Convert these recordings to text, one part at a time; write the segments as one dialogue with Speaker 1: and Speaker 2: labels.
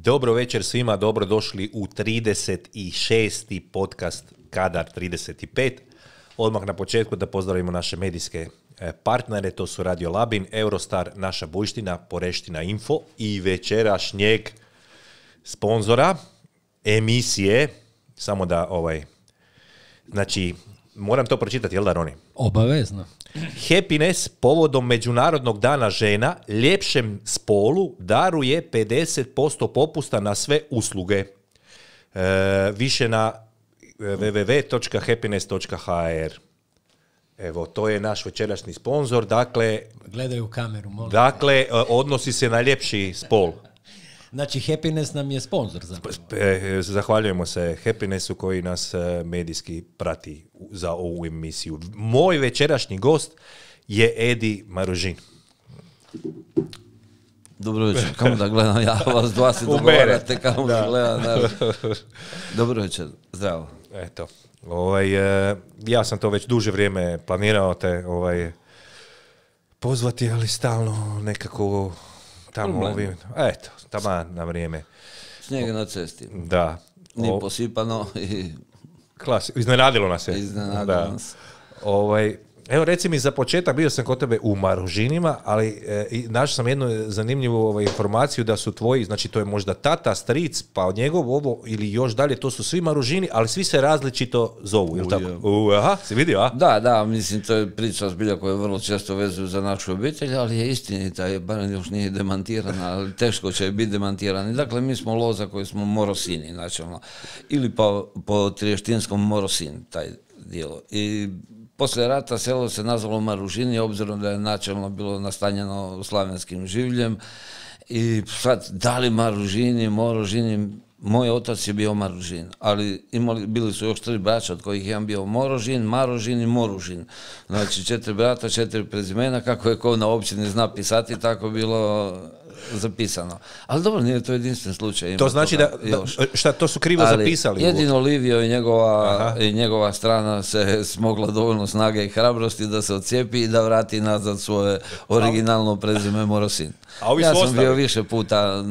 Speaker 1: Dobro večer svima, dobrodošli u 36. podcast Kadar 35. Odmah na početku da pozdravimo naše medijske partnere, to su Radio Labin, Eurostar, Naša Bujština, Poreština Info i večerašnjeg sponzora emisije, samo da znači, moram to pročitati, jel da, Roni?
Speaker 2: Obavezno.
Speaker 1: Happiness povodom Međunarodnog dana žena ljepšem spolu daruje 50% popusta na sve usluge. Više na www.happiness.hr. Evo, to je naš večerašnji sponzor. Dakle,
Speaker 2: gledaju u kameru, molim.
Speaker 1: Dakle, odnosi se na ljepši spol.
Speaker 2: Znači, Happiness nam je sponzor zapravo.
Speaker 1: Zahvaljujemo se Happinessu koji nas medijski prati za ovu emisiju. Moj večerašnji gost je Edi Maružin.
Speaker 3: Dobro večer, kamo da gledam, ja vas dva se dogovarate, kamo da gledam. Dobro večer, zdravo.
Speaker 1: Eto, ja sam to već duže vrijeme planirao te pozvati, ali stalno nekako tamo eto, tamo na vrijeme.
Speaker 3: Snijeg na cesti.
Speaker 1: Da.
Speaker 3: Nije posipano i...
Speaker 1: Iznenadilo nas je.
Speaker 3: Iznenadilo nas.
Speaker 1: Evo, reci mi za početak, bio sam kod tebe u Maružinima, ali našao sam jednu zanimljivu informaciju da su tvoji, znači to je možda tata, stric, pa od njegov ovo ili još dalje, to su svi Maružini, ali svi se različito zovu, ili tako? Aha, si vidio, a?
Speaker 3: Da, mislim, to je priča zbilja koja vrlo često vezuju za našu obitelj, ali je istinita, je barem još nije demantirana, ali teško će biti demantirani. Dakle, mi smo loza koji smo Morosini, načelno, ili po triještinskom Morosin, taj dijelo. I poslije rata selo se nazvalo Maružini, obzirom da je načelno bilo nastanjeno slavenskim življem. I sad, da li Maružini, Morožini, moj otac je bio Maružin, ali bili su još 3 braća, od kojih jedan bio Morožin, Marožin i Moružin. Znači 4 brata, 4 prezimena, kako je ko na općini zna pisati, tako bilo zapisano. Ali dobro, nije to jedinstven slučaj.
Speaker 1: To znači šta to su krivo zapisali?
Speaker 3: Jedino Livio i njegova strana se smogla dovoljno snage i hrabrosti da se odcijepi i da vrati nazad svoje originalno prezime Morosin. Ja sam bio više puta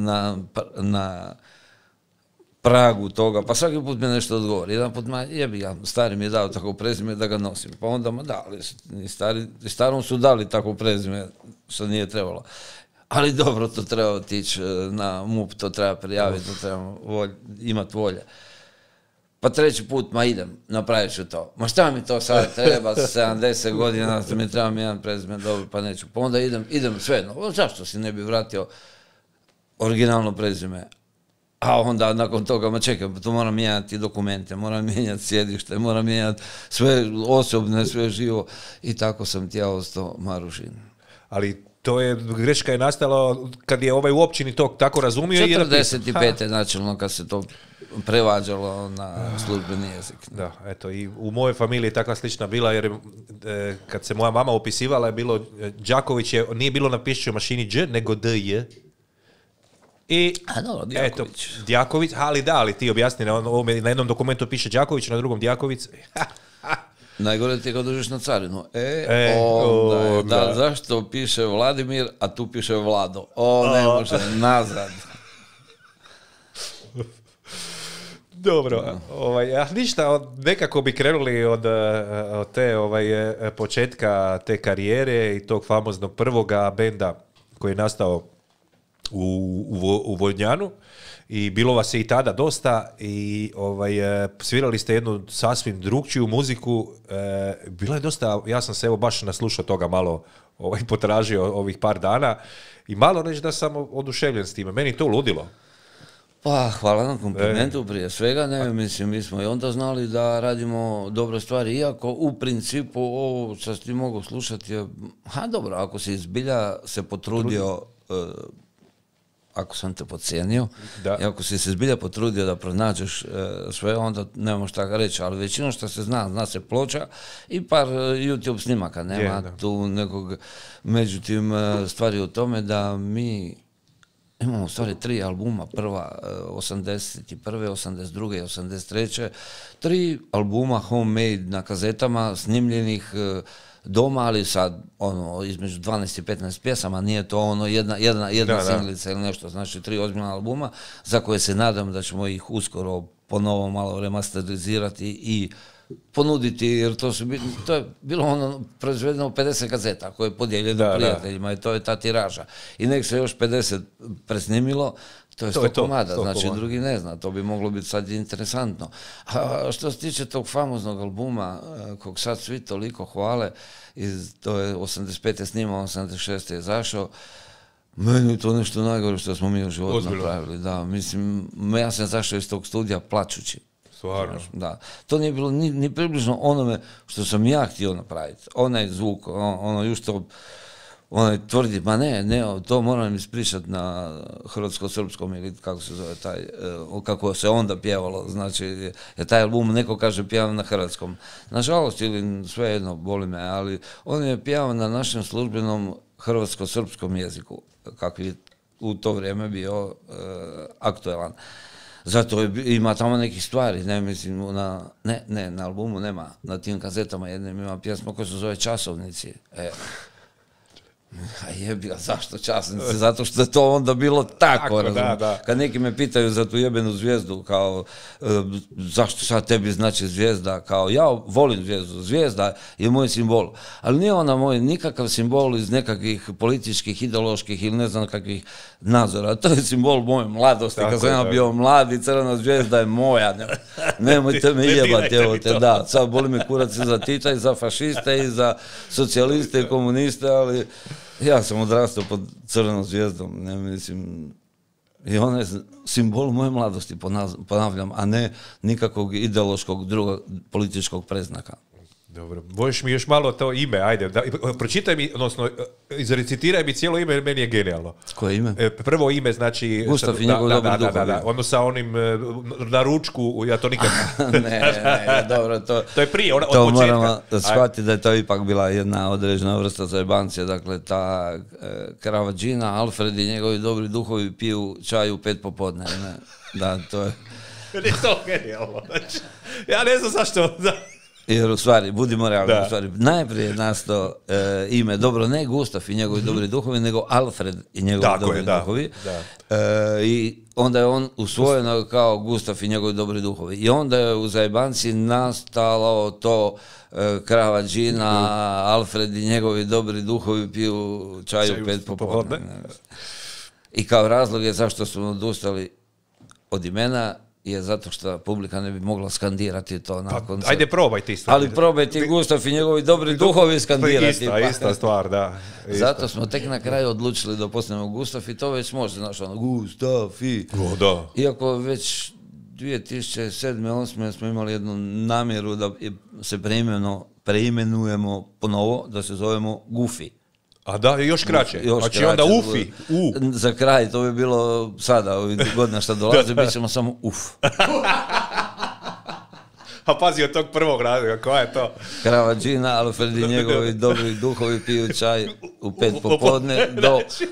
Speaker 3: na pragu toga, pa svaki put mi nešto odgovori. Jedan put, stari mi je dao tako prezime da ga nosim. Pa onda, ali starom su dali tako prezime što nije trebalo. Ali dobro, to treba otići na MUP, to treba prijaviti, to treba imati volje. Pa 3. put, idem, napravit ću to. Ma šta mi to sad treba, 70 godina, mi trebam jedan prezime, dobro, pa neću. Pa onda idem svejedno. Zašto si ne bi vratio originalno prezime? A onda nakon toga, čekaj, to moram mijenjati dokumente, moram mijenjati sjedište, moram mijenjati sve osobne, sve živo. I tako sam ti ja ostao Maružin.
Speaker 1: Ali greška je nastala kad je u općini to tako razumio.
Speaker 3: 45. načelno kad se to prevađalo na službeni jezik.
Speaker 1: Da, eto, i u mojoj familiji je takva slična bila, jer kad se moja mama opisivala je bilo Đaković, nije bilo na pišćoj mašini Đ, nego DJ. I,
Speaker 3: Djaković.
Speaker 1: Djaković, ali ti objasni, na jednom dokumentu piše Đaković, na drugom Djaković.
Speaker 3: Najgore ti je kad dođeš na carinu. Zašto piše Vladimir, a tu piše Vlado? Ne može, nazad.
Speaker 1: Dobro, ništa, nekako bi krenuli od te početka te karijere i tog famoznog prvoga benda koji je nastao u Vodnjanu. I bilo vas je i tada dosta i svirali ste jednu sasvim drugčiju muziku. Bilo je dosta, ja sam se baš naslušao toga malo, potražio ovih par dana i malo reći da sam oduševljen s time. Meni to ludilo.
Speaker 3: Pa, hvala na komplimentu prije svega. Mislim, mi smo i onda znali da radimo dobre stvari, iako u principu ovo što ti mogu slušati je, dobro, ako si zbilja se potrudio, ako sam te podcijenio, i ako si se zbilja potrudio da pronađeš sve, onda nemamo šta reći, ali većino što se zna se ploča i par YouTube snimaka, nema tu nekog, međutim stvari u tome da mi imamo u stvari 3 albuma, prva 81. 82. i 83. 3 albuma homemade na kazetama snimljenih doma, ali sad između 12 i 15 pjesama, nije to jedna singlica ili nešto, znači 3 ozbiljna albuma za koje se nadam da ćemo ih uskoro ponovo malo remasterizirati i ponuditi, jer to je bilo proizvedeno 50 kazeta koje je podijeljeno prijateljima i to je ta tiraža. I nek se još 50 presnimilo, to je 100 komada, znači drugi ne zna, to bi moglo biti sad interesantno. A što se tiče tog famoznog albuma, kog sad svi toliko hvale, to je 85. snimao, 86. je zašao, meni je to nešto najgore što smo mi u životu napravili. Da, mislim, ja sam zašao iz tog studija plačući.
Speaker 1: Stvarno.
Speaker 3: Da. To nije bilo ni približno onome što sam ja htio napraviti. Onaj zvuk, Justo, onaj tvrdi, ma ne, to moram ispričati na hrvatsko-srpskom ili kako se zove taj, kako se onda pjevalo, znači, je taj album, neko kaže pjevam na hrvatskom. Nažalost, ili svejedno, boli me, ali on je pjevao na našem službenom hrvatsko-srpskom jeziku, kakvi u to vrijeme bio aktuelan. Zato ima tamo nekih stvari, ne mislim, na albumu nema, na tim kazetama jednim ima pjesma koja se zove Časovnici. A jebi ga, zašto Časovnici? Zato što je to onda bilo tako, razumiješ. Kad neki me pitaju za tu jebenu zvijezdu, kao, zašto sad tebi znači zvijezda, kao, ja volim zvijezdu, zvijezda je moj simbol, ali nije ona moj nikakav simbol iz nekakvih političkih, ideoloških ili ne znam kakvih nadzora, to je simbol moje mladosti, kad sam ja bio mlad i crvena zvijezda je moja, nemojte me jebati, evo te, da, sad boli me kurac i za Tita i za fašiste i za socijaliste i komuniste, ali ja sam odrastao pod crvenom zvijezdom, ne mislim, i on je simbol moje mladosti, ponavljam, a ne nikakvog ideološkog drugog političkog predznaka.
Speaker 1: Dobro, možeš mi još malo to ime, ajde, pročitaj mi, odnosno, izrecitiraj mi cijelo ime jer meni je genijalno.
Speaker 3: Koje ime?
Speaker 1: Prvo ime, znači...
Speaker 3: Gustav i njegov dobri duhovi.
Speaker 1: Ono sa onim na ručku, ja to nikad...
Speaker 3: ne, dobro, to je
Speaker 1: prije, od
Speaker 3: to
Speaker 1: početka.
Speaker 3: Moramo shvatiti da je to ipak bila jedna određena vrsta zajebancije, dakle, ta krava džina, Alfred i njegovi dobri duhovi piju čaj u 5 popodne, ne? Da, to je...
Speaker 1: Meni je to genijalno, znači, ja ne znam zašto...
Speaker 3: Jer u stvari, budimo realni, u stvari, najprije je nastao ime, dobro, ne Gustav i njegovi dobri duhovi, nego Alfred i njegovi dobri duhovi. I onda je on usvojeno kao Gustav i njegovi dobri duhovi. I onda je u zajebanci nastalo to krava džina, Alfred i njegovi dobri duhovi piju čaj u 5 popodne. I kao razlog je zašto smo odustali od imena, je zato što publika ne bi mogla skandirati to nakon...
Speaker 1: Pa, ajde probaj ti isto.
Speaker 3: Ali probaj ti Gustav i njegovi dobri duhovi skandirati.
Speaker 1: Ista stvar, da.
Speaker 3: Zato smo tek na kraju odlučili da postanemo Gustav i to već može, znaš, Gustav i...
Speaker 1: Da.
Speaker 3: Iako već 2007-2008 smo imali jednu namjeru da se preimenujemo ponovo, da se zovemo Gufi.
Speaker 1: A da, još kraće. Znači onda Ufi.
Speaker 3: Za kraj, to bi bilo sada, ovih godina što dolaze, bit ćemo samo Uf.
Speaker 1: A pazi od tog prvog razloga, koja je to?
Speaker 3: Krava džina, Alfred i njegovi dobri duhovi piju čaj u 5 popodne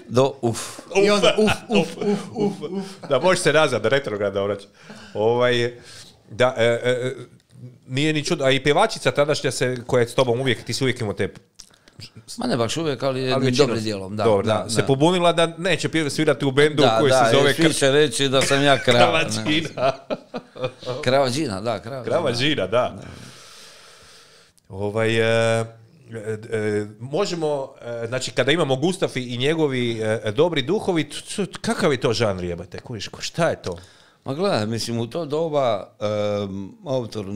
Speaker 3: do Uf.
Speaker 2: I onda Uf.
Speaker 1: Da, možeš se nazad, retrograda vraća. Da, nije ni čudo, a i pjevačica tadašnja koja je s tobom uvijek, ti si uvijek imao te...
Speaker 3: Ma ne baš uvijek, ali jednim dobrim dijelom. Da,
Speaker 1: se pobunila da neće svirati u bendu koji se zove...
Speaker 3: Da, svi će reći da sam ja krava.
Speaker 1: Kravađina.
Speaker 3: Kravađina, da.
Speaker 1: Kravađina, da. Možemo, znači kada imamo Gustav i njegovi dobri duhovi, kakav je to žanr, jebate? Šta je to?
Speaker 3: Ma gledaj, mislim, u to doba autor...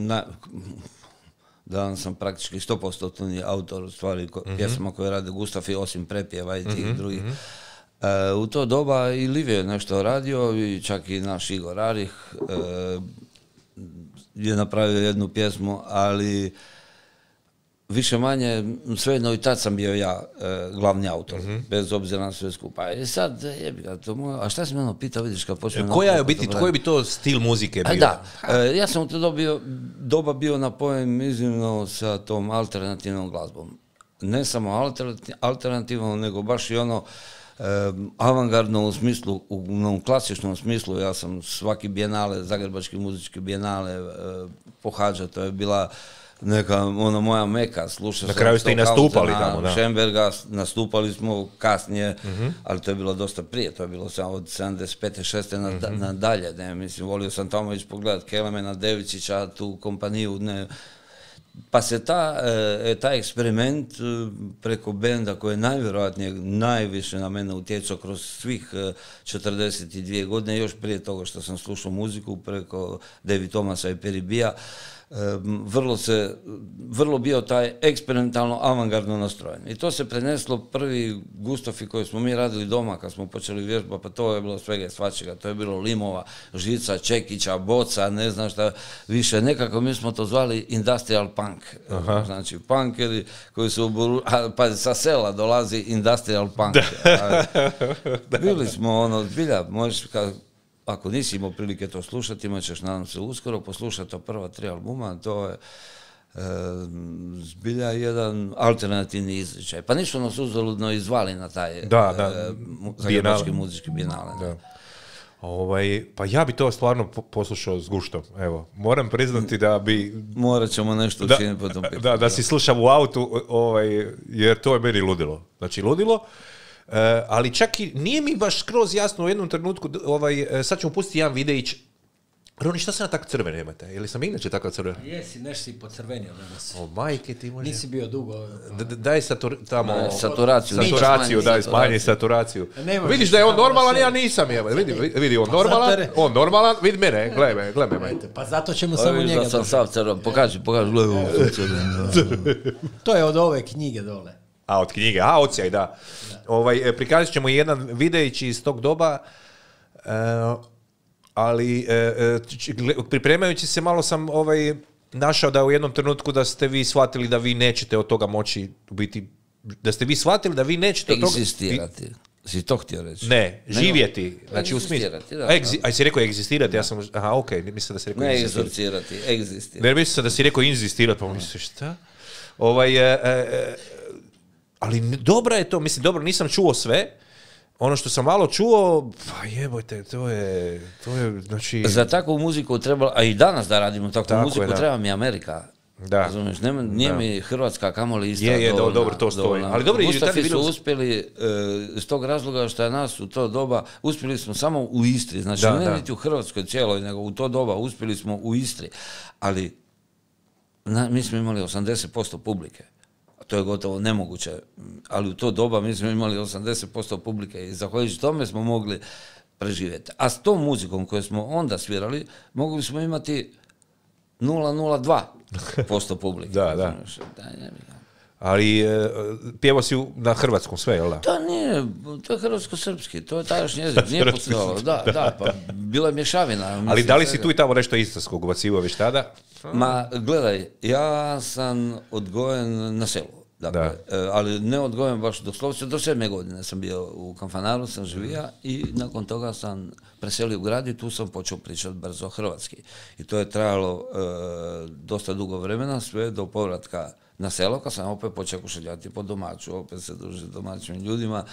Speaker 3: Danas sam praktički 100% autor stvari pjesama koje rade Gustav i osim prepjeva i tih drugih. U to doba i Liv je nešto radio i čak i naš Igor Arih je napravio jednu pjesmu, ali više manje, svejedno i tad sam bio ja glavni autor, bez obzira na sve skupa. I sad, jebi ga, to moje, a šta si me ono pitao, vidiš kad počnem...
Speaker 1: Koji bi to stil muzike bio?
Speaker 3: Da, ja sam u to doba bio napojen iznimno sa tom alternativnom glazbom. Ne samo alternativnom, nego baš i ono avangardno u smislu, u klasičnom smislu, ja sam svaki bijenale, Zagrebački muzički bijenale pohađao, to je bila neka moja meka, slušao
Speaker 1: sam. Na kraju ste i nastupali tamo, da.
Speaker 3: Schemberga, nastupali smo kasnije, ali to je bilo dosta prije, to je bilo od 75. 6. nadalje, ne, mislim, volio sam tamo ići pogledat Kelemena, Devičića, tu kompaniju, ne. Pa se taj eksperiment preko benda koji je najvjerojatnije najviše na mene utjecao kroz svih 42 godine, još prije toga što sam slušao muziku preko David Thomasa i Perry Bea, vrlo bio taj eksperimentalno avangardno nastrojen. I to se preneslo prvi Gustafi koji smo mi radili doma kad smo počeli vježbati, pa to je bilo svega i svačega. To je bilo limova, žica, čekića, boca, ne znam šta više. Nekako mi smo to zvali industrial punk. Aha. Znači punkeri koji su pa sa sela dolazi industrial punk. Bili smo zbilja, možeš ako nisi imao prilike to slušati, imat ćeš, nadam se, uskoro poslušati to prva 3 albuma, to je zbilja jedan alternativni izričaj. Pa nisu nas uzaludno izvali na taj Zagrebački muzički bijenale.
Speaker 1: Pa ja bi to stvarno poslušao s guštom. Evo, moram priznati da bi...
Speaker 3: Morat ćemo nešto učiniti po tom pitanju.
Speaker 1: Da si slušam u autu, jer to je meni ludilo. Znači, ludilo. Ali čak i nije mi baš skroz jasno u jednom trenutku, sad ćemo pustiti jedan videić. Roni, šta se na tako crvene imate? Ili sam inače tako crven?
Speaker 2: Jesi, nešto si pocrvenio danas.
Speaker 1: O, majke ti može...
Speaker 2: Nisi bio dugo...
Speaker 1: Daj
Speaker 3: saturaciju,
Speaker 1: daj smanji saturaciju. Vidiš da je on normalan, ja nisam. Vidi, on normalan, vidi mene, gledaj me.
Speaker 2: Pa zato ćemo samo njega...
Speaker 3: Da sam sav crven, pokaži,
Speaker 1: To
Speaker 2: je od ove knjige dole.
Speaker 1: A, od knjige, odsjaj, da. Prikazat ćemo jedan videić iz tog doba, ali pripremajući se malo sam našao da u jednom trenutku da ste vi shvatili da vi nećete od toga moći biti, da ste vi shvatili da vi nećete od toga...
Speaker 3: Egzistirati. Si to htio reći?
Speaker 1: Ne, živjeti. Znači u smislu... A si rekao egzistirati, ja sam... Aha, okej, mislim da si rekao
Speaker 3: egzistirati. Ne egzistirati.
Speaker 1: Ne, mislim da si rekao inzistirati, pa mislim, šta? Ali dobra je to, mislim, dobro, nisam čuo sve. Ono što sam malo čuo, pa jebojte, to je, znači...
Speaker 3: Za takvu muziku treba, a i danas da radimo takvu muziku, treba mi Amerika.
Speaker 1: Da.
Speaker 3: Razumiješ, nije mi Hrvatska kamoli ista
Speaker 1: dobro, to stoji.
Speaker 3: Ali dobro, Gustafi su uspjeli, iz tog razloga što je nas u to doba, uspjeli smo samo u Istri, znači ne niti u Hrvatskoj cijeloj, nego u to doba uspjeli smo u Istri. Ali mi smo imali 80% publike. To je gotovo nemoguće, ali u to doba mi smo imali 80% publike i zahvaljujući tome smo mogli preživjeti. A s tom muzikom koju smo onda svirali, mogli smo imati 0,02% publike.
Speaker 1: Da. Ali pjevao si na hrvatskom sve, jel da?
Speaker 3: To je hrvatsko-srpski, to je tadašnji jezik, nije pucalo. Da, pa bila je mješavina.
Speaker 1: Ali da li si tu i tamo nešto istarskog ubacivo već tada?
Speaker 3: Ma, gledaj, ja sam odgojen na selu. Dakle, ali ne odgojen baš doslovce, do 7. godine sam bio u Kanfanaru, sam živio i nakon toga sam preselio u grad i tu sam počeo pričati brzo hrvatski. I to je trajalo dosta dugo vremena, sve do povratka na selo, kad sam opet počeo kušeljati po domaću, opet se družiti s domaćim ljudima,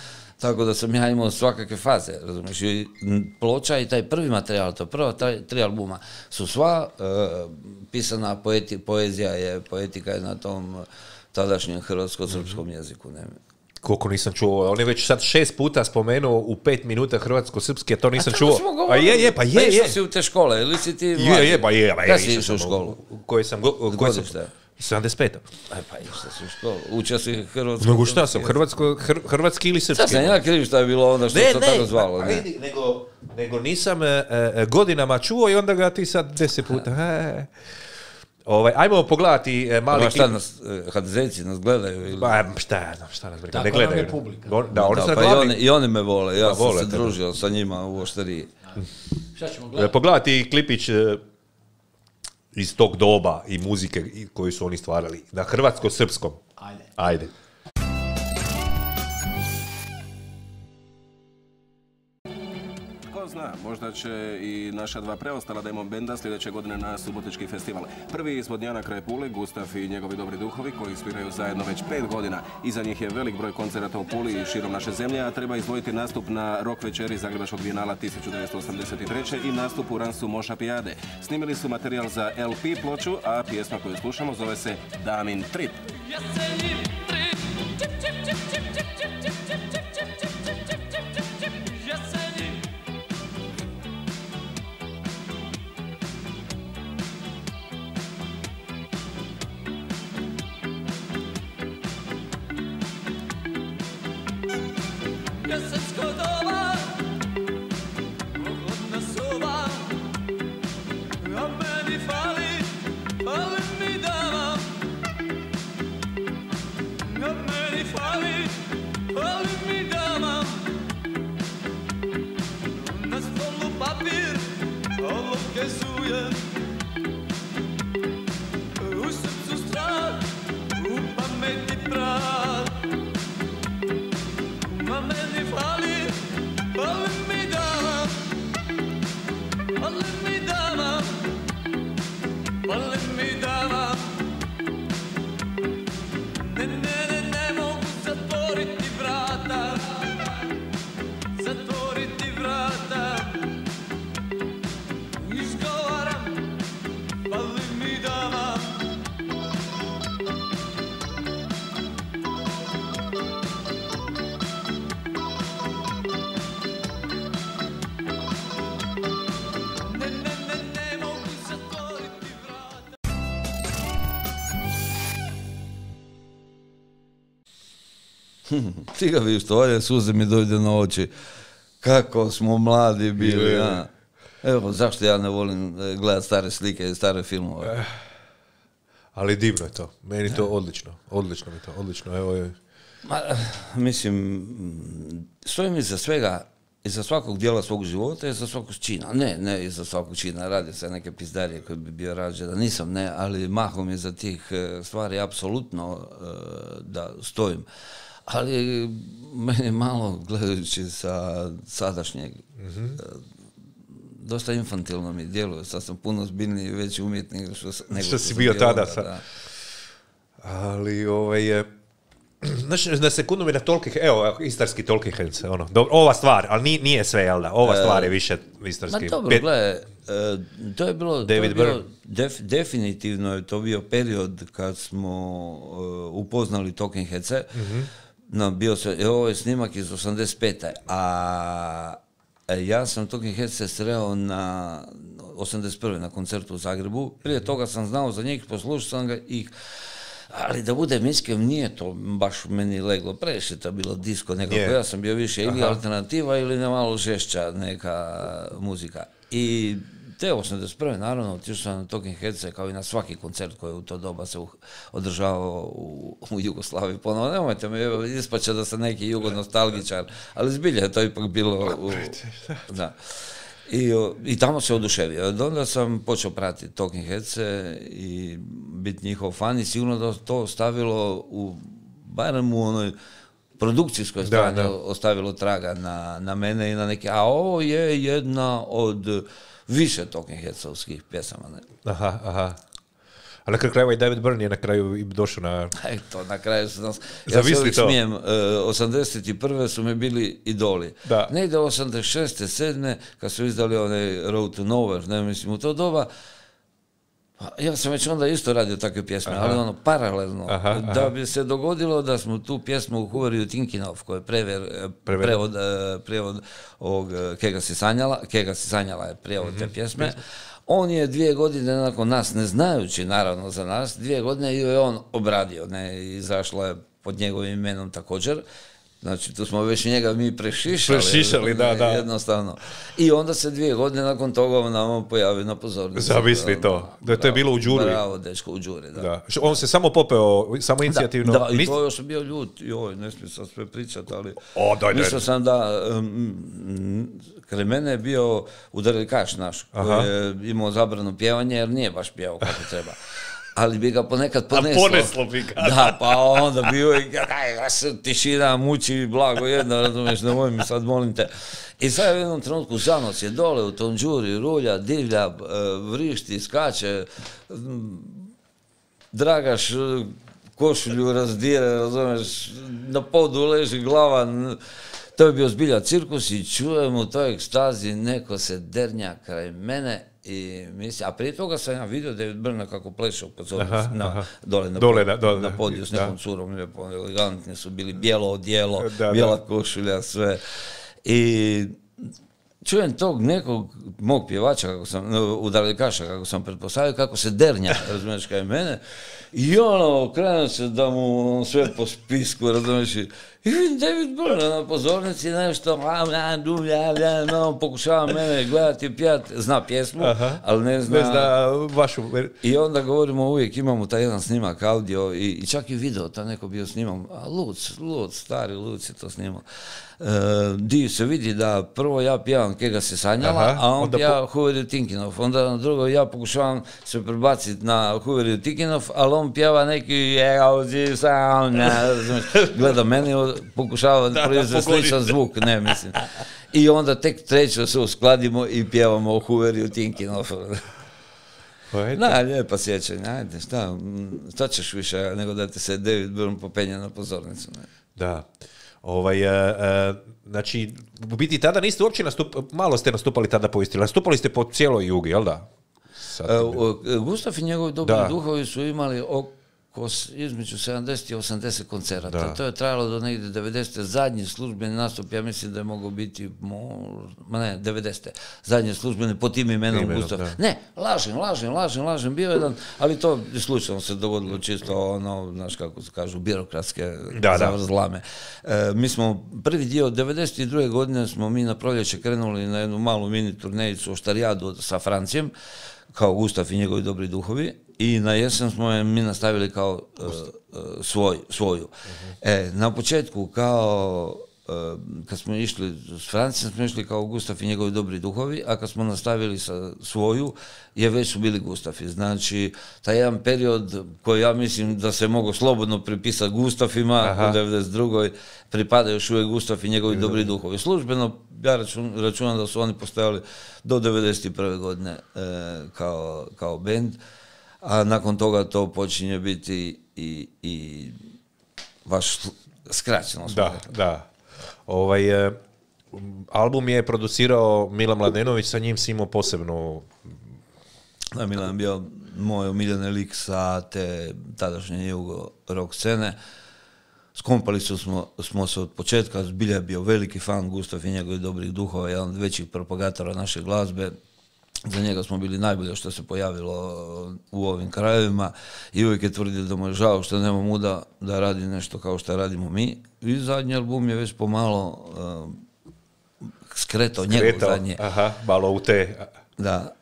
Speaker 3: tako da sam ja imao svakakve faze, razumiješ, i ploča i taj prvi materijal, to prva 3 albuma, su sva pisana poezija poetika je na tom tadašnjem hrvatsko-srpskom jeziku. Ne.
Speaker 1: Koliko nisam čuo, on je već sad 6 puta spomenuo u 5 minuta hrvatsko-srpski, a to nisam čuo.
Speaker 3: Pa je. Pa išao si u te škole, ili si ti mlađi? Kada si išao u školu?
Speaker 1: Koje sam 75.
Speaker 3: Pa išao si u školu, učio si hrvatsko...
Speaker 1: Nego šta sam, hrvatski ili srpski?
Speaker 3: Sad sam ja kriv šta je bilo onda što se to tako zvalo.
Speaker 1: Nego nisam godinama čuo i onda ga ti sad 10 puta... Ajmo pogledati mali...
Speaker 3: Šta nas, HDZ-ci nas gledaju? Ili...
Speaker 1: Šta nas briga,
Speaker 2: ne gledaju.
Speaker 1: I
Speaker 3: oni me vole, ja sam se družio sa njima u Oštariji.
Speaker 2: Šta ćemo gledati?
Speaker 1: Pogledati klipić iz tog doba i muzike koju su oni stvarali na hrvatsko-srpskom. Ajde.
Speaker 4: Ko zna, možda će i naša dva preostala demo benda sljedeće godine na Subotički festival. Prvi iz Vodnjana kraj Pule, Gustav i njegovi dobri duhovi koji sviraju zajedno već 5 godina. Iza njih je velik broj koncerata u Puli i širom naše zemlje, a treba izdvojiti nastup na rock večeri Zagrebačkog bijenala 1983. i nastup u Ransu Moša Pijade. Snimili su materijal za LP ploču, a pjesma koju slušamo zove se Damin Trip.
Speaker 3: Ti ga vidiš, to suze mi dojde na oči. Kako smo mladi bili, a? Evo, zašto ja ne volim gledati stare slike i stare filmove?
Speaker 1: Ali divno je to. Meni to odlično. Odlično mi to, odlično. Evo je.
Speaker 3: Mislim, stojim iza svega, iza svakog dijela svog života, iza svakog čina. Ne iza svakog čina, radi se neke pizdarije koje bi bio rađe da nisam, ne, ali mahom iza tih stvari apsolutno da stojim. Ali meni malo, gledajući sa sadašnjeg, dosta infantilno mi djeluje. Sad sam puno zbiljniji i veći umjetnik nego
Speaker 1: što si bio tada. Da. Ali znači, na sekundu mi na Talking, evo, istarski Talking Heads, ova stvar, ali nije sve, jel da? Ova stvar je više istarski.
Speaker 3: Ma dobro, gledaj, to je bilo, definitivno je to bio period kad smo upoznali Talking Headse. Ovo je snimak iz 85. A ja sam Talking Headse sreo na 81. na koncertu u Zagrebu. Prije toga sam znao za njih, poslušao sam ga ih. Ali da budem iskren, nije to baš meni leglo, previše to bilo disko nekako, ja sam bio više ili alternativa ili malo žešća neka muzika. I te 81. naravno otišao sam na Talking Headse kao i na svaki koncert koji u to doba se održavao u Jugoslaviji. Ponovno, nemojte me ispaće da sam neki jugonostalgičar, ali zbilja je to ipak bilo da. I tamo se oduševio. Onda sam počeo pratiti Talking Headse i biti njihov fan i sigurno da to ostavilo barem u onoj produkcijskoj strani ostavilo traga na mene i na neke, a ovo je jedna od više Talking Headsovskih pjesama. Ne?
Speaker 1: Aha. A na kraju i David Byrne je na kraju i došao na...
Speaker 3: Eto, na kraju su nas... Ja se uvijek smijem, 81. su mi bili idoli. Da. Negdje 86. 7. kad su izdali onaj Road to Nowhere, ne mislim, u to doba, ja sam već onda isto radio takve pjesme, ali paralelno. Da bi se dogodilo da smo tu pjesmu u Huvariju Tinkinov, koji je prevod ovog Kega si sanjala je prijevod te pjesme. On je 2 godine nakon nas, ne znajući naravno za nas, 2 godine je on obradio, izašla je pod njegovim imenom također. Znači, tu smo već njega mi prešišali,
Speaker 1: da.
Speaker 3: Jednostavno. I onda se 2 godine nakon toga on nam pojavi na pozornici.
Speaker 1: Zamisli to. Da to je bilo u Đuri.
Speaker 3: Bravo, dečko, u Đuri, da.
Speaker 1: On se samo popeo, samo inicijativno.
Speaker 3: Da, i to još sam bio ljut. Joj, ne smijem sad sve pričati, ali... Mislio sam da... Kraj mene je bio udarikaš naš, koji je imao zabranu pjevanje, jer nije baš pjevao kako treba. ali bi ga ponekad poneslo.
Speaker 1: A poneslo bi ga.
Speaker 3: Da, pa onda bi uvijek, tišina, muči, blago jedna, razumiješ, nemoj mi sad, molim te. I sad u jednom trenutku Zanos je dole u tom džuri, rulja, divlja, vrišti, skače, Dragaš košulju razdire, razumiješ, na podu leži glava, to je bio zbilja cirkus i čujem u toj ekstazi neko se dernja kraj mene. A prije toga sam ja vidio David Byrne kako plešao dole na podiju s nekom curom, lijepo, elegantni su bili, bijelo odijelo, bijela košulja, sve. I čujem tog nekog mog pjevača, udarlikaša, kako sam pretpostavio, kako se dernja, razumiješ, kaj mene, i krenuo se da mu sve po spisku, razumiješ, i vidim David Byrne na pozornici, nešto, pokušava mene gledati, pjevati, zna pjesmu, ali ne zna
Speaker 1: vašu.
Speaker 3: I onda govorimo uvijek, imamo taj jedan snimak audio i čak i video, ta neko bio snimam, a Luc, stari Luc je to snimao. Di se vidi da prvo ja pjevam Kega se sanjala, a on pjeva Huveriju Tinkinov. Onda na drugo ja pokušavam se prebaciti na Huveriju Tinkinov, ali on pjeva neki gleda meni, pokušava proizvesti sličan zvuk, ne mislim. I onda tek treće se uskladimo i pjevamo Huveriju Tinkinov. Da, lijepa sjećanja, ajde, šta ćeš više nego da ti se David Byrne popenja na pozornicu. Ne?
Speaker 1: Da. Znači, u biti tada niste uopće malo ste nastupali tada po Istri, nastupali ste po cijeloj Jugi, jel da?
Speaker 3: Gustav i njegovi dobri duhovi su imali između 70 i 80 koncerata. To je trajalo do negdje 90. Zadnji službeni nastup, ja mislim da je mogao biti 90. Zadnji službeni pod tim imenom Gustav. Ne, lažem, bio jedan, ali to slučajno se dogodilo čisto znaš kako se kažu, birokratske zavrzlame. Mi smo prvi dio 92. godine smo mi na proljeće krenuli na jednu malu mini turnejicu Oštarijadu sa Francijem, kao Gustav i njegovi dobri duhovi, i na jesen smo je mi nastavili kao svoju. Na početku kad smo išli s Francijom, smo išli kao Gustav i njegovi dobri duhovi, a kad smo nastavili sa svoju, već su bili Gustavi. Znači, taj jedan period koji ja mislim da se mogu slobodno pripisati Gustafima, u 92. pripada još uvijek Gustav i njegovi dobri duhovi. Službeno, ja računam da su oni postojali do 91. godine kao bend, a nakon toga to počinje biti i baš skraćeno.
Speaker 1: Da. Album je producirao Milan Mladenović, sa njim si imao posebnu...
Speaker 3: Da, Milan je bio moj omiljeni lik sa te tadašnje jugo rock scene. Skompali smo se od početka, zbilja je bio veliki fan Gustav i njegovih dobrih duhova, jedan od većih propagatora naše glazbe. Za njega smo bili najbolje što se pojavilo u ovim krajevima i uvijek je tvrdio da mu je žao što nema muda da radi nešto kao što radimo mi. I zadnji album je već pomalo skretao njegov zadnje.
Speaker 1: Malo u te...
Speaker 3: Da,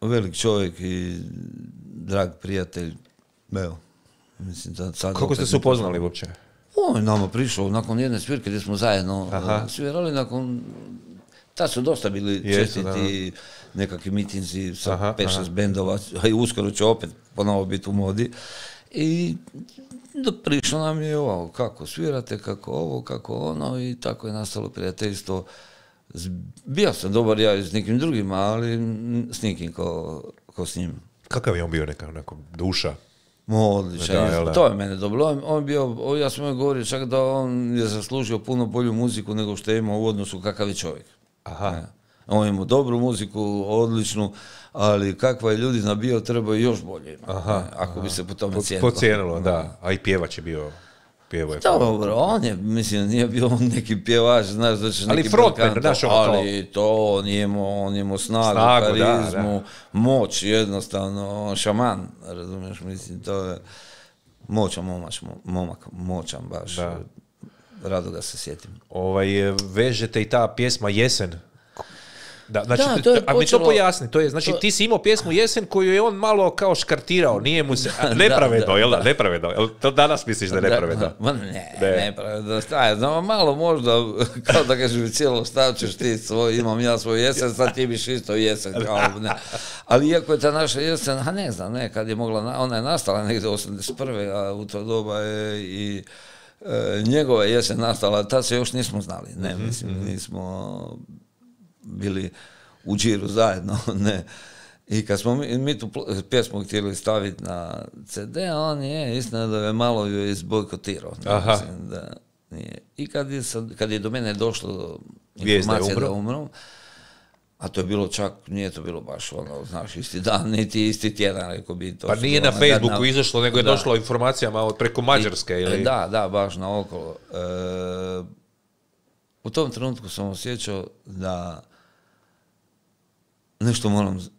Speaker 3: velik čovjek i drag prijatelj. Evo, mislim da sad...
Speaker 1: Kako ste se upoznali uopće?
Speaker 3: On je nama prišao nakon jedne svirke gdje smo zajedno svirali, nakon... Tad su dosta bili čestiti nekakvi mitinzi sa 5-6 bendova, a i uskoro će opet ponovo biti u modi. I prišlo nam je ovo, kako svirate, kako ovo, kako ono, i tako je nastalo prijateljstvo. Bio sam dobar ja i s nekim drugima, ali s nikim ko s njim.
Speaker 1: Kakav je on bio, neka duša?
Speaker 3: Odličan, to je mene dobro. On bio, ja sam joj govorio čak da on je zaslužio puno bolju muziku nego što je imao u odnosu kakav je čovjek. On ima dobru muziku, odličnu, ali kakva je ljudina bio, treba još bolje imati, ako bi se po tome cijenilo.
Speaker 1: Pocijenilo, da. A i pjevač je bio...
Speaker 3: Dobro, on je, mislim, nije bio neki pjevač, znaš da ćeš neki
Speaker 1: frontman,
Speaker 3: ali to on je imao snagu, karizmu, moć, jednostavno, šaman, razumiješ, mislim, to je moćan momak, moćan baš, rado ga se sjetim.
Speaker 1: Vežete i ta pjesma Jesen? Da, znači, a mi to pojasni, to je, znači ti si imao pjesmu Jesen koju je on malo kao škartirao, nije mu se, nepravedno, jel da, nepravedno, jel to danas misliš da je nepravedno?
Speaker 3: Nepravedno, znam, malo možda, kao da kažeš cijelo stavčeš ti svoj, imam ja svoj Jesen, sad ti biš isto Jesen, kao ne. Ali iako je ta naša Jesen, ne znam, kad je mogla, ona je nastala negdje 81. a u to doba je i njegova Jesen nastala, tad se još nismo znali, ne, mislim, nismo bili u džiru zajedno, ne. I kad smo mi tu pjesmu htjeli staviti na CD, on je, istina da je malo ju izbojkotirao. Mislim da nije. I kad je do mene došlo informacija da umro, a to je bilo čak, nije to bilo baš ono, znaš, isti dan, niti isti tjedan, rekao bi to.
Speaker 1: Pa nije na Facebooku izašlo, nego je došlo informacijama preko Mađarske, ili?
Speaker 3: Da, baš naokolo. U tom trenutku sam osjećao da nešto moram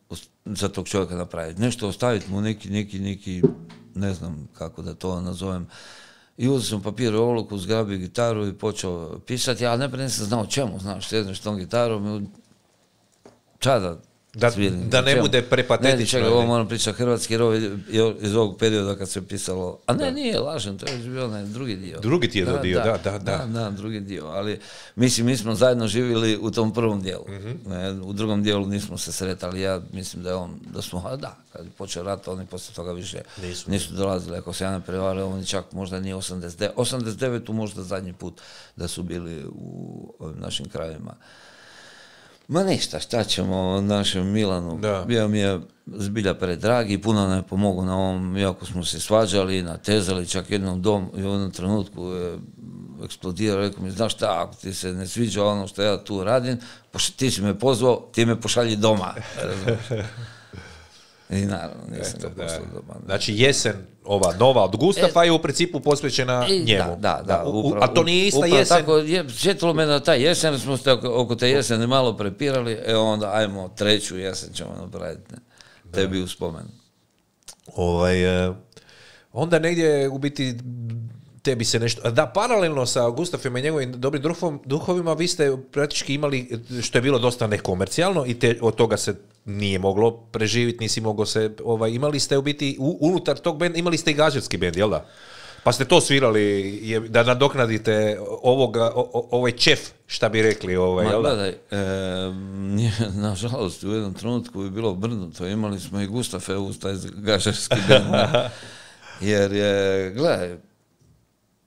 Speaker 3: za tog čovjeka napraviti. Nešto ostaviti mu neki, ne znam kako da to nazovem. I uzeo sam papir i olovku, zgrabio gitaru i počeo pisati, ali najprije nisam znao čemu, znaš, sjedneš tom gitarom, čada svirim.
Speaker 1: Da ne bude prepatetično.
Speaker 3: Ne, čekaj, ovo moram pričati hrvatski, jer ovo je iz ovog perioda kad se pisalo, a ne, nije lažem, to je bio onaj drugi dio.
Speaker 1: Drugi dio,
Speaker 3: Da, drugi dio, ali mislim, mi smo zajedno živjeli u tom prvom dijelu. U drugom dijelu nismo se sretali, ja mislim da smo, kad je počeo rat, oni poslije toga više nisu dolazili, ako se ja ne prevaram, oni čak možda nije 89. možda zadnji put da su bili u ovim našim krajevima. Ma ništa, šta ćemo našem Milanu, bio mi je zbilja predrag i puno nam je pomogao na ovom, iako smo se svađali, natezali, čak jednom u jednom trenutku je eksplodirao, rekao mi, znaš šta, ako ti se ne sviđa ono što ja tu radim, ti si me pozvao, ti me pošalji doma. I naravno, nisam ga poslao doma.
Speaker 1: Znači Jesen, ova nova od Gustafa je u principu posvećena njemu.
Speaker 3: Da, upravo.
Speaker 1: A to nije ista Jesen?
Speaker 3: Tako, sjetilo me na taj Jesen, smo se oko te Jesene malo prepirali, onda ajmo treću Jesen ćemo napraviti, tebi u spomen.
Speaker 1: Onda negdje u biti tebi se nešto... Da, paralelno sa Gustafom i njegovim dobrim duhovima vi ste praktički imali, što je bilo dosta nekomercijalno i od toga se nije moglo preživjeti, nisi moglo se... imali ste u biti, unutar tog benda, imali ste i gažetski bend, jel da? Pa ste to svirali da nadoknadite ovaj čef, šta bi rekli, jel da?
Speaker 3: Gledaj, nažalost, u jednom trenutku je bilo obrnuto, imali smo i Gustafe uz taj gažetski bend, jer je, gledaj,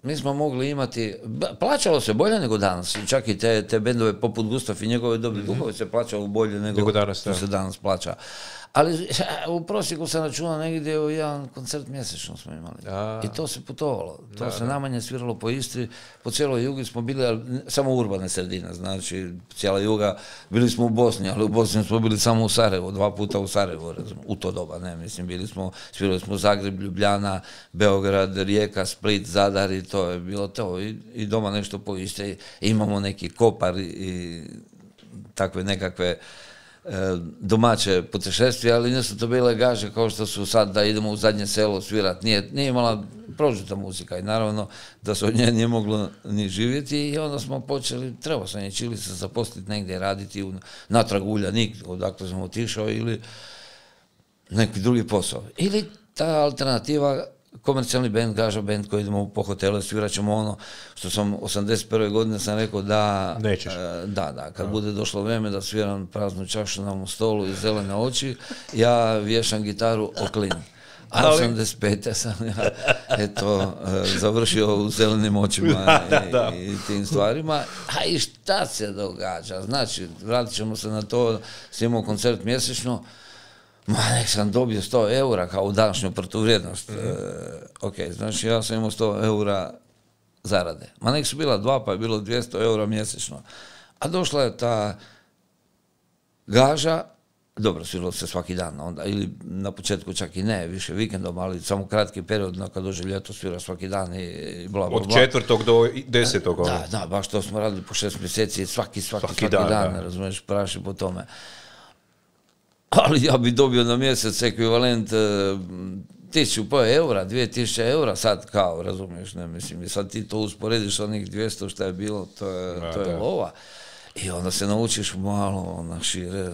Speaker 3: mi smo mogli imati, plaćalo se bolje nego danas, čak i te bendove poput Gustaf i njegove dobri duhove se plaćalo bolje nego što se danas plaća. Ali u prosjeku se računa negdje u jedan koncert mjesečno smo imali. I to se putovalo. To se najmanje sviralo po Istri, po cijeloj Jugi smo bili, ali samo urbane sredine, znači cijela Juga, bili smo u Bosni, ali u Bosni smo bili samo u Sarajevu, 2 puta u Sarajevu, u to doba, ne, mislim, svirali smo Zagreb, Ljubljana, Beograd, Rijeka, Split, Zadar i to je bilo to. I doma nešto po Istri, imamo neki Kopar i takve nekakve domaće putešestvije, ali nisu to bile gaže kao što su sad da idemo u zadnje selo svirati. Nije imala prožuta muzika i naravno da se od nje nije moglo ni živjeti i onda smo počeli, trebao sam ili se zaposliti negdje, raditi natrag Uljanik, odakle sam otišao, ili neki drugi posao. Ili ta alternativa, komercijalni band, gaža band koji idemo po hotele, svirat ćemo ono što sam 81. godine sam rekao da...
Speaker 1: Nećeš.
Speaker 3: Kad bude došlo vrijeme da sviram praznu čašu na mom stolu i zelene oči, ja vješam gitaru o klin. A 85. sam završio u zelenim očima i tim stvarima. A i šta se događa? Znači, vratit ćemo se na to, snimamo koncert mjesečno, nek sam dobio 100 eura kao u današnju protuvrijednost. Ok, znači ja sam imao 100 eura zarade. Nek su bila 2, pa je bilo 200 eura mjesečno. A došla je ta gaža, dobro, sviralo se svaki dan onda, ili na početku čak i ne, više vikendom, ali samo kratki period, kad dođe ljeto svira svaki dan i bla, bla, bla.
Speaker 1: Od 4. do 10.
Speaker 3: Da, baš to smo radili po 6 mjeseci, svaki dan, razumiješ, praši po tome. Ali ja bi dobio na mjesec ekvivalent 1.500 eura, 2.000 eura, sad kao, razumiješ, ne mislim, i sad ti to usporediš onih 200 što je bilo, to je lova. I onda se naučiš malo na šire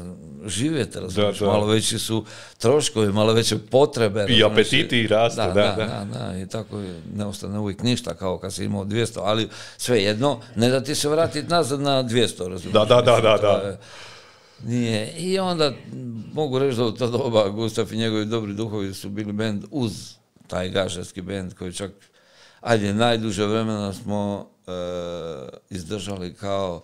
Speaker 3: živjeti, razumiješ, malo veći su troškovi, malo veće potrebe.
Speaker 1: I apetiti rastu,
Speaker 3: da. I tako ne ostane uvijek ništa kao kad si imao 200, ali svejedno, ne da ti se vratiti nazad na 200, razumiješ.
Speaker 1: Da.
Speaker 3: Nije. I onda mogu reći da u to doba Gustav i njegovi dobri duhovi su bili bend uz taj gažarski bend koji čak, najduže vremena smo izdržali kao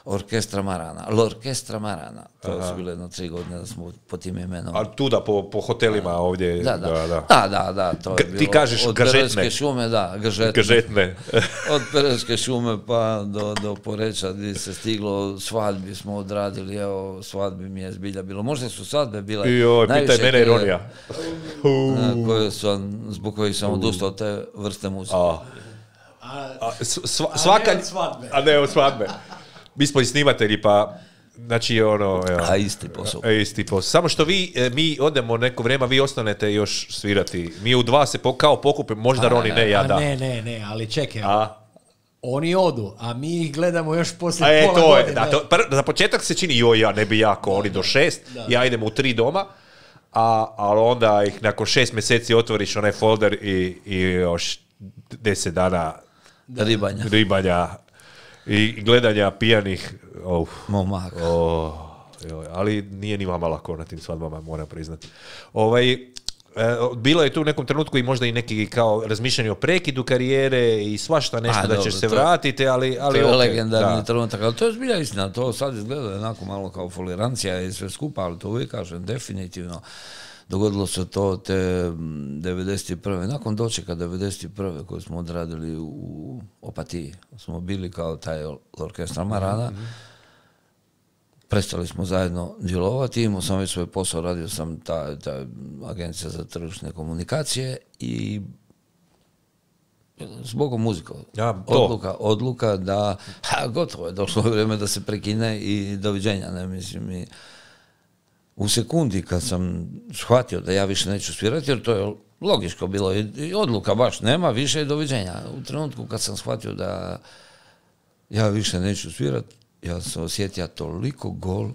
Speaker 3: Orkestra Marana, L'Orkestra Marana. To su bile 3 godine da smo po tim imenom.
Speaker 1: A tuda po hotelima ovdje?
Speaker 3: Da, to je bilo.
Speaker 1: Ti kažeš
Speaker 3: od Perejske šume, gažetne. Od Perejske šume pa do Poreča gdje se stiglo, svadbi smo odradili, evo, svadbi mi je zbilja bilo. Možda su svadbe bile
Speaker 1: pitaj mene ironija.
Speaker 3: Zbog kojih sam odustao te vrste muzike.
Speaker 1: A ne od svadbe. Mi smo i snimatelji, pa, znači, ono...
Speaker 3: A isti posao.
Speaker 1: Samo što mi odemo neko vrijeme, vi ostanete još svirati. Mi u 2 se kao pokupimo, možda Roni, ne, ja da.
Speaker 2: Ne, ali čekaj. Oni odu, a mi ih gledamo još poslije pola godine.
Speaker 1: Za početak se čini, ja ne bi jako, oni do 6, ja idem u 3 doma, ali onda ih nakon 6 mjeseci otvoriš onaj folder i još 10 dana ribanja. I gledanja pijanih
Speaker 3: momaka.
Speaker 1: Ali nije ni vama lako na tim svadbama, moram priznati. Bilo je tu u nekom trenutku i možda i neki kao razmišljanje o prekidu karijere i svašta nešto da ćeš se vratiti, ali
Speaker 3: to je legendarni trenutak, ali to je zbilja istina, to sad izgleda jednako malo kao folirancija i sve skupa, ali to uvijek kažem, definitivno. Dogodilo se to te 91. Nakon dočeka 91. koju smo odradili u Opatiji. Smo bili kao taj Orkestra Marana. Prestali smo zajedno djelovati. Imao sam već svoj posao, radio sam ta agencija za tržišne komunikacije i zbogom muzika. Odluka da gotovo je došlo vrijeme da se prekine i doviđenja. Ne mislim u sekundi kad sam shvatio da ja više neću svirati, jer to je logičko bilo i odluka baš nema više i doviđenja. U trenutku kad sam shvatio da ja više neću svirati, ja sam osjetio toliko gol,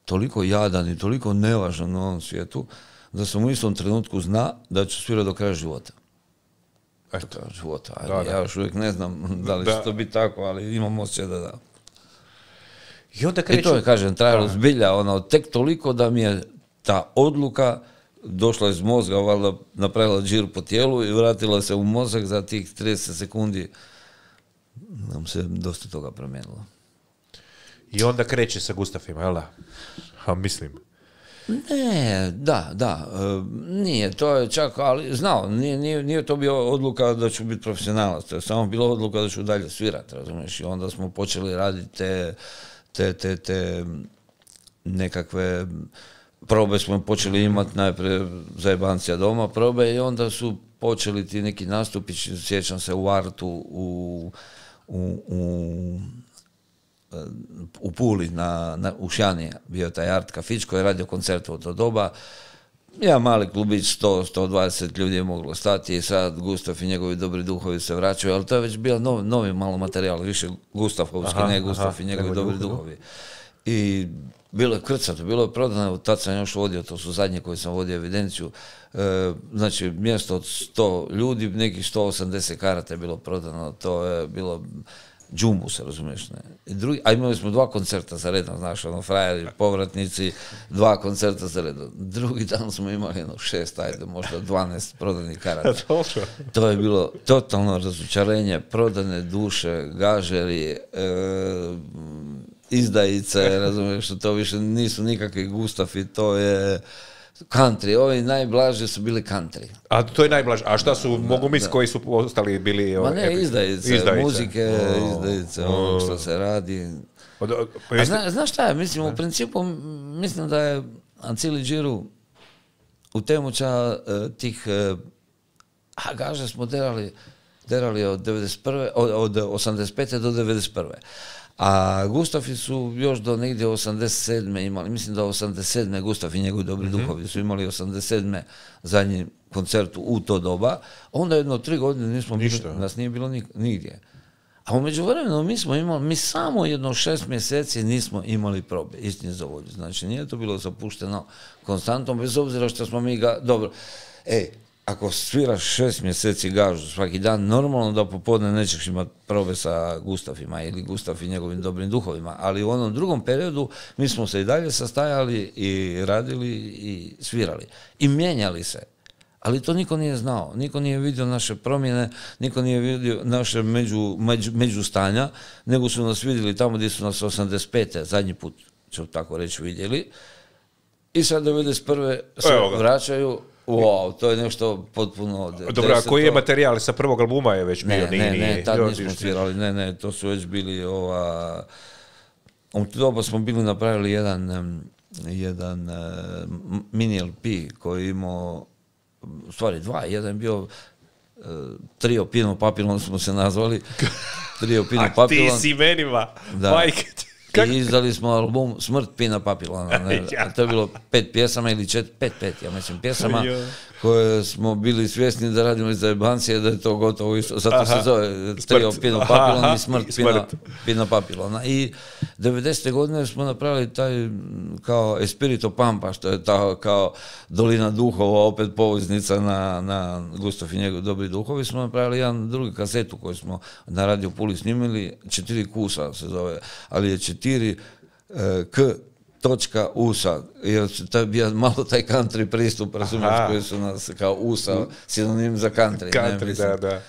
Speaker 3: toliko jadan i toliko nevažan na ovom svijetu, da sam u istom trenutku zna da ću svirati do kraja života. Ja još uvijek ne znam da li će to biti tako, ali imam osjećaj da. I to je, kažem, trajalo zbilja, tek toliko da mi je ta odluka došla iz mozga, valjda napravila džir po tijelu i vratila se u mozak za tih 30 sekundi. Nam se dosta toga promijenilo.
Speaker 1: I onda kreće sa Gustafima, jel da? Mislim.
Speaker 3: Ne, da. Nije, to je čak, ali znao, nije to bio odluka da ću biti profesionalac, to je samo bila odluka da ću dalje svirati, razumiješ? I onda smo počeli raditi te nekakve probe smo počeli imati najprije za jebancija doma probe i onda su počeli ti neki nastupići, sjećam se u Artu u Puli u Šjani bio taj Art kafić koji je radio koncert u to doba. Ja mali klubić, 100-120 ljudi je moglo stati i sad Gustav i njegovi dobri duhovi se vraćaju, ali to je već bio novi malo materijal, više Gustavovski, ne Gustav i njegovi dobri duhovi. I bilo je krcato, bilo je prodano, tad sam još vodio, to su zadnje koji sam vodio evidenciju, znači mjesto od 100 ljudi, nekih 180 karata je bilo prodano, to je bilo džumu se, razumiješ, ne. A imali smo 2 koncerta za redom, znaš, frajeri, povratnici, 2 koncerta za redom. Drugi dan smo imali 6, možda 12 prodanih karata. To je bilo totalno razočarenje, prodane duše, gažeri, izdajice, razumiješ, to više nisu nikakvi Gustavi, to je country, ovi najblaži su bili country.
Speaker 1: A to je najblaži, a šta su, mogu misliti koji su ostali bili...
Speaker 3: Ma ne, izdajice, muzike, izdajice, ono što se radi. Znaš šta je, mislim, u principu, mislim da je Ancili Džiru u temuća tih gaže smo derali od 85. do 91. A Gustavi su još do negdje 87. imali, mislim da 87. Gustav i njegovi dobri duhovi su imali 87. zadnji koncert u to doba. Onda jedno 3 godine nismo bili, nas nije bilo nigdje. A u međuvremenu mi samo jedno 6 mjeseci nismo imali probe, istini za volju. Znači, nije to bilo zapušteno konstantno, bez obzira što smo mi dobro, ako sviraš 6 mjeseci gažu svaki dan, normalno da popodne nećeš imati probe sa Gustafima ili Gustaf i njegovim dobrim duhovima, ali u onom drugom periodu mi smo se i dalje sastajali i radili i svirali. I mijenjali se. Ali to niko nije znao, niko nije vidio naše promjene, niko nije vidio naše međustanja, nego su nas vidjeli tamo gdje su nas 85. zadnji put, ću tako reći, vidjeli. I sad 91. se vraćaju. Wow, to je nešto potpuno...
Speaker 1: Dobro, a koji je materijal sa prvog albuma je već bio?
Speaker 3: Ne, tad nismo svirali, ne, to su već bili u to doba smo bili napravili jedan mini LP koji imao, u stvari dva, jedan je bio Trio Pino Papillon smo se nazvali. Trio Pino Papillon.
Speaker 1: A ti s imenima, majke.
Speaker 3: I izdali smo album Smrt Pina Papillona. To je bilo 5 pjesama ili 5, ja mislim, pjesama koje smo bili svjesni da radimo iz zajebancije, da je to gotovo isto. Zato se zove Trio Pino Papillon i Smrt Pina Papillona. I 90. godine smo napravili taj kao Espirito Pampa, što je ta kao Dolina duhova, opet poveznica na Gustaf i njegov dobri duhovi. Smo napravili jedan drugi kasetu koju smo na Radio Puli snimili, 4 kusa se zove, ali je 4 k.usa, jer to je bio malo taj country pristup, razumiješ, koji su nas kao USA, sinonim za country.
Speaker 1: Country, da.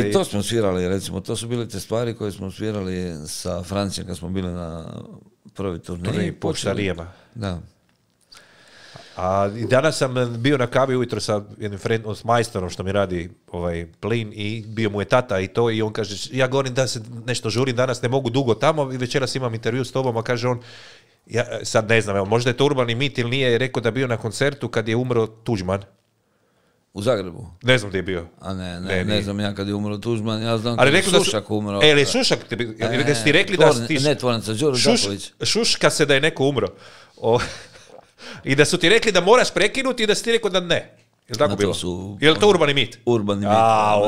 Speaker 3: I to smo svirali, recimo, to su bile te stvari koje smo svirali sa Francijom kad smo bili na prvi turneji.
Speaker 1: Po Štarijama.
Speaker 3: Da.
Speaker 1: A i danas sam bio na kavi ujutro sa jednim s majstorom što mi radi plin i bio mu je tata i to i on kaže, ja govorim da se nešto žurim, danas ne mogu dugo tamo i večeras imam intervju s tobom, a kaže on, ja sad ne znam, možda je to urbani mit ili nije, je rekao da bio na koncertu kad je umro Tuđman.
Speaker 3: U Zagrebu?
Speaker 1: Ne znam gdje je bio.
Speaker 3: A ne znam ja kad je umro Tuđman, ja znam kad je Šušak umro.
Speaker 1: Ali Šušak, da ste ti rekli da si...
Speaker 3: Ne, tvornica, Đuro Đaković.
Speaker 1: Šuška se da je neko umro. I da su ti rekli da moraš prekinuti i da si ti rekao da ne. Je li tako bilo? Je li to urbani mit?
Speaker 3: Urbani mit.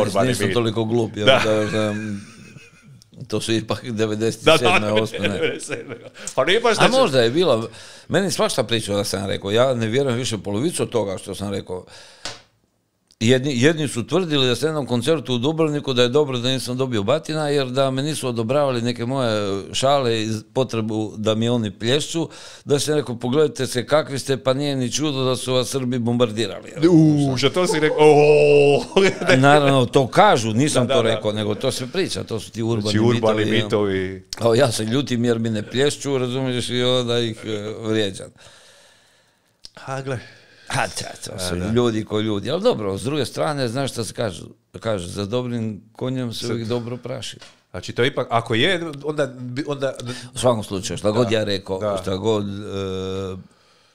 Speaker 1: Urbani mit.
Speaker 3: Nisam toliko glup. To su ipak 97. 8. A možda je bilo. Meni svašta pričao da sam rekao. Ja ne vjerujem više polovicu od toga što sam rekao. Jedni su tvrdili da se jednom koncertu u Dubrovniku da je dobro da nisam dobio batina, jer da me nisu odobravali neke moje šale i potrebu da mi oni plješću, da se rekao, pogledajte se kakvi ste, pa nije ni čudo da su vas Srbi bombardirali.
Speaker 1: Što to si rekao?
Speaker 3: Naravno, to kažu, nisam to rekao, nego to se priča, to su ti urbani mitovi. Ja se ljutim jer mi ne plješću, razumiješ, i onda ih vrijeđam.
Speaker 1: Gle.
Speaker 3: To su ljudi ko ljudi. Ali dobro, s druge strane, znaš šta se kaže, za dobrim konjem se uvijek dobro praši.
Speaker 1: Znači to ipak, ako je, onda...
Speaker 3: U svakom slučaju, šta god ja rekao, šta god...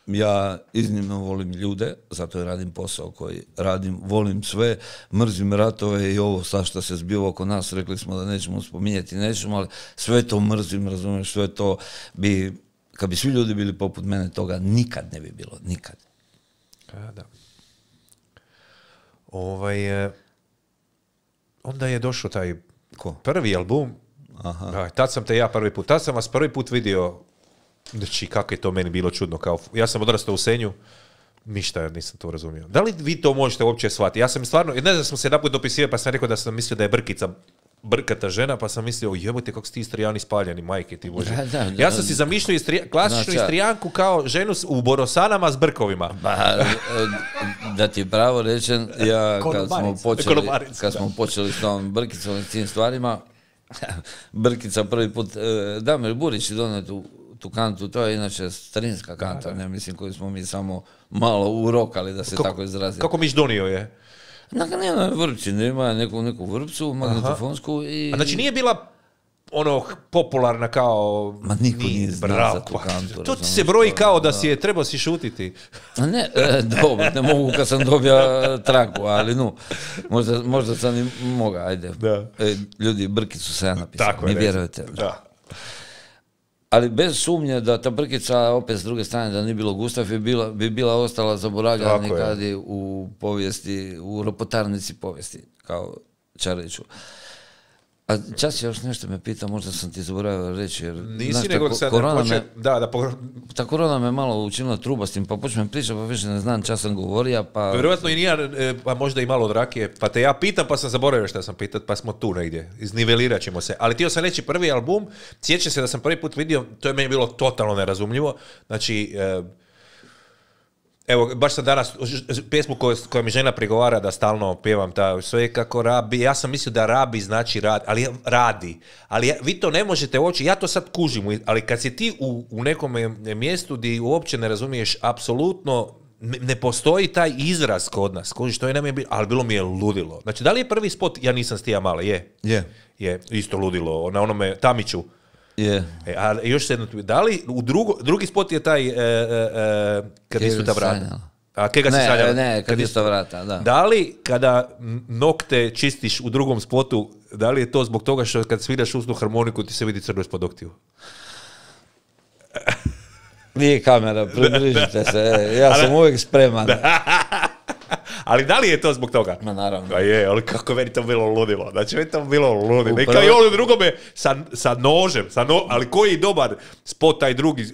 Speaker 3: Ja iznimno volim ljude, zato je radim posao koji radim, volim sve, mrzim ratove i ovo sad što se zbiva oko nas, rekli smo da nećemo spominjati, ali sve to mrzim, razumiješ, sve to bi... Kad bi svi ljudi bili poput mene, toga nikad ne bi bilo, nikad.
Speaker 1: Da. Onda je došao taj prvi album. Tad sam te ja tad sam vas prvi put vidio. Znači, kako je to meni bilo čudno. Ja sam odrastao u Senju, ništa nisam to razumio. Da li vi to možete uopće shvatiti? Ja sam stvarno, ne znam, smo se naput dopisivali, pa sam rekao da sam mislio da je brkata žena, pa sam mislio, jebote kako su ti Istrijani spaljeni, majke ti bože. Ja sam si zamišljao klasičnu Istrijanku kao ženu u borosanama s brkovima.
Speaker 3: Da ti pravo rečem, ja kad smo počeli s tom Brkicom i tim stvarima, Brkica prvi put, Damir Burić je donio tu kantu, to je inače starinska kanta, ne mislim koju smo mi samo malo urokali, da se tako izrazimo.
Speaker 1: Kako miš donio je?
Speaker 3: Nema vrpci, nema neku vrpcu magnetofonsku i...
Speaker 1: A znači nije bila popularna kao...
Speaker 3: Ma niko nije znao za tu kantu.
Speaker 1: To ti se broji kao da si je trebao si šutiti.
Speaker 3: Ne, dobro, ne mogu kad sam dobio traku, ali možda sam i moga, ajde. Ljudi, Brkicu sam ja napisao, mi vjerujete.
Speaker 1: Da.
Speaker 3: Ali bez sumnje da ta Brkica, opet s druge strane, da nije bilo Gustaf, bi bila ostala zaboravljena nekad u povijesti, u ropotarnici povijesti, kao Čariću. A čas još nešto me pita, možda sam ti zaboravio reći, jer
Speaker 1: nisi nego sad hoće,
Speaker 3: ta korona me malo učinila trubastim, pa počnem pričati, pa više ne znam čas sam govorio, pa...
Speaker 1: Vjerojatno i nije, pa možda i malo od rakije, pa te ja pitam, pa sam zaboravio što sam pitat, pa smo tu negdje, iznivelirat ćemo se. Ali htio sam reći prvi album, sjećam se da sam prvi put vidio, to je meni bilo totalno nerazumljivo, znači... Evo, baš sam danas pjesmu koja mi žena prigovara da stalno pjevam ta sve kako rabi, ja sam mislio da rabi znači radi, ali vi to ne možete oći, ja to sad kužim, ali kad si ti u nekom mjestu gdje uopće ne razumiješ apsolutno, ne postoji taj izraz kod nas, što je nam je bilo, ali bilo mi je ludilo. Znači, da li je prvi spot, ja nisam Stija Male, je, isto ludilo, na onome Tamiću.
Speaker 3: Yeah.
Speaker 1: A još se jedno, da li drugi spot je taj kad istu ta vrata? A kega se sanjala?
Speaker 3: Ne, kad istu vrata, da.
Speaker 1: Da li kada nokte čistiš u drugom spotu, da li je to zbog toga što kad sviraš usnu harmoniku ti se vidi crno ispod noktiju?
Speaker 3: Nije kamera, približite se, ja sam uvijek spreman.
Speaker 1: Ali da li je to zbog toga?
Speaker 3: Ma naravno.
Speaker 1: A je, ali kako meni to bilo ludilo. Znači, meni to bilo ludilo. Neka i ono drugome sa nožem, ali koji dobar spot taj drugi,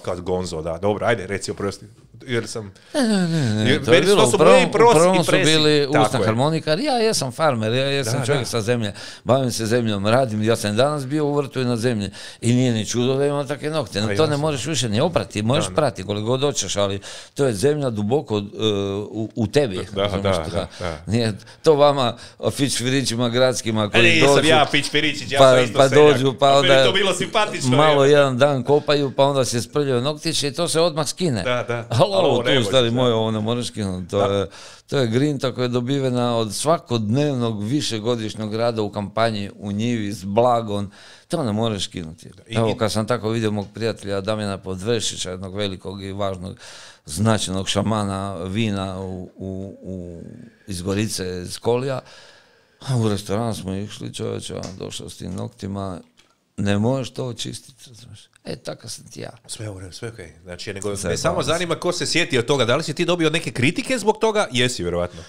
Speaker 1: kad Gonzo, da, dobro, ajde, reci oprosti. Jer sam...
Speaker 3: Ne. To je bilo, upravo su bili usna harmonikar, ja jesam farmer, ja jesam čovjek sa zemlje, bavim se zemljom, radim, ja sam danas bio u vrtu i na zemlji i nije ni čudo da imam takve nokte, no, to ne možeš više ni oprati, možeš prati koliko god hoćeš, ali to je zemlja duboko u tebi. Nije to vama fićfirićima gradskima koji dođu,
Speaker 1: nisam ja fićfirićić, ja sam isto seljak,
Speaker 3: dođu, pa onda
Speaker 1: to bilo simpatično,
Speaker 3: malo jedan dan kopaju, pa onda se sprljaju noktiće i to se odmah skine. Ovo tu, stari moj, ovo ne možeš skinuti. To je grinta koja je dobivena od svakodnevnog višegodišnjeg rada u kampanji u njivi s blagom. To ne možeš skinuti. Evo, kad sam tako vidio mog prijatelja Damjana Podvršića, jednog velikog i važnog značajnog šamana vina iz Gorice, iz Kolija, u restoran smo išli, čovječe, došao s tim noktima, ne možeš to očistiti, znaš. Tako sam ti ja.
Speaker 1: Sve u redu, sve okej. Znači, me samo zanima ko se sjeti od toga. Da li si ti dobio neke kritike zbog toga? Jesi, vjerovatno.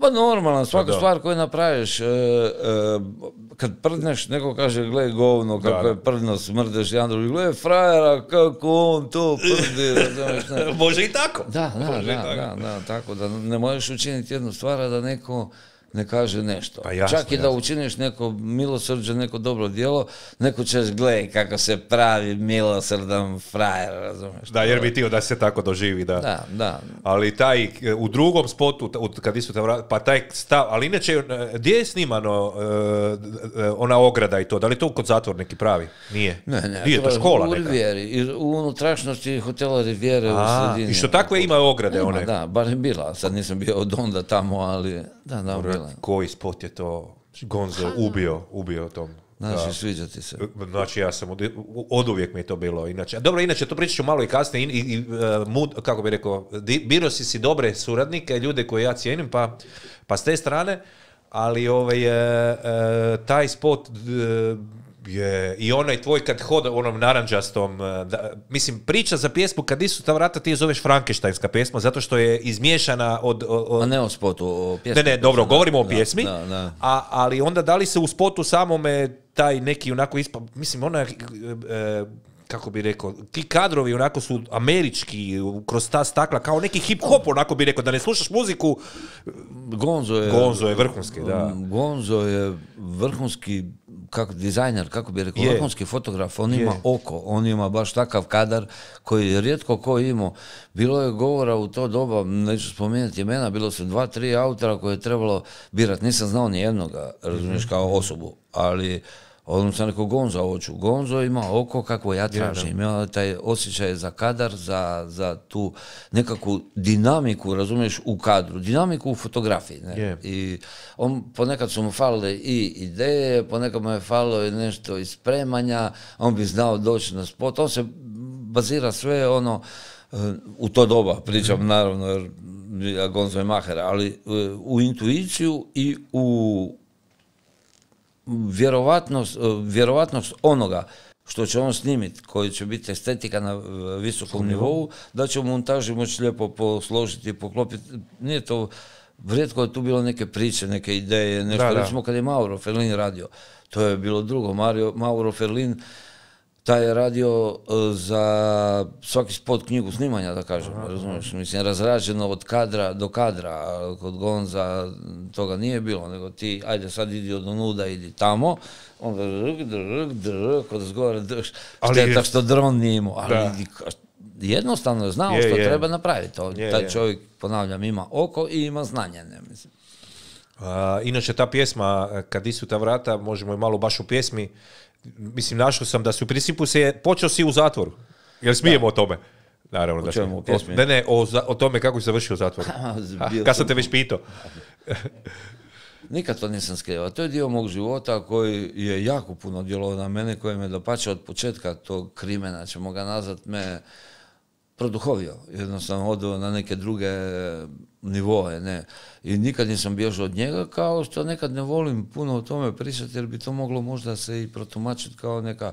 Speaker 3: Pa normalno, svaku stvar koju napraviš, kad prdneš, neko kaže, gle govno, kako je prdno, smrdeš, jedan drugi, gle frajera, kako on to prdi.
Speaker 1: Može i tako.
Speaker 3: Da, tako da ne možeš učiniti jednu stvar, a da neko ne kaže nešto. Pa jasno, čak i da učiniš neko milosrđe, neko dobro djelo, neko ćeš gledaj kako se pravi milosrdan frajer, razumiješ?
Speaker 1: Da, jer bi ti da se tako doživi, da.
Speaker 3: Da.
Speaker 1: Ali taj, u drugom spotu, kad istu pa taj stav, ali inače, gdje je snimano ona ograda i to? Da li to kod zatvor neki pravi? Nije.
Speaker 3: Ne,
Speaker 1: nije to škola neka.
Speaker 3: U Rivijeri, u unutrašnjosti hotela Rivijere u sredini.
Speaker 1: I što takve ima ograde one?
Speaker 3: Da, bar je bila, sad nisam bio od onda tamo, ali da, bila.
Speaker 1: Koji spot je to Gonzo ubio tom?
Speaker 3: Znači, sviđa ti se.
Speaker 1: Znači, ja sam oduvijek mi je to bilo. Inače to pričat ću malo i kasnije. Kako bi rekao, biro si dobre suradnike, ljude koje ja cijenim, pa s te strane, ali taj spot je i onaj tvoj kad hoda onom naranđastom, mislim, priča za pjesmu kad isu ta vrata ti je zoveš Frankensteinska pjesma, zato što je izmiješana od...
Speaker 3: A ne o spotu, o pjesmi.
Speaker 1: Ne, dobro, govorimo o pjesmi, ali onda da li se u spotu samome taj neki onako mislim, ona kako bi rekao, ti kadrovi onako su američki, kroz ta stakla, kao neki hip-hop, onako bi rekao, da ne slušaš muziku. Gonzo je vrhunski, da.
Speaker 3: Gonzo je vrhunski dizajner, kako bi rekao, vrhunski fotograf, on ima oko, on ima baš takav kadar koji je rijetko ko imao. Bilo je govora u to doba, neću spomenuti imena, bilo su 2-3 autora koje je trebalo birati, nisam znao ni jednoga, razumiješ, kao osobu, ali odmah sam rekao Gonzo hoću. Gonzo ima oko kako ja tražim, ima taj osjećaj za kadar, za tu nekakvu dinamiku, razumiješ, u kadru, dinamiku u fotografiji. I ponekad su mu falile i ideje, ponekad mu je falilo i nešto iz spremanja, on bi znao doći na spot, on se bazira sve u to doba, pričam naravno, jer Gonzo je maher, ali u intuiciju i u vjerovatnost onoga što će on snimiti, koji će biti estetika na visokom nivou, da će u montaži moći lijepo posložiti i poklopiti. Nije to rijetko je tu bilo neke priče, neke ideje, nešto. Recimo kad je Mauro Ferlin radio, to je bilo drugo. Mauro Ferlin, taj je radio za svaki spot knjigu snimanja, da kažem, razumiješ, mislim, razrađeno od kadra do kadra, a kod Gonza toga nije bilo, nego ti, ajde sad idi od onuda, idi tamo, onda kod zgore šteta što dron nije imao, ali jednostavno je znao što treba napraviti. Taj čovjek, ponavljam, ima oko i ima znanje, ne mislim.
Speaker 1: Inače, ta pjesma, Kad isu ta vrata, možemo i malo baš u pjesmi, mislim, našao sam da su u principu počeo si u zatvoru. Jel smijemo o tome? Naravno da
Speaker 3: čemu,
Speaker 1: Ne, o tome kako si završio u zatvoru. Kad sam te već pitao.
Speaker 3: Nikad to nisam skrivao. To je dio mog života koji je jako puno djelovao na mene, koji me dapače od početka tog krimena, ćemo ga nazvat, me produhovio. Jednostavno odveo na neke druge nivoe, ne. I nikad nisam bježao od njega, kao što nekad ne volim puno o tome pričati, jer bi to moglo možda se i protumačiti kao neka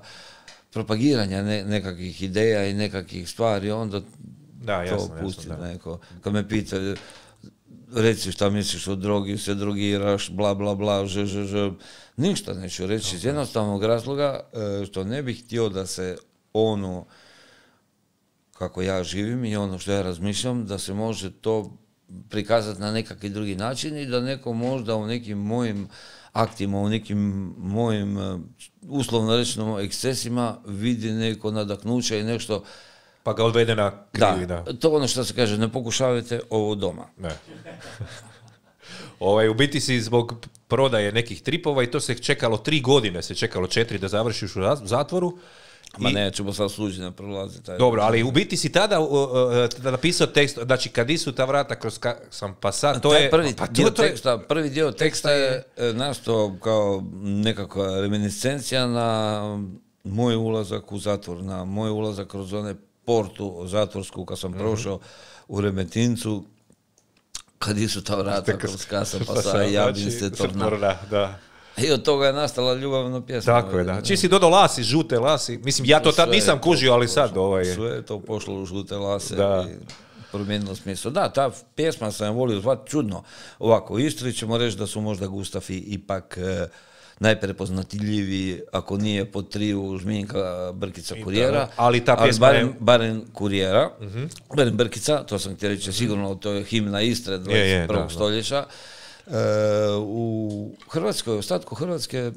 Speaker 3: propagiranja nekakvih ideja i nekakvih stvari, onda to pustiti neko. Kad me pita, reci šta misliš o drogi, se drogiraš, bla bla bla, ništa neću reći iz jednostavnog razloga što ne bih htio da se ono kako ja živim i ono što ja razmišljam, da se može to prikazati na nekakvi drugi način i da neko možda u nekim mojim aktima, u nekim mojim uslovno rečeno ekscesima vidi neko nadahnuće i nešto.
Speaker 1: Pa ga odvede na krivi.
Speaker 3: Da, to ono što se kaže, ne pokušavajte ovo doma.
Speaker 1: Ne. U biti si zbog prodaje nekih tripova i to se čekalo 3 godine, se čekalo 4 da završiš u zatvoru.
Speaker 3: Ma nećemo sad suđenja prolaziti.
Speaker 1: Dobro, ali u biti si tada napisao tekst, znači Kad isu ta vrata kroz sam pasat, to je...
Speaker 3: Prvi dio teksta je nastao kao nekakva reminiscencija na moj ulazak u zatvor, na moj ulazak kroz one portu zatvorsku kad sam prošao u Remetincu, Kad isu ta vrata kroz kasam pasat, javim se torna.
Speaker 1: Da.
Speaker 3: I od toga je nastala ljubavna pjesma.
Speaker 1: Tako je, da. Čiji si dodao lasi, žute lasi. Mislim, ja to tad nisam kužio, ali sad
Speaker 3: Sve je to pošlo u žute lase i promijenilo smisao. Da, ta pjesma sam volio zvati čudno. Ovako, u Istri ćemo reći da su možda Gustafi ipak najprepoznatljiviji, ako nije po triju Žminka, Brkica, Kurijera.
Speaker 1: Ali ta pjesma
Speaker 3: barem Kurijera, barem Brkica, to sam htio reći, sigurno to je himna Istre 21. stoljeća. U Hrvatskoj, ostatku Hrvatske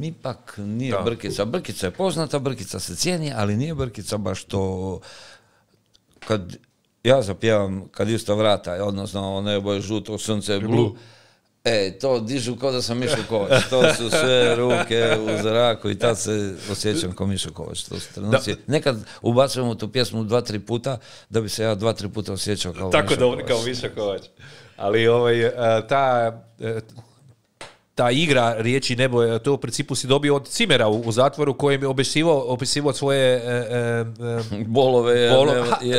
Speaker 3: ipak nije Brkica. Brkica je poznata, Brkica se cijeni, ali nije Brkica baš to. Kad ja zapjevam Kad isu ta vrata, odnosno nebo je žuto, sunce je blu, to dižu kao da sam Mišo Kovač. To su sve ruke u zraku i tad se osjećam kao Mišo Kovač. To su trenuci. Nekad ubacujemo tu pjesmu 2-3 puta, da bi se ja 2-3 puta osjećao kao Mišo Kovač.
Speaker 1: Tako dobro kao Mišo Kovač. Ali ta igra riječi nebo, to u principu si dobio od Cimera u zatvoru, kojem je opisivao svoje
Speaker 3: bolove,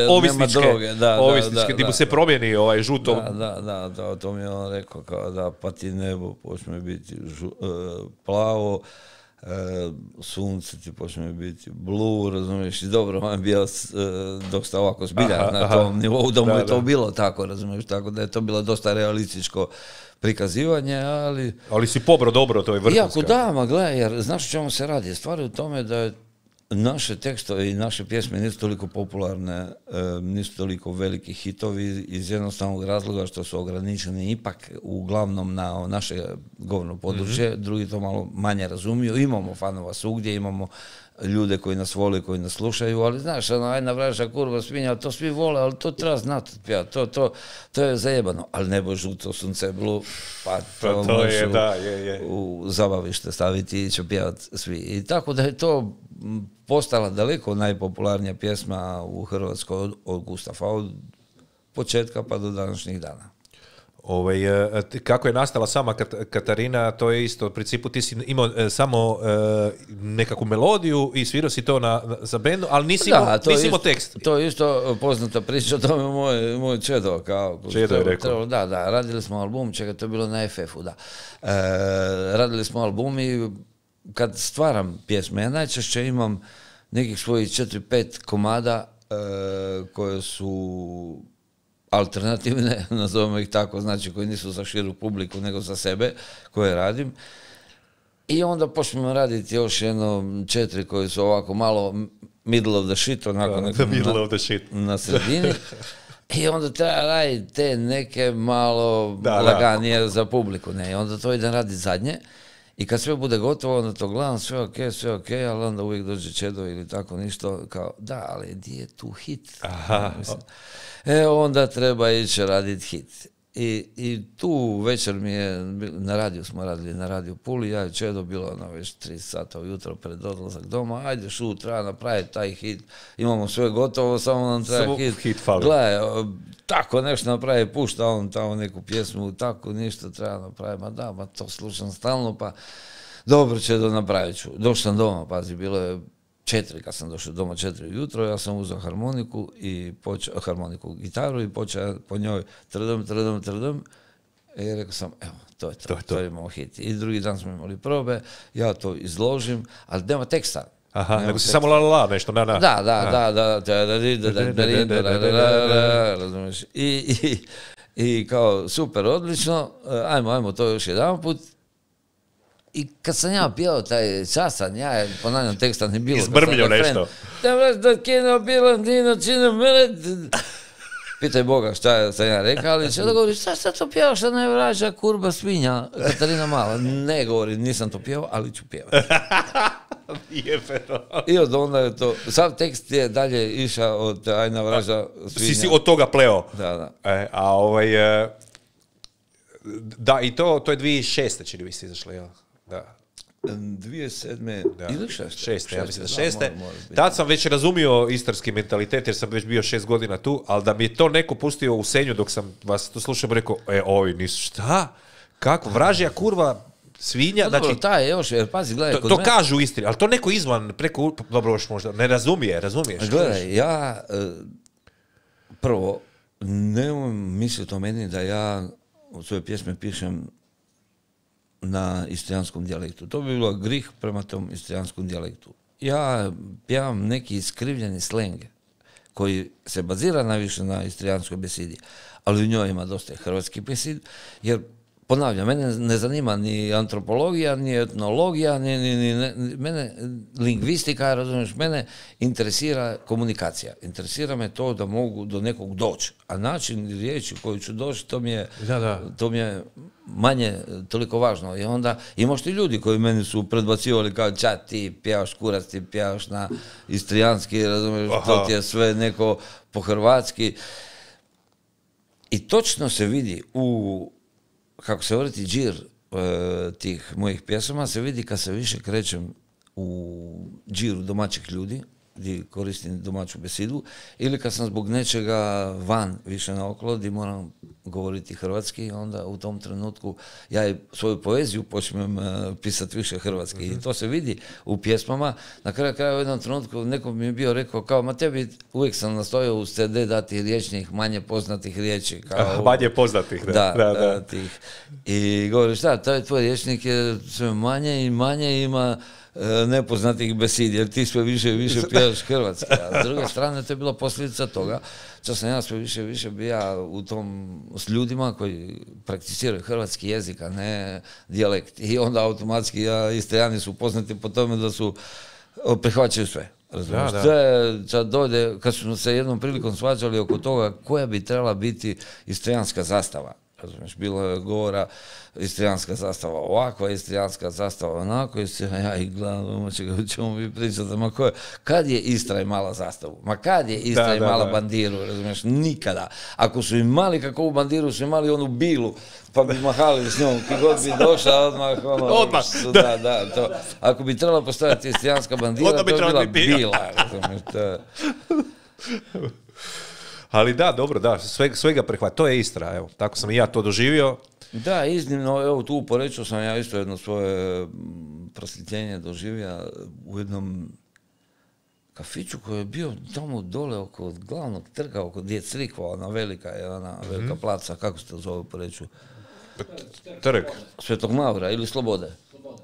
Speaker 1: ovisničke,
Speaker 3: nema droge,
Speaker 1: gdje mu se promijeni žuto.
Speaker 3: Da, to mi je on rekao, kao da pa ti nebo počne biti plavo, sunce ti počne biti blue, razumiješ, i dobro, on je bio dok sta ovako zbilja na tom nivou, da mu je to bilo tako, razumiješ, tako da je to bilo dosta realističko prikazivanje, ali...
Speaker 1: Ali si pobro dobro, to je vrhunska.
Speaker 3: Iako da, ma gledaj, jer znaš o čemu se radi? Stvar je u tome da naše tekstove i naše pjesme nisu toliko popularne, nisu toliko veliki hitovi iz jednostavnog razloga što su ograničeni ipak uglavnom na naše govorno područje, drugi to malo manje razumiju. Imamo fanova svugdje, imamo ljude koji nas vole, koji nas slušaju, ali znaš, ajna vraža kurva svinja, to svi vole, ali to treba znati, to je zajebano, ali nebo žuto, sunce blu, pa to
Speaker 1: je,
Speaker 3: u zabavište staviti i će pjevati svi. I tako da je to postala daleko najpopularnija pjesma u Hrvatskoj od Gustafa, od početka pa do današnjih dana.
Speaker 1: Kako je nastala sama Katarina, to je isto, u principu ti si imao samo nekakvu melodiju i svirao si to za bendu, ali nisi imao tekst.
Speaker 3: To je isto poznata priča, to je moj Čedo.
Speaker 1: Čedo je rekao.
Speaker 3: Da, radili smo album, čega to je bilo na FF-u, da. Radili smo album i kad stvaram pjesme, ja najčešće imam nekih svojih 4-5 komada koje su alternativne, nazovemo ih tako, znači koji nisu za širu publiku, nego za sebe, koje radim. I onda počnemo raditi još 4 koji su ovako malo middle of the shit, onako na sredini. I onda treba raditi te neke malo laganije za publiku. Ne? I onda to idem raditi zadnje. I kad sve bude gotovo, onda to gledam, sve ok, ali onda uvijek dođe Čedo ili tako ništa, kao, da, ali gdje je tu hit? Onda treba ići raditi hit. I tu večer mi je, na radiju smo radili, na radiju Puli, ja i Čedo, bilo već 3 sata ujutro pred odlazak doma, ajde treba napraviti taj hit, imamo sve gotovo, samo nam treba hit. Gledaj, tako nešto napravi, pušta on tamo neku pjesmu, tako ništa treba napraviti, ma to slušam stalno, pa dobro Čedo, napravit ću. Došao sam doma, pazi, bilo je 4, kad sam došao doma 4 ujutro, ja sam uzeo harmoniku, gitaru i počeo po njoj trdom, i rekao sam, evo, to je imao hit. I drugi dan smo imali probe, ja to izložim, ali nema teksta.
Speaker 1: Nego si samo la, nešto, na.
Speaker 3: Da, razumiješ. I kao, super, odlično, ajmo to još jedan put. I kad sam ja pjevao taj časan, ja ponavljam teksta ne bilo.
Speaker 1: Izbrmljo nešto.
Speaker 3: Pitaj Boga šta sam ja rekao, ali će da govori, šta to pjevao, šta ne vraća kurba svinja, Katarina Mala. Ne govori, nisam to pjevao, ali ću pjevati. I od onda je to, sav tekst je dalje išao od ajna vraža svinja.
Speaker 1: Si od toga pleo.
Speaker 3: Da.
Speaker 1: Da, i to je 2006. čini mi se izašlo, jel? Da.
Speaker 3: 2007. ili
Speaker 1: 6. Ja mislim da 6. Tad sam već razumio istarski mentalitet jer sam već bio 6 godina tu, ali da mi je to neko pustio u Senju dok sam vas to slušao, rekao, ovi nisu, šta? Kako? Vražija kurva svinja?
Speaker 3: Dobro, znači, taj još, pazi, gledaj,
Speaker 1: to kažu u Istri, ali to neko izvan, preko, dobro, još možda, ne razumiješ.
Speaker 3: Gledaj, ja prvo, nemoj misliti o meni da ja u svoje pjesme pišem na istrijanskom dijalektu. To bi bilo grih prema tom istrijanskom dijalektu. Ja pjevam neki iskrivljeni sleng koji se bazira najviše na istrijanskoj besidi, ali u njoj ima dosta hrvatskih besid, jer ponavljam, mene ne zanima ni antropologija, ni etnologija, ni mene lingvistika, razumiješ, mene interesira komunikacija. Interesira me to da mogu do nekog doći. A način riječi koju ću doći, to mi je manje toliko važno. I onda imaš ti ljudi koji meni su predbacivali kao čat, ti pjevaš kurac, ti pjevaš na istrijanski, razumiješ, to ti je sve neko po hrvatski. I točno se vidi kako se vrti džir tih mojih pjesama, se vidi kad se više krećem u džiru domaćih ljudi, gdje koristim domaću besidu, ili kad sam zbog nečega van više naokolo, gdje moram govoriti hrvatski, onda u tom trenutku ja i svoju poeziju počnem pisati više hrvatski. I to se vidi u pjesmama. Na kraju u jednom trenutku neko mi je bio rekao kao, ma tebi uvijek sam nastojao uz CD dati riječnih, manje poznatih riječi.
Speaker 1: Manje poznatih, da.
Speaker 3: Tih. I govori, šta, tvoj riječnik je sve manje i manje ima nepoznatih besidi, jer ti sve više i više pjevaš hrvatski. A s druge strane, to je bila posljedica toga što sam ja sve više i više bija u tom s ljudima koji prakticiraju hrvatski jezik, a ne dijalekt. I onda automatski Istrijani su poznati po tome da su prihvaćaju sve. Sad dojde, kad smo se jednom prilikom svađali oko toga koja bi trebala biti istrijanska zastava. Razumiješ, bilo je govora istrijanska zastava ovakva, istrijanska zastava onako, i ja ih gledam, ćemo mi pričati, kad je Istra imala zastavu? Ma kad je Istra imala bandiru, razumiješ, nikada. Ako su imali kakvu bandiru, su imali onu bilu, pa bi mahali s njom, ki god bi došla, odmah. To. Ako bi trebala postaviti istrijanska bandira, to bi bila bila, razumiješ,
Speaker 1: Ali da, dobro, da, svega prihvat. To je Istra, evo, tako sam i ja to doživio.
Speaker 3: Da, iznimno, evo tu u Poreču sam ja isto jedno svoje prosvjetljenje doživio u jednom kafiću koji je bio tamo dole oko glavnog trga, oko gdje je crikva, ona velika placa, kako se to zove u Poreču?
Speaker 1: Trg.
Speaker 3: Svetog Mavra ili Slobode?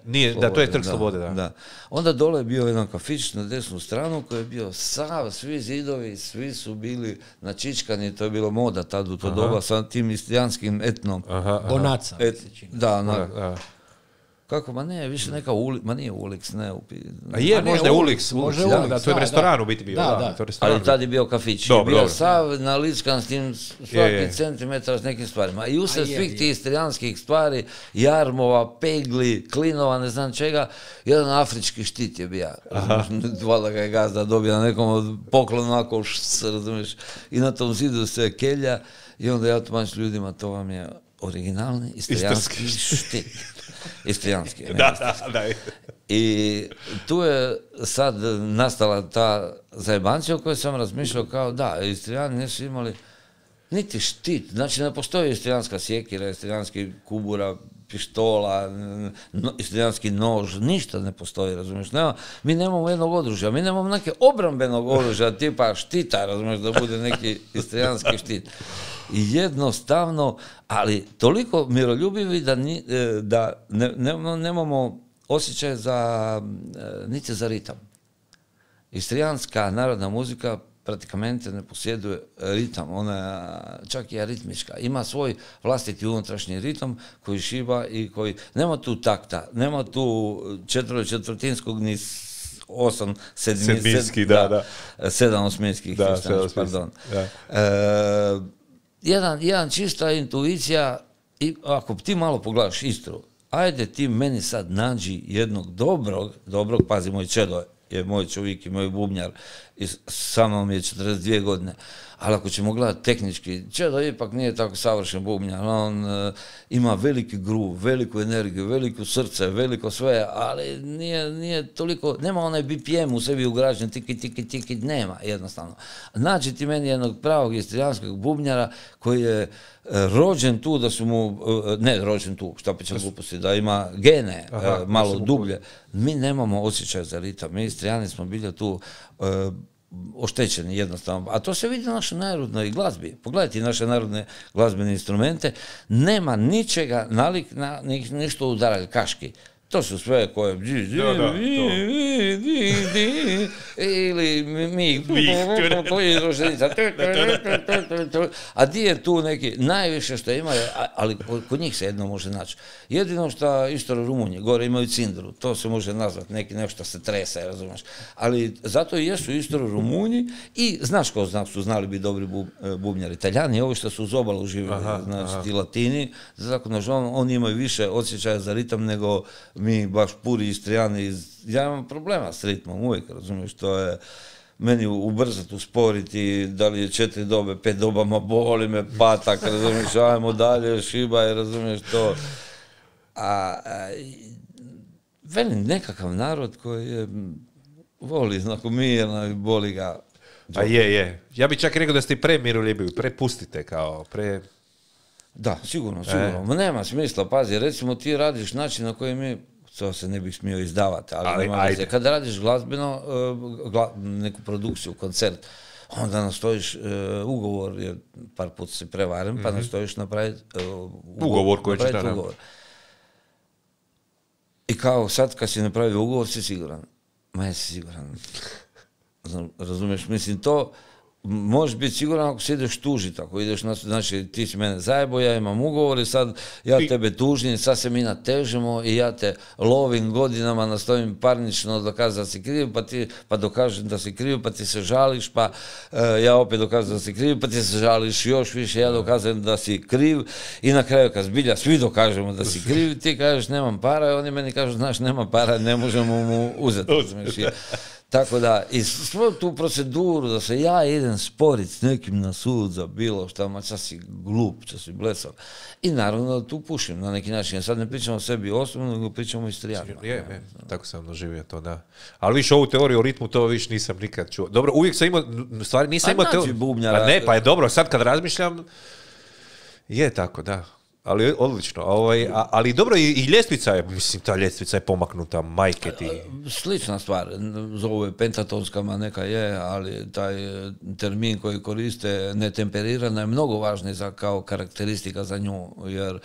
Speaker 1: Nije, da, to je Trg Slobode, da.
Speaker 3: Onda dole je bio jedan kafić na desnu stranu koji je bio svi zidovi, svi su bili načičkani, to je bilo moda tad u to doba sa tim istrijanskim etnom.
Speaker 2: Bonaca.
Speaker 3: Da. Kako, ma ne, više neka ma nije Ulix, ne.
Speaker 1: A je, možda je Ulix, da, to je restoran u biti bio.
Speaker 3: Ali tad je bio kafić, je bio sav nalickan s tim svaki centimetar s nekim stvarima. I usred svih tih istrijanskih stvari, jarmova, pegli, klinova, ne znam čega, jedan afrički štit je bio. Valjda ga je gazda dobio na nekom od poklonu, onako, razumiješ, i na tom zidu se kelja, i onda ja tumačim ljudima, to vam je originalni istrijanski štit. Istrijanski.
Speaker 1: Da.
Speaker 3: I tu je sad nastala ta zajebancija o kojoj sam razmišljao kao da, Istrijani nisu imali niti štit, znači ne postoji istrijanska sjekira, istrijanski kubura, pištola, istrijanski nož, ništa ne postoji, razumiješ, mi nemamo jednog oružja, mi nemamo neke obrambenog oružja tipa štita, razumiješ, da bude neki istrijanski štit. I jednostavno, ali toliko miroljubivi da nemamo osjećaj niti za ritam. Istrijanska narodna muzika pratikamente ne posjeduje ritam, ona čak i aritmička. Ima svoj vlastiti unutrašnji ritam koji šiba i koji... Nema tu takta, nema tu četvrtinskog ni 7 osminskih, pardon. Jedan čista intuicija, i ako ti malo pogledaš Istru, ajde ti meni sad nađi jednog dobrog, pazi, moj čedo je moj čovjek i moj bubnjar i sa mnom je 42 godine, ali ako ćemo gledati tehnički, čedo ipak nije tako savršen bubnjar, on ima veliki groove, veliku energiju, veliko srce, veliko sve, ali nije toliko, nema onaj BPM u sebi ugrađen, tiki, nema jednostavno. Nađi ti meni jednog pravog istrijanskog bubnjara koji je rođen tu, da su mu, ne rođen tu, šta pa ćemo gluposti, da ima gene malo dublje. Mi nemamo osjećaj za ritam, mi Istrijani smo bili tu oštećeni jednostavno, a to se vidi na našoj narodnoj glazbi. Pogledajte naše narodne glazbene instrumente, nema ničega nalik na ništo udarali kaški. To su sve koje... Ili mi... A di je tu neki... Najviše što ima, ali kod njih se jedno može naći. Jedino što Istro Rumunji, gore imaju cindru, to se može nazvati, nešto se trese, razumiješ. Ali zato i jesu Istro Rumunji i znaš ko su znali biti dobri bubnjari. Italijani, ovi što su uz obalu živjeli, znači ti Latini, oni imaju više osjećaja za ritam nego mi baš puri Istrijani. Ja imam problema s ritmom uvijek, razumiješ, to je meni ubrzati, usporiti, da li je 4 dobe, 5 dobama, boli me patak, razumiješ, ajmo dalje, šibaj, razumiješ to. Velim, nekakav narod koji voli, znako mirno i boli ga.
Speaker 1: A je. Ja bih čak rekao da ste premiroljubivi, prepustite kao,
Speaker 3: Da, sigurno. Nema smisla, pazi, recimo ti radiš način na koji mi, to se ne bih smio izdavati, ali kada radiš glazbeno, neku produkciju, koncert, onda nastojiš ugovor, jer par put si prevaren, pa nastojiš napraviti
Speaker 1: ugovor koji ćeš naraviti.
Speaker 3: I kao sad kad si napravio ugovor, si siguran. Ma jesi siguran. Razumiješ, mislim to... Možeš biti siguran ako se ideš tužiti, ako ideš, znači ti si mene zajebo, ja imam ugovor i sad ja tebe tužim, sad se mi natežemo i ja te lovim godinama, nastojim parnično dokazati da si kriv, pa dokažem da si kriv, pa ti se žališ, pa ja opet dokažem da si kriv, pa ti se žališ još više, ja dokazujem da si kriv i na kraju kad zbilja svi dokažemo da si kriv, ti kažeš nemam para i oni meni kažu znaš nema para, ne možemo mu uzeti. Tako da, i svoju tu proceduru da se ja idem sporiti s nekim na sud za bilo šta, ma čas si glup, čas si blesav. I naravno da tu pušim na neki način. Sad ne pričamo o sebi osobno, nego pričamo o Istrijanima.
Speaker 1: Tako sam doživio to, da. Ali više ovu teoriju o ritmu, to više nisam nikad čuo. Dobro, uvijek sam imao, stvari nisam imao teoriju.
Speaker 3: Bubnjara.
Speaker 1: Pa ne, pa je dobro, sad kad razmišljam, je tako, da. Ali odlično. Ali dobro, i ljestvica je, mislim, ta ljestvica je pomaknuta, majke ti.
Speaker 3: Slična stvar, zovu je pentatonskama, neka je, ali taj termin koji koriste netemperirana je mnogo važniji kao karakteristika za nju, jer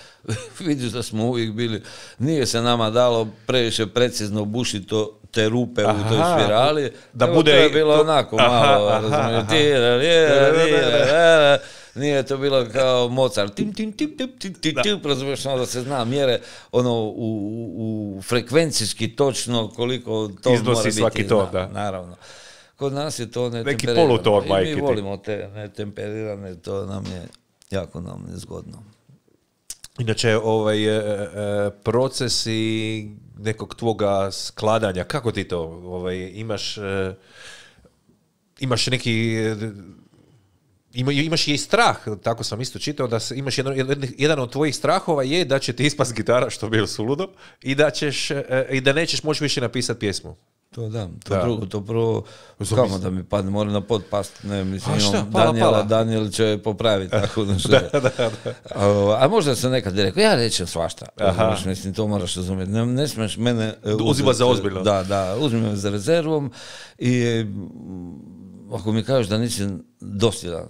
Speaker 3: vidiš da smo uvijek bili, nije se nama dalo previše precizno bušiti te rupe u toj spirali,
Speaker 1: da bude
Speaker 3: to je bilo onako malo, razumiješ, nije to bilo kao Mozart, razumiješ, da se zna mjere u frekvencijski točno koliko to
Speaker 1: iznosi
Speaker 3: mora biti.
Speaker 1: Svaki ton, da.
Speaker 3: Naravno. Kod nas je to netemperirano.
Speaker 1: Neki poluton, majke.
Speaker 3: I mi volimo te netemperirane, to nam je jako nezgodno.
Speaker 1: Inače, procesi nekog tvoga skladanja, kako ti to? Imaš neki... Imaš i strah, tako sam isto čitao, da imaš jedan od tvojih strahova je da će ti ispast gitara, što bi bilo suludo, i da nećeš moći više napisati pjesmu.
Speaker 3: To da, to prvo, kamo da mi padne, mora na pod past, ne, mislim, Daniel će popraviti tako nešto. A možda sam nekad rekao, ja rečem svašta, mislim, to moraš razumjeti, ne smiješ mene
Speaker 1: uzima za ozbiljno.
Speaker 3: Da, uzmi me za rezervom i ako mi kažeš da nisi dosljedan,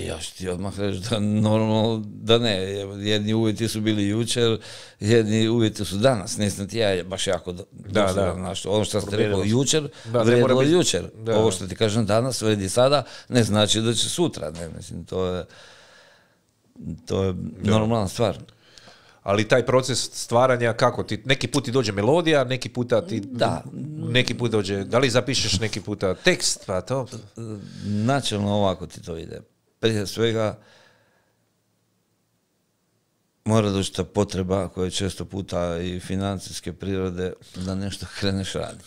Speaker 3: ja ću ti odmah reći da normalno da ne, jedni uvjeti su bili jučer, jedni uvjeti su danas, nisam ti ja baš jako dosljedan. Ono što ste rekao jučer, vrijedilo jučer, ovo što ti kažem danas, vredi sada, ne znači da će sutra, ne, mislim, to je normalna stvar.
Speaker 1: Ali taj proces stvaranja, kako ti, neki put ti dođe melodija, neki puta ti, neki put dođe, da li zapišeš neki puta tekst, pa to?
Speaker 3: Načelno ovako ti to ide. Prije svega mora doći ta potreba koja je često puta i financijske prirode da nešto kreneš raditi.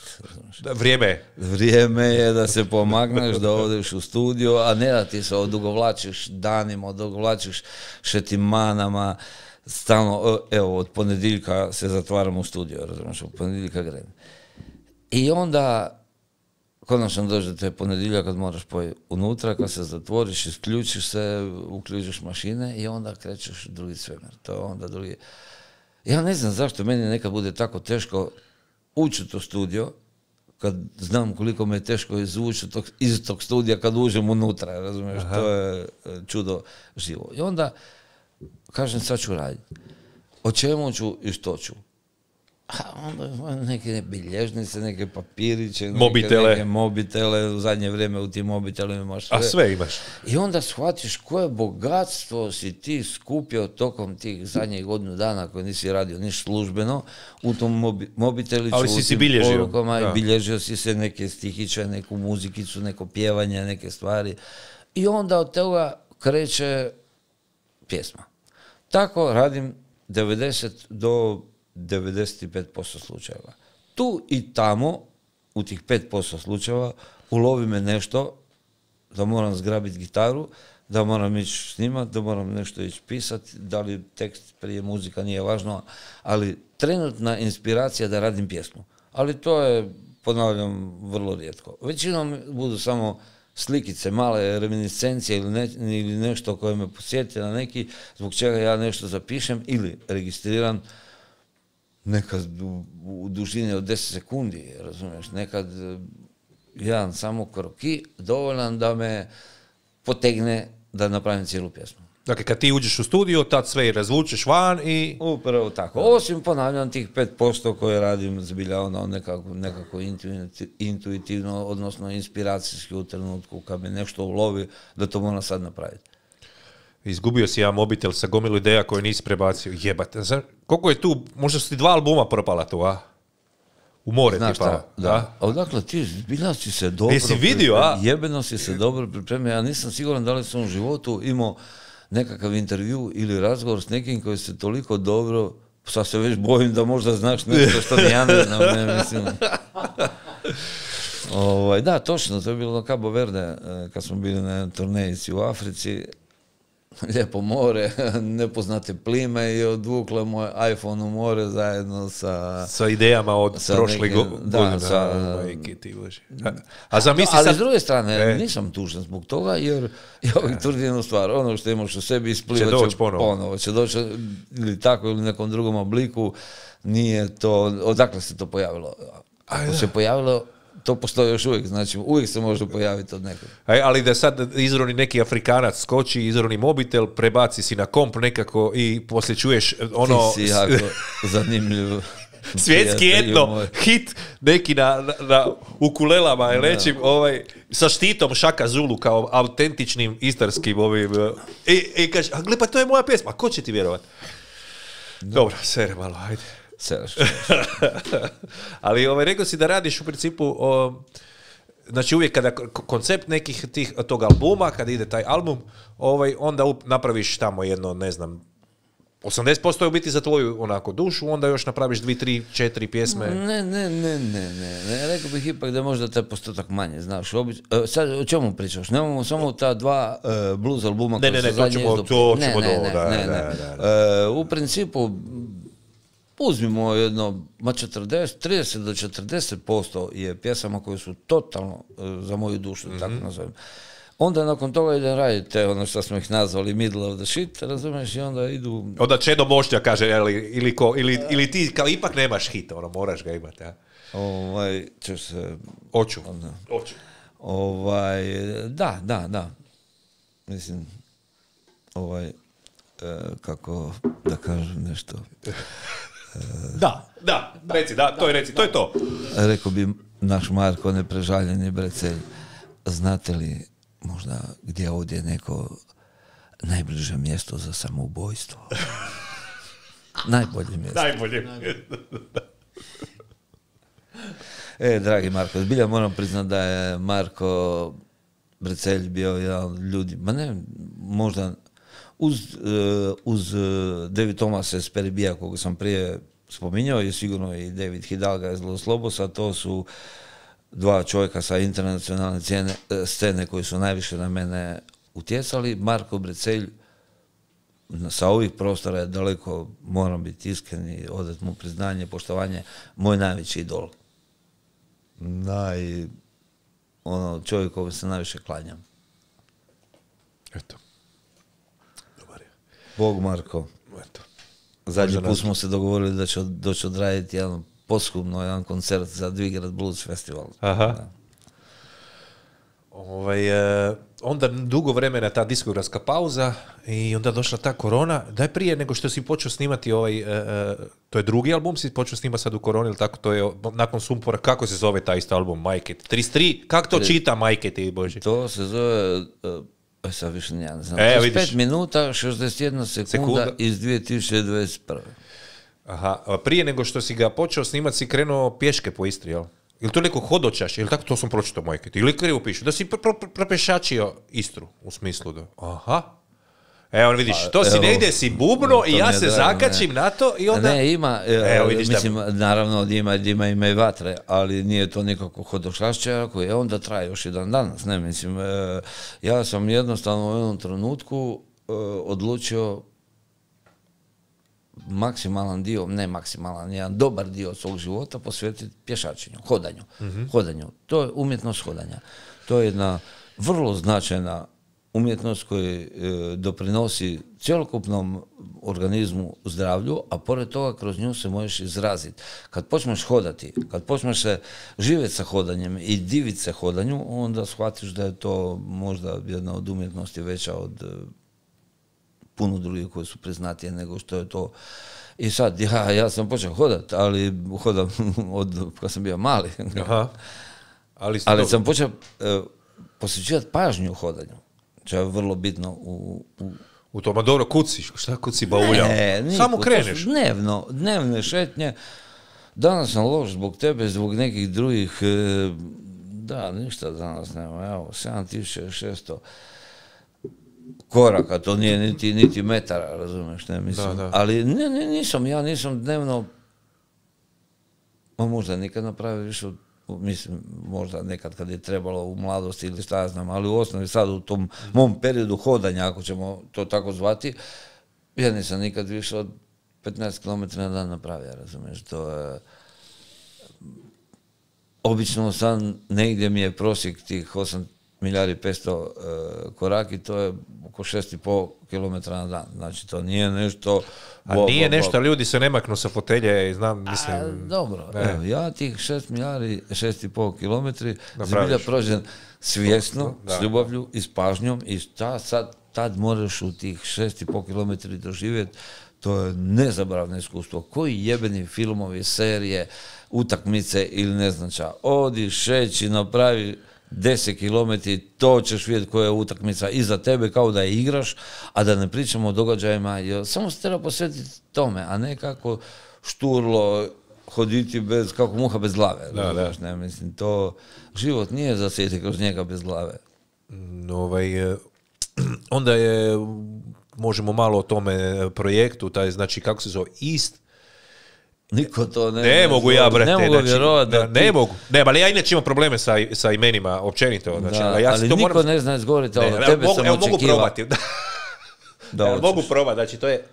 Speaker 3: Vrijeme je da se pomakneš, da odeš u studio, a ne da ti se odugovlačiš danima, odugovlačiš šetimanama, stalno, evo, od ponedjeljka se zatvaramo u studio, razumiješ, od ponedjeljka grem. I onda konačno dođe te ponedjeljak kad moraš unutra, kad se zatvoriš, isključiš se, uključiš mašine i onda krećeš drugi svemir. To je onda drugi... Ja ne znam zašto meni nekad bude tako teško ući u to studio, kad znam koliko me je teško izvući iz tog studija kad uđem unutra, razumiješ, to je čudo živo. I onda kažem, sad ću raditi. O čemu ću i što ću? Onda neke bilježnice, neke papiriće, neke mobitele, u zadnje vrijeme u tim mobitelima imaš sve.
Speaker 1: A sve imaš.
Speaker 3: I onda shvatiš koje bogatstvo si ti skupio tokom tih zadnjih godinu dana koje nisi radio niš službeno u tom mobiteliću.
Speaker 1: Ali si bilježio.
Speaker 3: Porukama, i bilježio si se neke stihiće, neku muzikicu, neko pjevanje, neke stvari. I onda od toga kreće pjesma. Tako radim 90 do 95% slučajeva. Tu i tamo, u tih 5% slučajeva, ulovi me nešto, da moram zgrabiti gitaru, da moram ići snimati, da moram nešto ići pisati, da li tekst prije muzika nije važno, ali trenutna inspiracija da radim pjesmu. Ali to je, ponavljam, vrlo rijetko. Većinom budu samo slikice, male reminiscencije ili nešto koje me posjeti na neki, zbog čega ja nešto zapišem ili registriram, nekad u dužini od 10 sekundi, razumiješ, nekad jedan samo kroki dovoljan da me potegne da napravim cijelu pjesmu.
Speaker 1: Dakle, kad ti uđeš u studio, tad sve i razvučeš van i...
Speaker 3: Upravo tako. Osim, ponavljam, tih 5% koje radim zbilja nekako intuitivno, odnosno inspiracijski u trenutku kad me nešto ulovi, da to moram sad napraviti.
Speaker 1: Izgubio si ja mobitel sa gomilu ideja koje nisi prebacio. Jebate, znaš, koliko je tu, možda su ti 2 albuma propala tu, a? U more ti pala.
Speaker 3: Da. Odakle ti, zbilja si se dobro...
Speaker 1: Jesi vidio, a?
Speaker 3: Jebeno si se dobro pripremio. Ja nisam siguran da li sam u životu imao nekakav intervju ili razgovor s nekim koji se toliko dobro... Sad se već bojim da možda znaš nešto što ni ja ne znam, ne mislim... Da, točno, to je bilo na Cabo Verde, kad smo bili na turnejici u Africi. lijepo more, nepoznate plime i odvukle moj iPhone u more zajedno sa
Speaker 1: idejama od prošle godine.
Speaker 3: Ali s druge strane, nisam tužan zbog toga, jer ja uvijek tvrdim jednu stvar, ono što imaš u sebi isplivat će ponovo. Će doći ili tako ili nekom drugom obliku, nije to, odakle se to pojavilo? Ako se pojavilo, to postoji još uvijek, znači uvijek se može pojaviti od nekog.
Speaker 1: Ali da sad izroni neki Afrikanac skoči, izroni mobitel, prebaci si na komp nekako i poslije čuješ ono...
Speaker 3: Ti si jako zanimljiv.
Speaker 1: Svjetski etno, hit neki na ukulelama i nečim, sa štitom Šaka Zulu kao autentičnim istarskim ovim... I kaže, gle pa to je moja pjesma, ko će ti vjerovati? Dobro, sere malo, ajde. Ali rekao si da radiš u principu znači uvijek kada koncept nekih tog albuma, kada ide taj album, onda napraviš tamo jedno, ne znam, 80% je u biti za tvoju onako dušu, onda još napraviš 2, 3, 4 pjesme.
Speaker 3: Ne, rekao bih ipak da je možda taj postotak manje, znaš. Sad o čemu pričaš? Nemamo samo ta dva blues albuma koji su zadnje izdopili. U principu uzmimo jedno, 30 do 40% je pjesama koje su totalno za moju dušu, tako nazovem. Onda nakon toga idem raditi ono što smo ih nazvali middle of the shit, razumiješ, i onda idu...
Speaker 1: Onda Čedo Mošnja kaže, ili ti kao ipak nemaš hit, moraš ga imati, ja?
Speaker 3: Ćeš se...
Speaker 1: Oću.
Speaker 3: Da. Mislim, kako da kažem nešto...
Speaker 1: Da, reci, to je to.
Speaker 3: Rekao bi naš Marko neprežaljeni Brecelj, znate li možda gdje je ovdje neko najbliže mjesto za samoubojstvo? Najbolje mjesto. Dragi Marko, zbilja moram priznati da je Marko Brecelj bio jedan od ljudi, možda uz David Thomas Esperibija, koga sam prije spominjao, je sigurno i David Hidalga iz Los Lobosa, to su dva čovjeka sa internacionalne scene koji su najviše na mene utjecali. Marko Brecelj sa ovih prostora je daleko, moram biti iskren i odati mu priznanje, poštovanje, moj najveći idol. Čovjek kojem se najviše klanjam.
Speaker 1: Eto.
Speaker 3: Bog Marko. Zadnji put smo se dogovorili da će doći odraditi jedan koncert za Dvigrad Blues Festival.
Speaker 1: Aha. Onda dugo vremena ta diskografska pauza i onda došla ta korona. Daj prije nego što si počeo snimati to je drugi album, si počeo snimati sad u koroni, ili tako, to je nakon Sumpora, kako se zove taj isto album, Majke? 33, kako to čita Majke ti, Bože?
Speaker 3: To se zove... Sad više ne znam. 35 minuta, 61 sekunda iz 2021.
Speaker 1: Aha, prije nego što si ga počeo snimati si krenuo pješke po Istri, jel? Ili to neko hodočaš, ili tako to sam pročitao Majke? Ili krivo pišu, da si propešačio Istru, u smislu da... Aha. Evo vidiš, to si negdje si bubno i ja se zakačim na to i onda...
Speaker 3: Ne, ima, mislim, naravno ima i vatre, ali nije to nikako hodočašće, koje onda traje još i dan danas, ne, mislim, ja sam jednostavno u jednom trenutku odlučio maksimalan dio, ne maksimalan, jedan dobar dio svog života posvetiti pješačenju, hodanju. To je umjetnost hodanja. To je jedna vrlo značajna umjetnost koja doprinosi cjelokupnom organizmu zdravlju, a pored toga kroz nju se možeš izraziti. Kad počneš hodati, kad počneš se živjeti sa hodanjem i diviti se hodanju, onda shvatiš da je to možda jedna od umjetnosti veća od puno drugih koji su priznatije nego što je to. I sad, ja sam počeo hodati, ali hodam od kad sam bio mali.
Speaker 1: Aha.
Speaker 3: Ali sam počeo posvećivati pažnju u hodanju. To je vrlo bitno
Speaker 1: u tome. Dobro, kuciš, šta kuci bauljao? Samo kreneš.
Speaker 3: Dnevne šetnje. Danas sam loš zbog tebe, zbog nekih drugih, ništa danas nema, evo, 7600 koraka, to nije niti metara, razumiješ, ne mislim. Da. Ali nisam dnevno, možda nikad napravio više od mislim, možda nekad kad je trebalo u mladosti ili šta ja znam, ali u osnovi sad u tom mom periodu hodanja, ako ćemo to tako zvati, ja nisam nikad više od 15 km na dan napravio, razumiješ, to je... Obično sam, negdje mi je prosjek tih 8.500.000 koraki, to je oko 6,5 km na dan. Znači, to nije nešto...
Speaker 1: nije nešto, ljudi se ne maknu sa fotelje, znam, mislim...
Speaker 3: Dobro, evo, ja tih 6,5 km zbilja prođem svjesno, s ljubavlju i s pažnjom i šta sad tad moraš u tih 6,5 km doživjeti, to je nezabravno iskustvo. Koji jebeni filmovi, serije, utakmice ili ne znam ča. Odi, šeći, napravi 10 km, to ćeš vidjeti koja je utakmica iza tebe kao da je igraš, a da ne pričamo o događajima. Samo se treba posvetiti tome, a ne kako šturlo hoditi bez, kako muha bez glave. Ne, mislim, to život nije za sjeti kroz njega bez glave.
Speaker 1: Onda je, možemo malo o tome projektu, taj, znači, kako se zove, East.
Speaker 3: Niko to
Speaker 1: ne mogu ja, brate.
Speaker 3: Ne mogu vjerovati da
Speaker 1: ne mogu. Ne, ali ja inače imam probleme sa imenima, općenito. Znači, ja
Speaker 3: ali to niko moram... ne zna izgovoriti, ali tebe sam očekivao.
Speaker 1: Mogu probati. Mogu probati, znači to je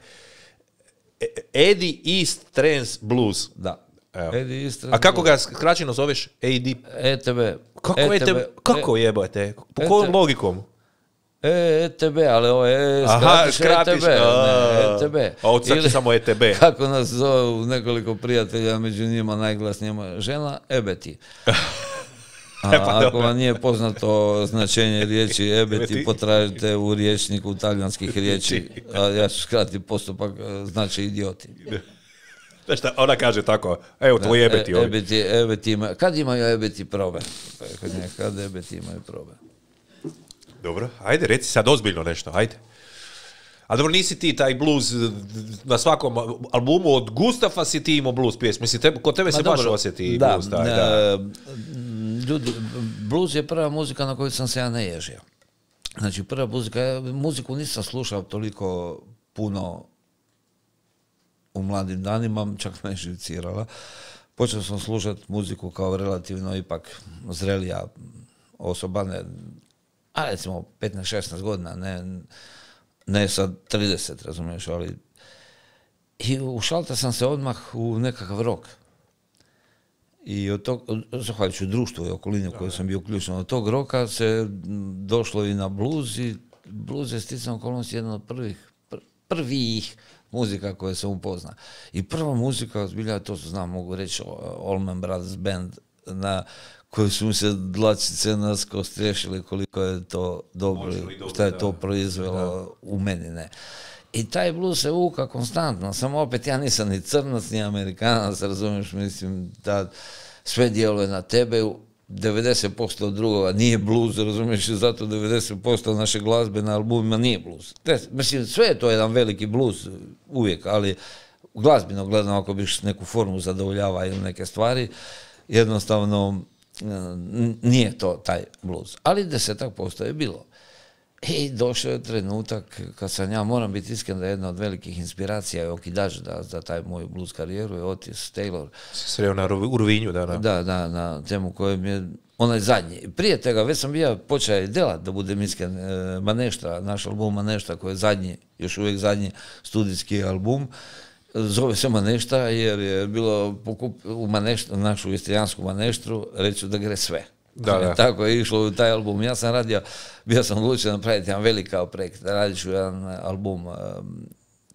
Speaker 1: Eddie East Trance Blues.
Speaker 3: Da.
Speaker 1: Eddie East Trance. A kako ga skraćeno zoveš? AD?
Speaker 3: ETB.
Speaker 1: Kako ETB? Kako jebate? Po kojom logikom?
Speaker 3: ETB, ali ovo je skratiš ETB.
Speaker 1: A od sad samo ETB.
Speaker 3: Kako nas zovu nekoliko prijatelja, među njima najglasnija žena, ebeti. Ako vam nije poznato značenje riječi ebeti, potražite u rječniku talijanskih riječi. Ja ću skratiti postupak, znači idioti.
Speaker 1: Znaš šta, ona kaže tako, evo tvoji ebeti ovdje.
Speaker 3: Ebeti ima, kad imaju ebeti probe? Kad ebeti imaju probe?
Speaker 1: Dobro, ajde, reci sad ozbiljno nešto, ajde. A dobro, nisi ti taj blues na svakom albumu od Gustafa si ti imao blues pjesmu. Mislim, kod tebe se baš osjeti blues.
Speaker 3: Ljudi, blues je prva muzika na koju sam se ja naježio. Znači, prva muziku nisam slušao toliko puno u mladim danima, čak me je živcirala. Počeo sam slušati muziku kao relativno ipak zrelija osoba, a recimo 15-16 godina, ne sad 30, razumiješ, ali i ušalta sam se odmah u nekakav rock. I od tog, zahvaljujući društvu i okolini u kojoj sam bio uključen, od tog roka se došlo i na blues i blues je sticam okolnosti jedna od prvih muzika koje sam upoznao. I prva muzika, zbilja, to znam, mogu reći, Allman Brothers Band, na koji su mi se dlačice nasko striješili koliko je to dobro, šta je to proizvelo u meni, ne. I taj blues se uka konstantno, samo opet ja nisam ni crnac, ni Amerikanac, razumiješ, mislim, da sve djeluje na tebe, 90% od drugova nije blues, razumiješ, zato 90% naše glazbe na albumima nije blues. Mislim, sve je to jedan veliki blues uvijek, ali glazbeno gledano, ako biš neku formu zadovoljava ili neke stvari, jednostavno nije to taj blues. Ali 10% je bilo. I došao je trenutak kad sam ja, moram biti iskren, da je jedna od velikih inspiracija je okidač za taj moju blues karijeru je Otis Taylor.
Speaker 1: Sreo na Urvinju, da.
Speaker 3: Da, na temu kojem je onaj zadnji. Prije toga već sam bio počeo delat, da budem iskren, Manešta, naš album Manešta, koji je zadnji, još uvijek zadnji studijski album. Zove se Manešta jer je bilo u Maneštu, našu istrijansku Maneštru, reću da gre sve. Da. Tako je išlo u taj album. Ja sam bio sam odlučio napraviti jedan veliki projekt. Radit ću jedan album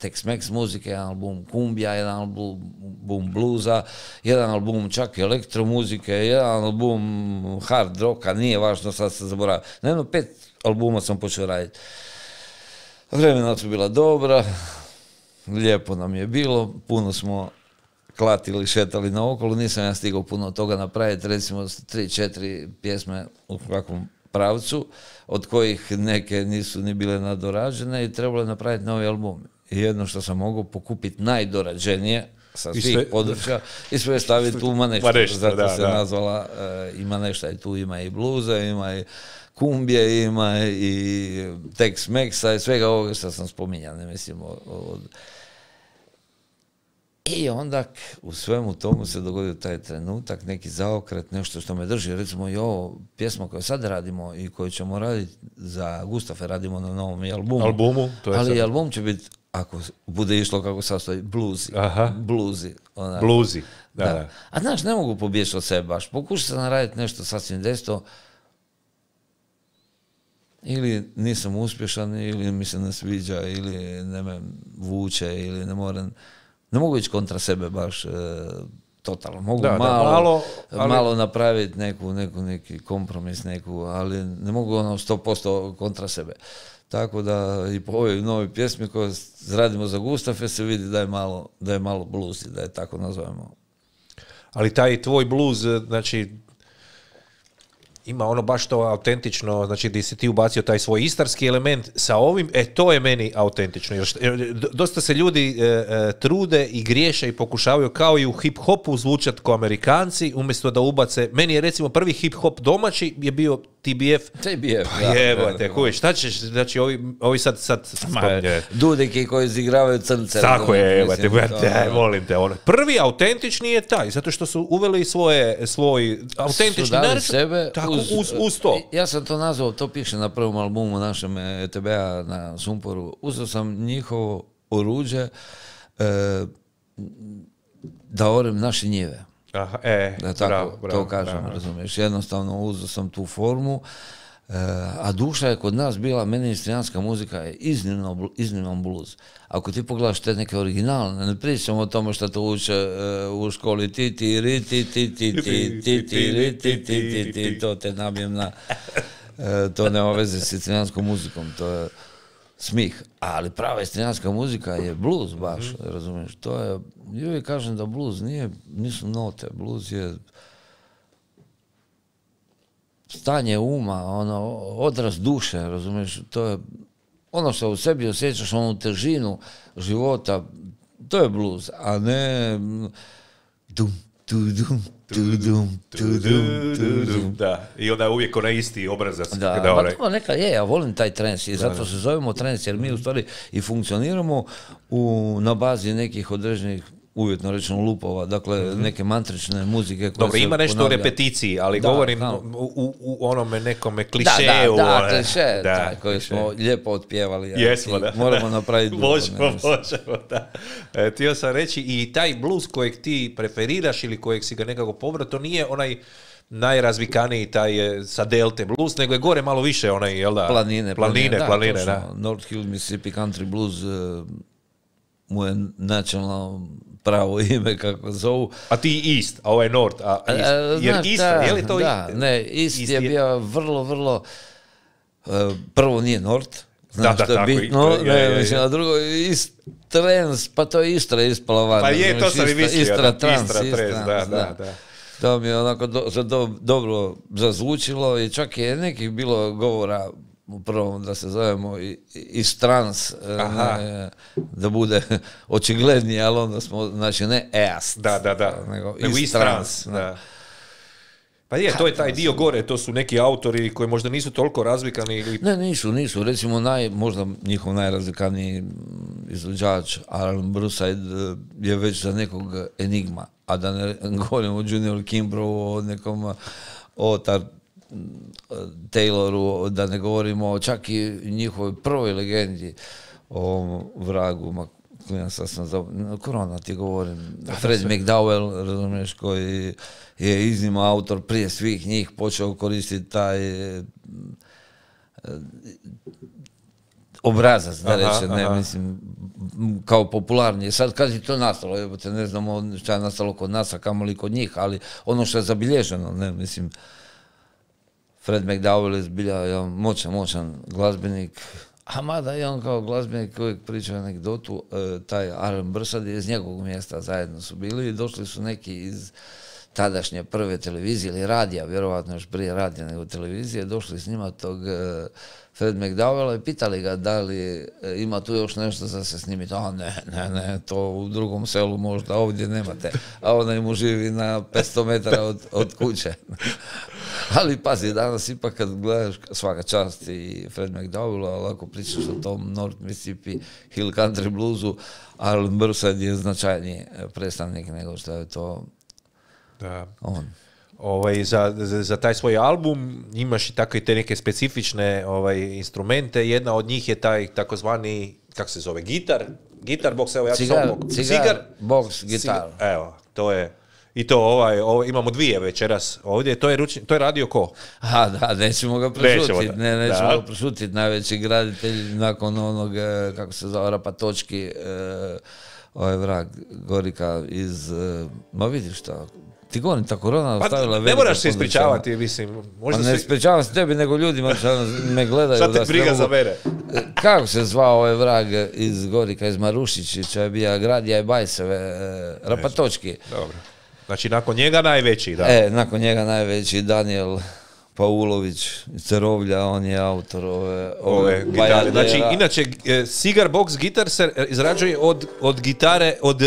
Speaker 3: Tex-Mex muzike, jedan album kumbija, jedan album bluza, jedan album čak elektromuzike, jedan album hard rocka, nije važno, sad se zaboravio. Na jedno 5 albuma sam počeo raditi. Vremena su bila dobra, lijepo nam je bilo, puno smo klatili, šetali naokolo, nisam ja stigao puno toga napraviti, recimo 3-4 pjesme u kakvom pravcu, od kojih neke nisu ni bile nadorađene i trebalo je napraviti novi album. I jedno što sam mogao pokupiti najdorađenije sa svih područja i sve staviti u Maneštu. Zato se nazvala i Manešta, i tu ima i bluza, ima i kumbije, ima i Tex-Mexa i svega ovoga što sam spominjao, ne mislim od I onda u svemu tomu se dogodio taj trenutak, neki zaokret, nešto što me drži. Recimo i ovo pjesma koju sad radimo i koju ćemo raditi za Gustafe, radimo na novom albumu. Ali sad... album će biti, ako bude išlo kako sastoji, bluzi. Bluzi. Da. A znaš, ne mogu pobjeći od sebe baš. Pokušao sam naraditi nešto sasvim desto. Ili nisam uspješan, ili mi se ne sviđa, ili ne me vuče, ili ne mogu ići kontra sebe baš totalno. Mogu malo napraviti neki kompromis, ali ne mogu 100% kontra sebe. Tako da i po ovoj novoj pjesmi koju radimo za Gustafe se vidi da je malo bluzi, da je tako nazovemo.
Speaker 1: Ali taj tvoj bluz, znači, ima ono baš to autentično, znači gdje si ti ubacio taj svoj istarski element sa ovim, to je meni autentično. Dosta se ljudi trude i griješe i pokušavaju kao i u hip-hopu zvučat kao Amerikanci, umjesto da ubace, meni je recimo prvi hip-hop domaći je bio TBF. Kuj, šta ćeš, znači ovi sad spominje.
Speaker 3: Dudeki koji izigravaju crnce.
Speaker 1: Tako je, molim te. Prvi autentični je taj, zato što su uveli svoj autentični
Speaker 3: sebe.
Speaker 1: Tako, uz to.
Speaker 3: Ja sam to nazvao, to piše na prvom albumu našem ETB-a na Sumporu. Uzeo sam njihovo oruđe da orem naše njive.
Speaker 1: Aha,
Speaker 3: da tako to kažem, razumiješ. Jednostavno uzeo sam tu formu, a duša je kod nas bila, meni istrijanska muzika je iznimno blues. Ako ti pogledaš te neke originalne, ne pričamo o tome što to uče u školi, to te nabijem na... To nema veze s istrijanskom muzikom, to je smih. Ali prava istrijanska muzika je blues baš, razumiješ. To je, ja uvijek kažem da blues nisu note, blues je stanje uma, odraz duše, razumiješ, to je ono što u sebi osjećaš, onu težinu života, to je blues, a ne
Speaker 1: da, i onda je uvijek onaj isti obrazac.
Speaker 3: Pa neka je, ja volim taj trance i zato se zovemo trance, jer mi u stvari i funkcioniramo na bazi nekih određenih, uvjetno rečeno, lupova, dakle neke mantrične muzike koje
Speaker 1: dobro, ima nešto
Speaker 3: ponavlja.
Speaker 1: O repeticiji, ali govorim u onome nekome klišeju.
Speaker 3: Kliše, koji smo lijepo otpjevali.
Speaker 1: Jesmo, da.
Speaker 3: Moramo napraviti
Speaker 1: Možemo, da. Htio sam reći, i taj blues kojeg ti preferiraš ili kojeg si ga nekako pobrao, to nije onaj najrazvikaniji taj sa delte blues, nego je gore malo više onaj, jel da? Planine, da.
Speaker 3: North Hill, Mississippi Country Blues mu je načelno pravo ime, kako zovu.
Speaker 1: A ti East, a ovo je North, jer East, je li to?
Speaker 3: Da, ne, East je bio vrlo, prvo nije North, znaš što je bitno, mislim, a drugo East Trans, pa to je Istra ispala van.
Speaker 1: Pa je, to sam i mislio.
Speaker 3: Istra Trans,
Speaker 1: da.
Speaker 3: To mi je onako dobro zazvučilo i čak je nekih bilo govora u prvom da se zovemo East Trans, da bude očiglednije, ali onda smo, znači ne East, nego East Trans.
Speaker 1: Pa je, to je taj dio gore, to su neki autori koji možda nisu toliko razvikani ili...
Speaker 3: Ne, nisu. Recimo, možda njihov najrazvikaniji izvođač, Alan Burnside, je već za nekog enigma, a da ne govorimo o Junior Kimbroughu, o nekom Tayloru, da ne govorimo čak i njihovoj prvoj legendi, o vragu, Korona ti govorim, Fred McDowell, razumiješ, koji je iznimno autor prije svih njih počeo koristiti taj obrazac, da rečem, mislim, kao popularnije. Sad kad je to nastalo, ne znamo šta je nastalo kod nas, a kamoli kod njih, ali ono što je zabilježeno, ne, mislim, Fred McDowell je zbilja moćan glazbenik, a mada i on kao glazbenik uvijek priča anegdotu, taj Alan Burnside je iz njegovog mjesta, zajedno su bili i došli su neki iz tadašnje prve televizije ili radija, vjerovatno još prije radija nego televizije, došli s njima tog Fred McDowella i pitali ga da li ima tu još nešto za se snimiti. A ne, to u drugom selu možda, ovdje nemate. A ona mu živi na 500 metara od kuće. Ali pazi, danas ipak kad gledaš svaka čast i Fred McDowell, ali ako pričaš o tom North Mississippi Hill Country Bluesu, Arlen Burnside je značajniji predstavnik nego što je to on.
Speaker 1: Za taj svoj album imaš i tako i te neke specifične instrumente. Jedna od njih je taj takozvani, kako se zove, gitar box, evo ja ću
Speaker 3: cigar box gitar.
Speaker 1: Evo, to je. I to imamo dvije večeras ovdje, to je radio ko?
Speaker 3: Da, nećemo ga prešutiti, nećemo ga prešutiti, najveći graditelj nakon onog, kako se zove, Rapatočki, ovaj vrag Gorika iz, ma vidiš šta, ti govorim, ta korona ostavila velika.
Speaker 1: Ne moraš se ispričavati, mislim.
Speaker 3: Ne ispričavam se tebi, nego ljudima me gledaju.
Speaker 1: Šta te briga za mene?
Speaker 3: Kako se zvao ovaj vrag iz Gorika, iz Marušića, je bio Gradija i Bajseve, Rapatočki.
Speaker 1: Dobro. Znači, nakon njega najveći, da?
Speaker 3: Nakon njega najveći, Daniel Paulović iz Cerovlja, on je autor ove
Speaker 1: gitare. Znači, inače, Cigar Box gitar se izrađuje od gitare, od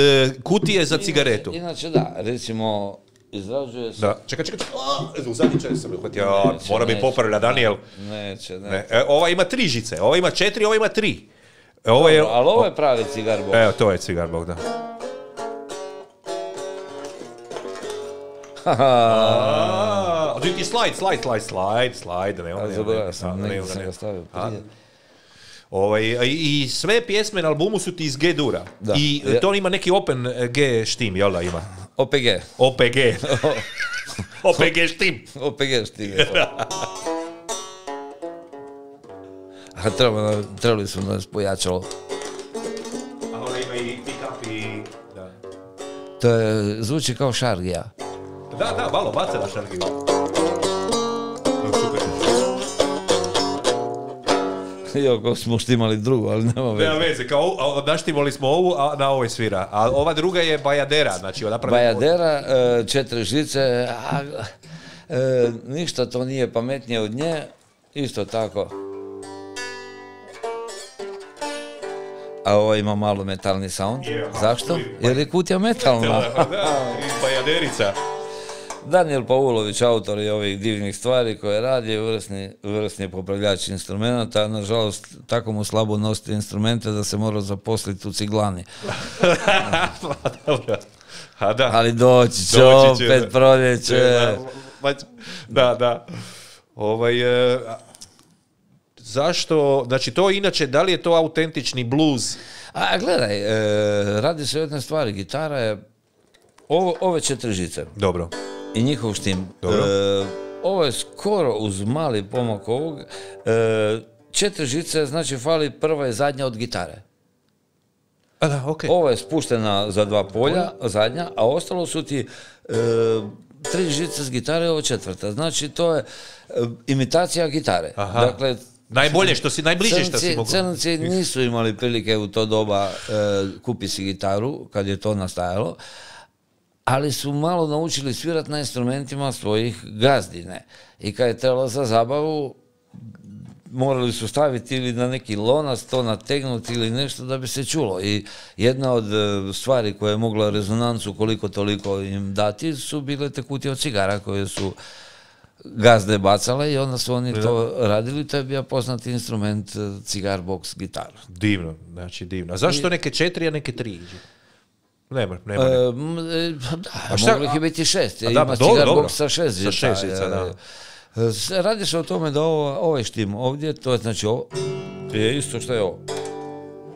Speaker 1: kutije za cigaretu.
Speaker 3: Inače, da, recimo, izrađuje se...
Speaker 1: Da, čekaj. U zadnji čas sam uhvatio. Mora biti popravlja, Daniel.
Speaker 3: Neće.
Speaker 1: Ova ima 3 žice, ova ima 4, ova ima 3.
Speaker 3: Ali ovo je pravi Cigar Box.
Speaker 1: Evo, to je Cigar Box, da. Ti slide, nema.
Speaker 3: Zaboravio sam, negdje sam ga stavio prije.
Speaker 1: I sve pjesme na albumu su ti iz G-dura. I to ima neki Open G štim, jel da ima?
Speaker 3: OPG.
Speaker 1: OPG štim.
Speaker 3: OPG štim. Trebali smo nas pojačalo.
Speaker 1: A onda ima i pick-up i...
Speaker 3: To zvuči kao šargija.
Speaker 1: Da, malo baca na šargiju.
Speaker 3: Iako smo štimali drugu, ali nema veze.
Speaker 1: Nema veze, kao naštimali smo ovu, a na ovoj svira. A ova druga je Bajadera, znači
Speaker 3: Bajadera, 4 žice, ništa to nije pametnije od nje, isto tako. A ovo ima malo metalni sound. Zašto? Jer je kutija metalna.
Speaker 1: Da, i Bajaderica.
Speaker 3: Daniel Paulović, autor je ovih divnih stvari koje radi, vrsni popravljač instrumenta. Nažalost, tako mu slabo nositi instrumente da se mora zaposliti u ciglani. Ali doći će opet proljeće.
Speaker 1: Da. Zašto, znači to inače, da li je to autentični blues?
Speaker 3: Gledaj, radi se o jednoj stvari, gitara je ove 4 žice.
Speaker 1: Dobro.
Speaker 3: I njihov štim. Ovo je skoro uz mali pomak ovog. 4 žice, znači fali prva i zadnja od gitare. Ovo je spuštena za 2 polja, zadnja, a ostalo su ti 3 žice s gitare, ovo 4. Znači to je imitacija gitare. Dakle,
Speaker 1: najbolje što si, najbliže što si mogu.
Speaker 3: Crnci nisu imali prilike u to doba kupi si gitaru, kad je to nastajalo, ali su malo naučili svirati na instrumentima svojih gazdine. I kad je trebalo za zabavu, morali su staviti ili na neki lonac, to nategnuti ili nešto da bi se čulo. I jedna od stvari koja je mogla rezonancu koliko toliko im dati su bile te kutije od cigara koje su gazde bacale i onda su oni to radili. To je bio poznati instrument Cigar Box gitar.
Speaker 1: Divno, znači divno. A zašto neke 4, a neke 3? Nema.
Speaker 3: Mogli ih biti 6. Ima Cigar Box sa 6 žica.
Speaker 1: Da.
Speaker 3: Radi se o tome da ovaj štim ovdje, to je znači ovo, je isto što je ovo.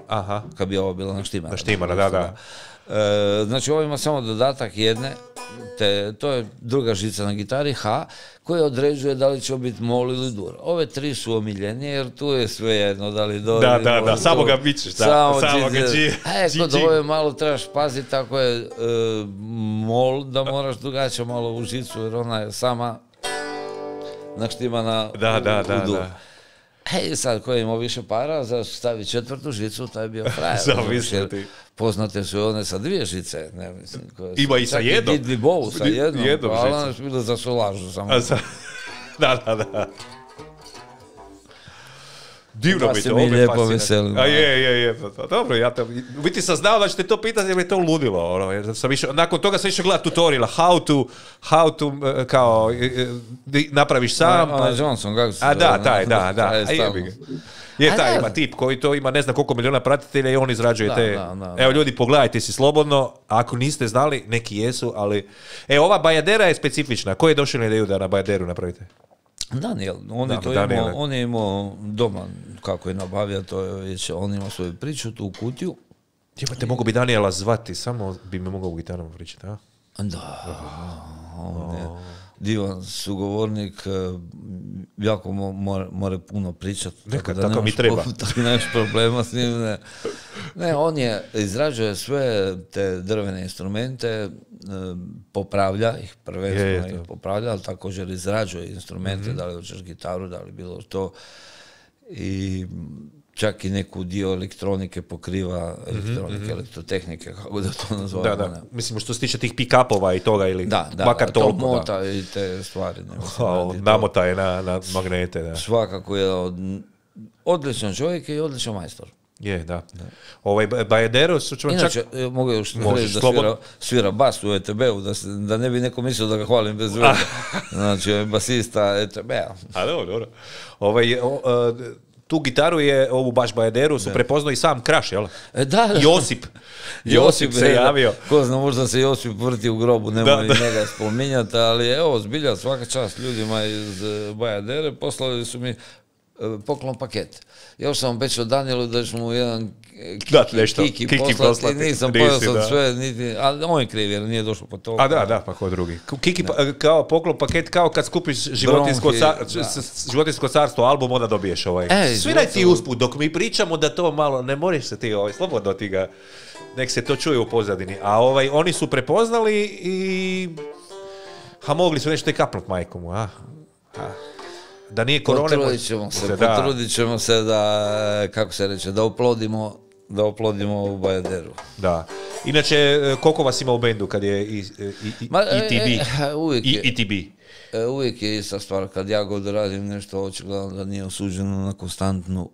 Speaker 1: Aha.
Speaker 3: Kad bi ovo bilo na štimara.
Speaker 1: Na štimara, da.
Speaker 3: Znači ovo ima samo dodatak jedne, to je druga žica na gitari, H, koja određuje da li će biti mol ili dur. Ove 3 su omiljenije, jer tu je sve jedno, da li do...
Speaker 1: Da, samo ga bićeš, samo ga
Speaker 3: kod ove malo trebaš paziti, ako je mol, da moraš drugačije malo u žicu, jer ona je sama naštimana u dur. Sad ko je imao više para, za stavi 4. žicu, taj je bio frajer.
Speaker 1: Zamisliti.
Speaker 3: Poznate su one sa 2 žice.
Speaker 1: Ima i sa jednom.
Speaker 3: Didli bovu sa jednom. Ali one su bile za solažu samo.
Speaker 1: Da. Divno mi to,
Speaker 3: mi lijepo veselimo.
Speaker 1: Je. Dobro, ja to, u biti sam znao da ćete to pitati, jer mi je to ludilo. Ono, jer sam išao, nakon toga sam išao gledati tutoriala, how to, kao, napraviš sam.
Speaker 3: Johnson, kako se
Speaker 1: da. Je taj, ima tip koji to ima ne znam koliko miliona pratitelja i on izrađuje te... Evo ljudi, pogledajte si slobodno, ako niste znali, neki jesu, ali... Ova Bajadera je specifična. Ko je došao na ideju da na Bajaderu napravite?
Speaker 3: Daniel, on je imao doma kako je nabavio, to je već, on ima svoju priču, tu kutiju.
Speaker 1: Jebate, mogu bi Daniela zvati, samo bi me mogao u gitarom pričati, a?
Speaker 3: Da, on je divan sugovornik, jako mora puno pričati.
Speaker 1: Tako mi treba.
Speaker 3: Tako nemaš problema s njim. Ne, on izrađuje sve te drvene instrumente, popravlja ih, prvenstveno ih popravlja, ali također izrađuje instrumente, da li hoćeš gitaru, da li bilo to. I čak i neku dio elektronike pokriva, elektrotehnike, kako da to nazovemo.
Speaker 1: Da. Mislim, što se tiče tih pick-upova i toga, ili makar toliko.
Speaker 3: Da, mota i te stvari.
Speaker 1: Namota je na magnete, da.
Speaker 3: Svakako je odličan čovjek i odličan majstor.
Speaker 1: Je, da. Bajadero su čak...
Speaker 3: Inače, mogu još reći da svira bas u ETB-u, da ne bi neko mislio da ga hvalim bez veze. Znači, basista ETB-a.
Speaker 1: A dobro. Tu gitaru je, ovu baš Bajaderu, su prepoznao i sam Kraš, jel?
Speaker 3: Da.
Speaker 1: Josip se javio.
Speaker 3: Ko zna, možda se Josip vrti u grobu, nemoj njega spominjati, ali evo, zbilja, svaka čast ljudima iz Bajadere, poslali su mi poklon paket. Još sam obećao Danielu da ću mu jedan kiki poslati, nisam pojao sam sve, ali on je kriv jer nije došlo po to.
Speaker 1: A da, pa ko drugi. Kiki kao poklon paket, kao kad skupiš životinjsko carstvo album, onda dobiješ ovaj. Sviraj ti usput, dok mi pričamo da to malo, ne moraš se ti slobodno ti ga, nek se to čuje u pozadini. A oni su prepoznali i mogli su nešto i kapnut majkom, da nije korone...
Speaker 3: Potrudit ćemo se da, kako se reče, da oplodimo ovu Bajaderu.
Speaker 1: Da. Inače, koliko vas ima u bendu kad je ETB?
Speaker 3: Uvijek je ista stvar. Kad ja god radim nešto, očigledno da nije osuđeno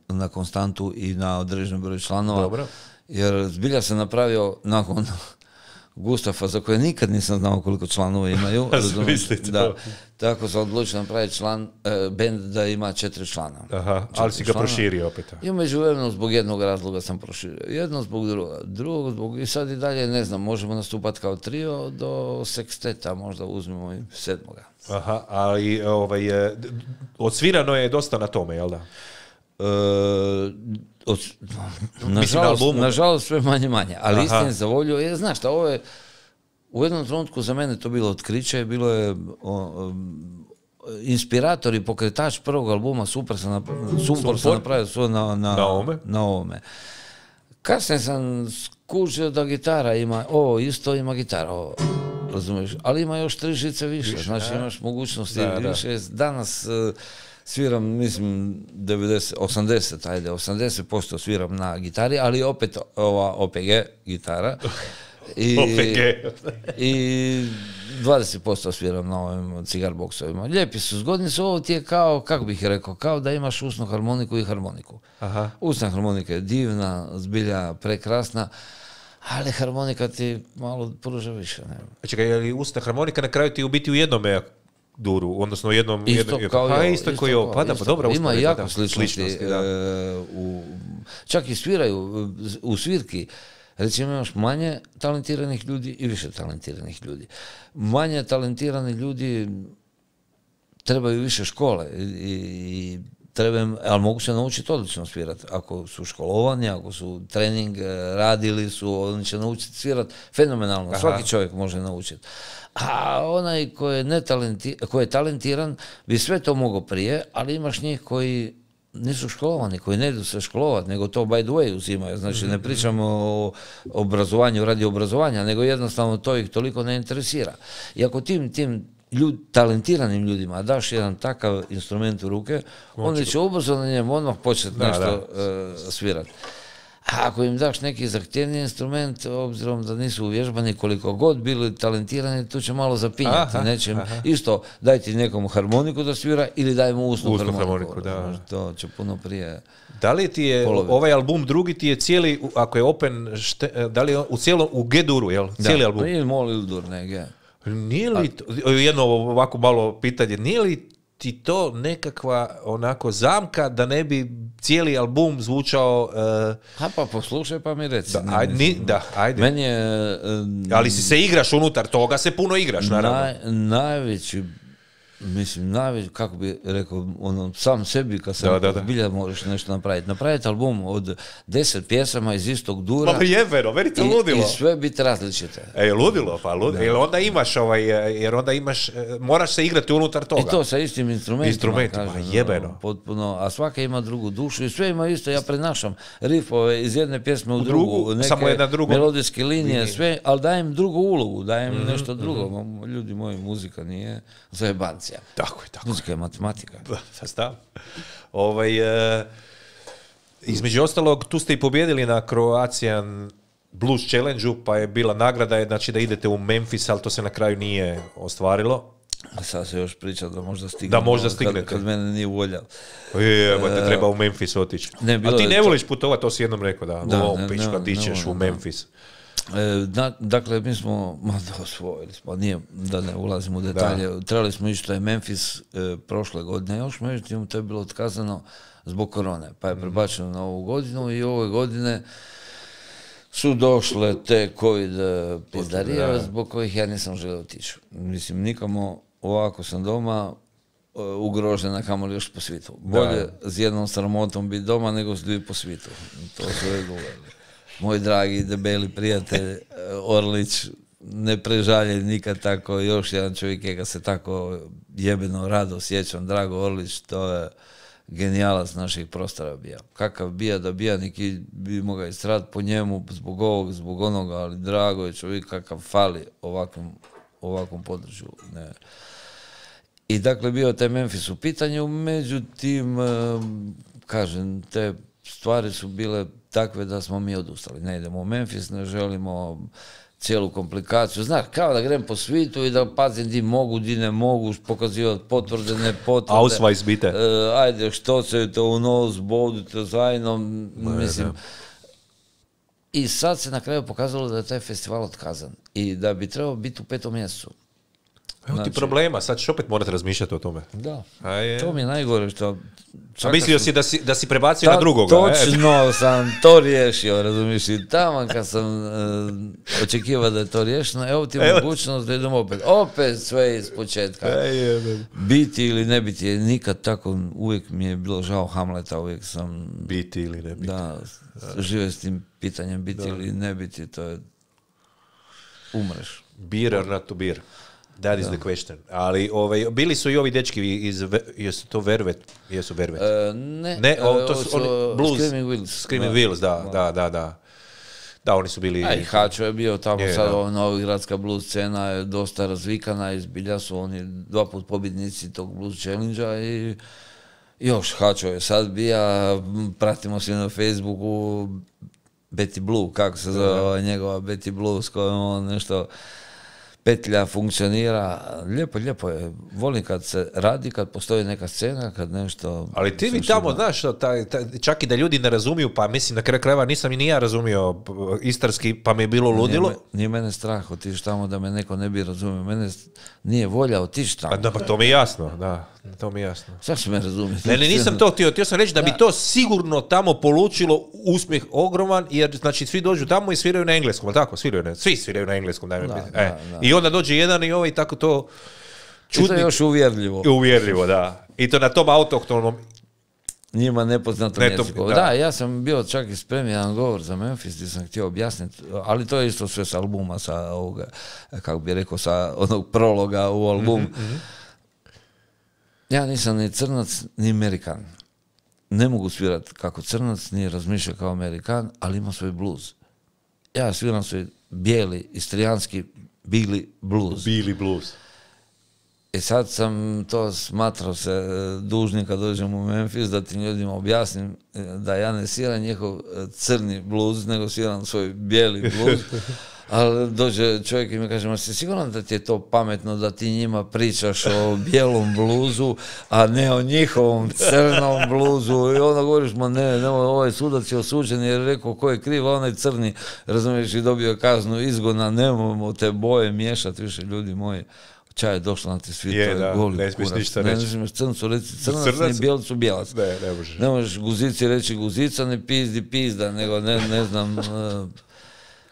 Speaker 3: na konstantu i na određen broj članova. Dobro. Jer zbilja se napravio nakon Gustafa, za koje nikad nisam znao koliko članova imaju. Tako sam odlučio napraviti bend da ima 4 člana.
Speaker 1: Ali si ga proširio opet.
Speaker 3: I međuvremenu zbog jednog razloga sam proširio. Jedno zbog drugog zbog... I sad i dalje, ne znam, možemo nastupati kao trio do seksteta, možda uzmemo i 7.
Speaker 1: Ali odsvirano je dosta na tome, jel da?
Speaker 3: Nažalost sve manje, ali istini za volju, znaš šta, ovo je u jednom trenutku za mene to bilo otkriće, bilo je inspirator i pokretač prvog albuma, Sumpor sam napravio svo na ovome. Kasnije sam skužio da gitara ima, isto ima gitara, razumiješ, ali ima još 3 žice više, znači imaš mogućnosti više. Danas sviram, mislim, 80% sviram na gitari, ali opet ova OPG gitara. I 20% sviram na ovim cigar boksovima. Lijepi su, zgodni su, ovo ti je kao, kako bih rekao, kao da imaš usnu harmoniku i harmoniku. Usna harmonika je divna, zbilja prekrasna, ali harmonika ti malo pruža više.
Speaker 1: Čekaj, je li usna harmonika na kraju ti u biti u jednome duru, odnosno jednom...
Speaker 3: Isto kao
Speaker 1: je ovo. Pa dobro.
Speaker 3: Ima jako sličnosti. Čak i sviraju u svirki. Recimo imaš manje talentiranih ljudi i više talentiranih ljudi. Manje talentirani ljudi trebaju više škole i ali mogu se naučiti odlično svirati. Ako su školovani, ako su trening radili su, oni će naučiti svirati fenomenalno. Svaki čovjek može naučiti. A onaj koji je talentiran bi sve to mogao prije, ali imaš njih koji nisu školovani, koji ne idu se školovati, nego to by the way uzimaju. Znači ne pričamo o obrazovanju radi obrazovanja, nego jednostavno to ih toliko ne interesira. I ako tim talentiranim ljudima daš jedan takav instrument u ruke, oni će ubrzo na njemu odmah početi nešto svirati. ako im daš neki zahtjevni instrument, obzirom da nisu uvježbani, koliko god bili talentirani, tu će malo zapinjati. Isto, daj ti nekom harmoniku da svira ili daj mu usnu harmoniku. To će puno prije...
Speaker 1: Da li ti je ovaj album drugi ti je cijeli, ako je open, da li je u G-duru, jel? Cijeli album?
Speaker 3: Nije mol ili dur, ne G.
Speaker 1: Nije li, jedno ovako malo pitanje, nije li ti to nekakva onako zamka da ne bi cijeli album zvučao...
Speaker 3: Pa poslušaj pa mi reci.
Speaker 1: Ajde.
Speaker 3: Meni je...
Speaker 1: Ali se igraš unutar toga, se puno igraš, naravno.
Speaker 3: Najveći, kako bi rekao, sam sebi kad sam bilja možeš nešto napraviti. Napraviti album od 10 pjesama iz istog dura.
Speaker 1: Ma jebeno, meni to ludilo.
Speaker 3: I sve biti različite.
Speaker 1: Ludilo, pa ludilo. Jer onda imaš, moraš se igrati unutar toga.
Speaker 3: I to sa istim instrumentima.
Speaker 1: Jebeno.
Speaker 3: Potpuno, a svaka ima drugu dušu i sve ima isto, ja prenašam rifove iz jedne pjesme u drugu, neke melodijske linije, sve, ali dajem drugu ulogu, dajem nešto drugo. Ljudi moji, muzika nije zajebancija.
Speaker 1: Tako je.
Speaker 3: Muzika je matematika.
Speaker 1: Između ostalog, tu ste i pobjedili na Croatian Blues Challenge-u, pa je bila nagrada, znači da idete u Memphis, ali to se na kraju nije ostvarilo.
Speaker 3: A sad se još priča da možda stignete.
Speaker 1: Da možda stignete.
Speaker 3: Kad mene nije volja.
Speaker 1: Te treba u Memphis otići. A ti ne voliš putovati, to si jednom rekao, da ti ćeš u Memphis.
Speaker 3: Dakle, mi smo, osvojili smo, nije da ne ulazimo u detalje, trebali smo ići, to je Memphis prošle godine, još međutim to je bilo otkazano zbog korone, pa je prebačeno na ovu godinu i ove godine su došle te COVID pizdarije zbog kojih ja nisam želio otići. Mislim, nikamo ovako sam doma ugrožena, kamoli još po svijetu. Bolje s jednom sramotom biti doma nego s dvije po svijetu. To su uvijek govorili. Moj dragi, debeli prijatelj Orlić, ne prežalje nikad tako, još jedan čovjek je ga se tako jebeno rado sjećam, Drago Orlić, to je genijalac naših prostora bija. Kakav bija da bija, neki bi mogao istrat po njemu zbog ovog, zbog onoga, ali Drago je čovjek kakav fali ovakvom području. Ne. I dakle bio taj Memphis u pitanju, međutim, kažem, te stvari su bile takve da smo mi odustali. Ne idemo u Memphis, ne želimo cijelu komplikaciju. Znaš, kao da grem po svijetu i da pazim di mogu, di ne mogu, pokazivati potvrde, ne potvrde.
Speaker 1: Ausweis bitte.
Speaker 3: Ajde, što se to u nos, bodite zajedno, mislim. I sad se na kraju pokazalo da je taj festival otkazan i da bi trebao biti u 5. mjesecu.
Speaker 1: Evo ti problema, sad ćeš opet morati razmišljati o tome.
Speaker 3: Da, to mi je najgore što...
Speaker 1: A mislio si da si prebacio na drugoga.
Speaker 3: Točno sam to riješio, razumiješ, i tamo kad sam očekivao da je to riješeno, evo ti mogućnost da idem opet sve iz početka. Biti ili ne biti, nikad tako, uvijek mi je bilo žao Hamleta, uvijek sam...
Speaker 1: Biti ili ne biti.
Speaker 3: Da, žive s tim pitanjem biti ili ne biti, to je... Umreš.
Speaker 1: Beer or not to beer. That is the question. Ali bili su i ovi dečki jesu to Vervet? Jesu Vervet?
Speaker 3: Ne,
Speaker 1: to su oni Blues.
Speaker 3: Screaming Wills.
Speaker 1: Screaming Wills, da. Da, oni su bili...
Speaker 3: A i Hačo je bio tamo, sad novogradska blues scena je dosta razvikana i zbilja su oni 2 put pobjednici tog Blues Challenge-a i još Hačo je sad bija, pratimo se na Facebooku Betty Blue, kako se zove njegova Betty Blue s kojom on nešto... petlja funkcionira, lijepo je. Volim kad se radi, kad postoji neka scena, kad nešto...
Speaker 1: Ali ti mi tamo, znaš, čak i da ljudi ne razumiju, pa mislim, na kraju krajeva nisam i ni ja razumio istarski, pa mi je bilo ludilo.
Speaker 3: Nije mene strah otići tamo da me neko ne bi razumio. Mene nije volja otići tamo.
Speaker 1: Pa to mi je jasno, da. To mi je jasno.
Speaker 3: Sad će me razumjeti.
Speaker 1: Ne, nisam to htio sam reći da bi to sigurno tamo polučilo uspjeh ogroman, jer znači svi dođu tamo i sviraju na engleskom, ali tako, svi sviraju na engleskom. I onda dođe jedan i ovaj tako to
Speaker 3: čudni. I to je još uvjerljivo.
Speaker 1: Uvjerljivo, da. I to na tom autohtonom
Speaker 3: njima nepoznatom jeziku. Da, ja sam bio čak i spremio jedan govor za Memphis gdje sam htio objasniti, ali to je isto sve sa albuma, sa ovoga, kako bi rekao, sa onog prologa u album. Ja nisam ni crnac, ni Amerikan. Ne mogu svirati kako crnac, ni razmišljati kao Amerikan, ali imam svoj blues. Ja sviram svoj bijeli, istrijanski, Billy blues.
Speaker 1: Billy blues.
Speaker 3: I sad sam to smatrao se dužnim kad dođem u Memphis da tim ljudima objasnim da ja ne sviram njihov crni bluz, nego sviram svoj bijeli bluz. Ali dođe čovjek i mi kaže, ma si siguran da ti je to pametno da ti njima pričaš o bijelom bluzu, a ne o njihovom crnom bluzu? I onda govoriš, ma ne, ovaj sudac je osuđen jer je rekao ko je kriv, a onaj crni, razumiješ, i dobio kaznu izgona, nemojmo te boje miješati više, ljudi moji. Čaj je došlo na ti svi, to je goli
Speaker 1: ne smiješ ništa reći.
Speaker 3: Ne smiješ crncu reći crnac, ni bijelicu bijelac.
Speaker 1: Ne možeš.
Speaker 3: Ne možeš guzici reći guzica, ne pizdi pizda, nego ne znam,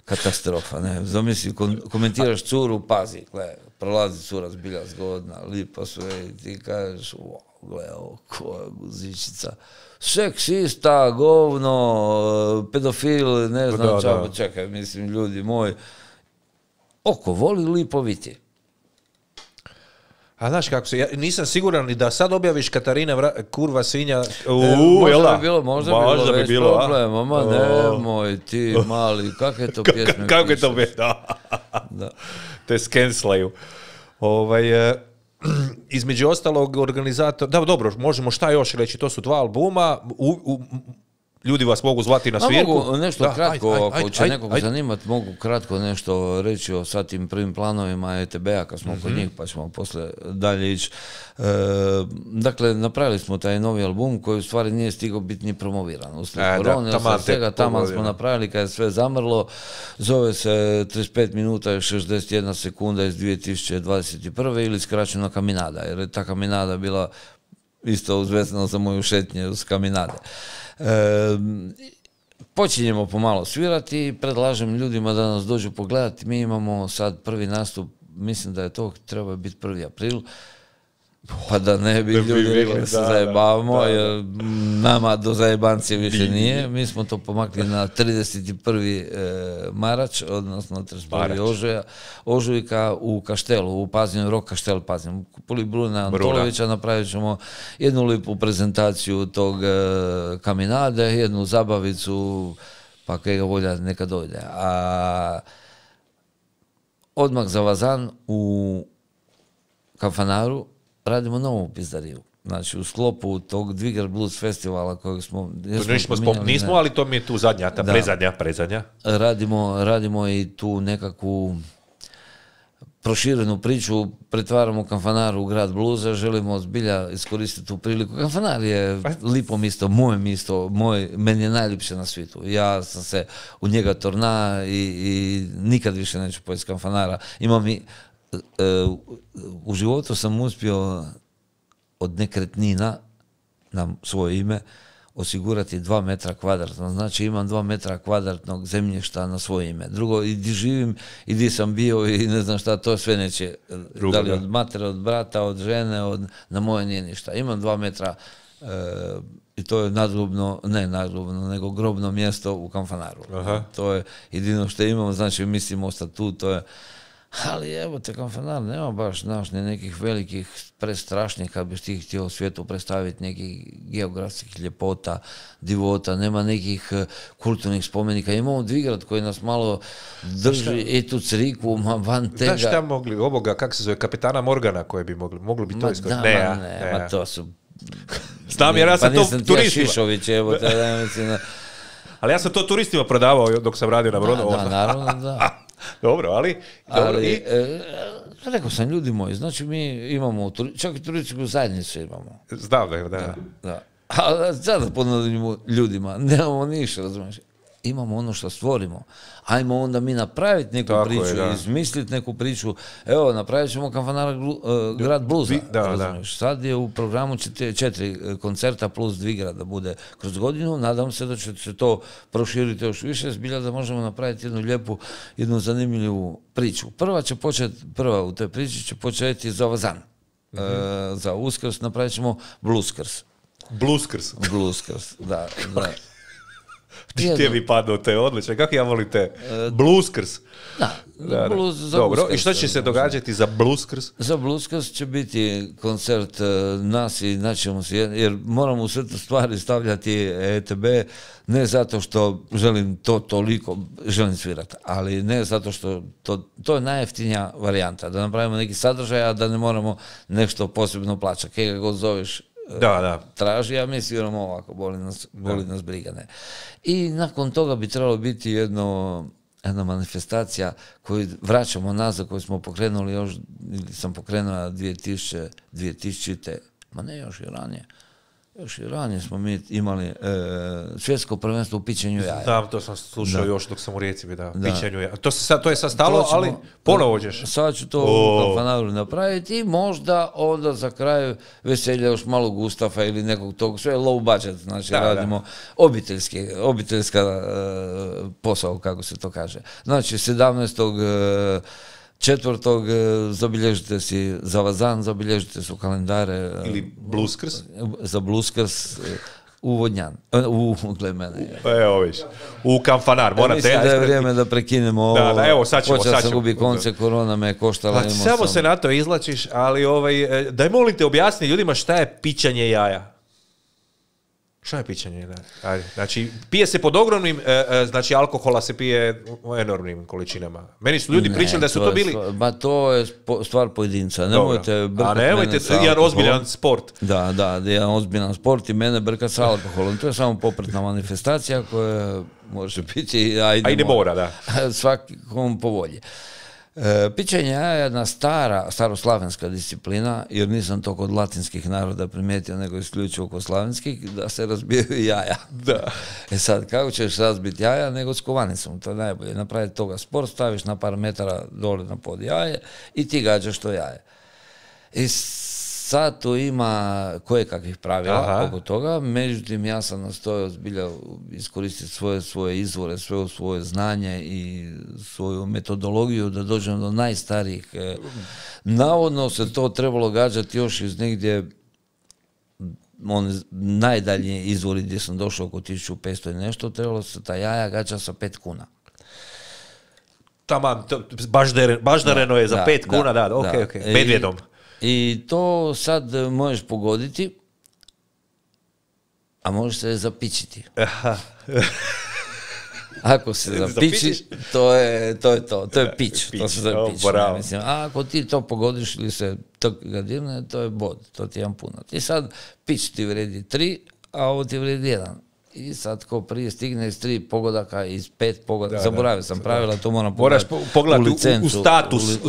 Speaker 3: katastrofa, ne. Zamisli, komentiraš curu, pazi, gle, prolazi cura zbilja zgodna, lipa sve i ti kažeš, gle, ko je guzičica. Seksista, govno, pedofil, ne znam, čekaj, mislim, ljudi moji. Oko voli, lipo viti.
Speaker 1: A znaš kako se, ja nisam siguran ni da sad objaviš Katarina kurva svinja.
Speaker 3: Možda bi bilo problema, ma nemoj ti mali, kakve to pjesme
Speaker 1: kako je to da. Te skenslaju. Između ostalog organizator, da dobro, možemo šta još reći, to su 2 albuma, ljudi vas mogu zvati na svirku.
Speaker 3: Mogu nešto kratko, ako će nekog zanimati, mogu kratko nešto reći o sad tim prvim planovima ETB-a, kad smo kod njih, pa ćemo posle dalje ići. Dakle, napravili smo taj novi album koji u stvari nije stigao biti ni promoviran. Uslijed korone, svega taman smo napravili kad je sve zamrlo. Zove se 35 minuta i 61 sekunda iz 2021. ili skraćena Kaminada, jer je ta Kaminada bila isto uzvezana za moju šetnje uz Kaminade. Počinjemo pomalo svirati i predlažem ljudima da nas dođu pogledati. Mi imamo sad prvi nastup, mislim da je to treba biti 1. april, pa da ne bi ljudi rekli da se zajebavamo, jer nama do zajebancije više nije. Mi smo to pomakli na 31. Marač, odnosno 31. ožujka u Kaštelu, u Pazinu, Rock Kaštel Pazin. Puli Bruna Antolovića napravit ćemo jednu lipu prezentaciju tog Kaminade, jednu zabavicu, pa kega volja neka dojde. A odmah za Vazan u Kanfanaru radimo novu pizdariju. Znači, u sklopu tog Dvigar Blues festivala kojeg smo...
Speaker 1: Nismo, ali to mi je tu zadnja, ta prezadnja.
Speaker 3: Radimo i tu nekakvu proširenu priču, pretvaramo Kanfanaru u grad bluza, želimo zbilja iskoristiti tu priliku. Kanfanar je lipo misto, moje misto, meni je najljepše na svijetu. Ja sam se u njega torna i nikad više neću pojesti Kanfanara. U životu sam uspio od nekretnina na svoje ime osigurati 2 metra kvadratna. Znači imam 2 metra kvadratnog zemljišta na svoje ime. Drugo, i di živim, i di sam bio i ne znam šta, to sve neće. Da li od matere, od brata, od žene, na moje nije ništa. Imam 2 metra i to je nego grobno mjesto u Kanfanaru. To je jedino što imamo, znači mislim ostati tu, to je. Ali evo te Kanfanar nema baš ni nekih velikih prestrašnih, kad bi ti htio u svijetu predstaviti nekih geografskih ljepota, divota, nema nekih kulturnih spomenika. Imamo Dvigrad koji nas malo drži i tu Criku, van tega.
Speaker 1: Znaš šta mogli, ovoga, kako se zove, kapitana Morgana koje bi mogli bi to iskoristiti?
Speaker 3: Ne, to su...
Speaker 1: Znam, jer ja sam to turistima.
Speaker 3: Šišović, evo te, da mislim...
Speaker 1: Ali ja sam to turistima prodavao dok sam radio na brodu.
Speaker 3: Da, naravno, da.
Speaker 1: Dobro, ali
Speaker 3: rekao sam, ljudi moji, znači mi imamo, čak i turističku zajednicu imamo.
Speaker 1: Znam da.
Speaker 3: A sada ponudimo ljudima, nemamo ništa, razumiješ. Imamo ono što stvorimo. Ajmo onda mi napraviti neku priču, izmisliti neku priču. Evo, napravit ćemo Kanfanara grad bluza. Sad je u programu 4 koncerta plus Dvigrad da bude kroz godinu. Nadam se da će se to proširiti još više, zbilja da možemo napraviti jednu lijepu, jednu zanimljivu priču. Prva u toj priči će početi za Vazan. Za Uskrs napravit ćemo Blueskrs. Blueskrs, da.
Speaker 1: Ti mi padnu te odlične, kako ja volim te Blueskrs.
Speaker 3: Da,
Speaker 1: Dobro, i što će se događati za Blueskrs?
Speaker 3: Za Blueskrs će biti koncert nas i naćemo se, jer moramo u sve te stvari stavljati ETB, ne zato što želim to toliko, želim svirati, ali ne zato što to je najjeftinija varijanta, da napravimo neki sadržaj, a da ne moramo nešto posebno plaćati. Kaj ga god zoveš, traži, a mi sviramo ovako, boli nas briga, ne. I nakon toga bi trebalo biti jedna manifestacija koju vraćamo nazad, koju smo pokrenuli još, ili sam pokrenula 2000, ma ne, još i ranije smo mi imali svjetsko prvenstvo u pićenju jaja.
Speaker 1: Da, to sam slušao još dok sam u Rijeci, pićenju jaja. To je sad stalo, ali ponovo ćeš.
Speaker 3: Sad ću to u Kanfanaru napraviti i možda onda za kraj veselja još malo Gustafa ili nekog tog, sve low budget, znači radimo obiteljska posao, kako se to kaže. Znači 17.4. zabilježite si za Vazan, zabilježite su kalendare.
Speaker 1: Ili Blueskrs?
Speaker 3: Za Blueskrs u Vodnjan. Gled mene.
Speaker 1: Evo viš. U Kanfanar.
Speaker 3: Mislim da je vrijeme da prekinemo ovo.
Speaker 1: Da, evo, sad ćemo.
Speaker 3: Počeo sam gubi konce, korona me je koštala.
Speaker 1: Samo se na to izlačiš, ali daj molim te objasni ljudima šta je pićanje jaja. Šta je pićanje jaja? Znači, pije se pod ogromnim, znači alkohola se pije u enormnim količinama. Meni su ljudi pričali da su to bili...
Speaker 3: To je stvar pojedinca. Nemojte brkati mene sa alkoholom.
Speaker 1: Jedan ozbiljan sport.
Speaker 3: Da, jedan ozbiljan sport i mene brkati sa alkoholom. To je samo popretna manifestacija koja može biti...
Speaker 1: A i ne mora, da.
Speaker 3: Svakom po volji. Pićenje jaja je jedna staroslavenska disciplina, jer nisam to kod latinskih naroda primijetio, nego isključivo kod slavenskih, da se razbijaju jaja.
Speaker 1: Da.
Speaker 3: Sad, kako ćeš razbiti jaja, nego s kovanicom, to je najbolje. Napraviti toga sport, staviš na par metara dole na pod jaje i ti gađaš to jaje. I sad tu ima kojekakvih pravila oko toga, međutim ja sam nastojao zbilja iskoristiti svoje izvore, svoje znanje i svoju metodologiju da dođem do najstarijih. Navodno se to trebalo gađati još iz negdje najdalje izvori gdje sam došao oko 1500 i nešto, trebalo se ta jaja gađa sa 5 kuna.
Speaker 1: Tamam, baždareno je za 5 kuna, da, ok, medvjedom.
Speaker 3: I to sad možeš pogoditi, a možeš se zapičiti. Ako se zapičiš, to je pić. To se zove pić. A ako ti to pogodiš ili se ga dirne, to je bod, to ti je jedan punat. I sad pić ti vredi 3, a ovo ti vredi 1. I sad ko prije stigne iz 3 pogodaka, iz 5 pogodaka, zaboravio sam pravila, to moram
Speaker 1: pogledati u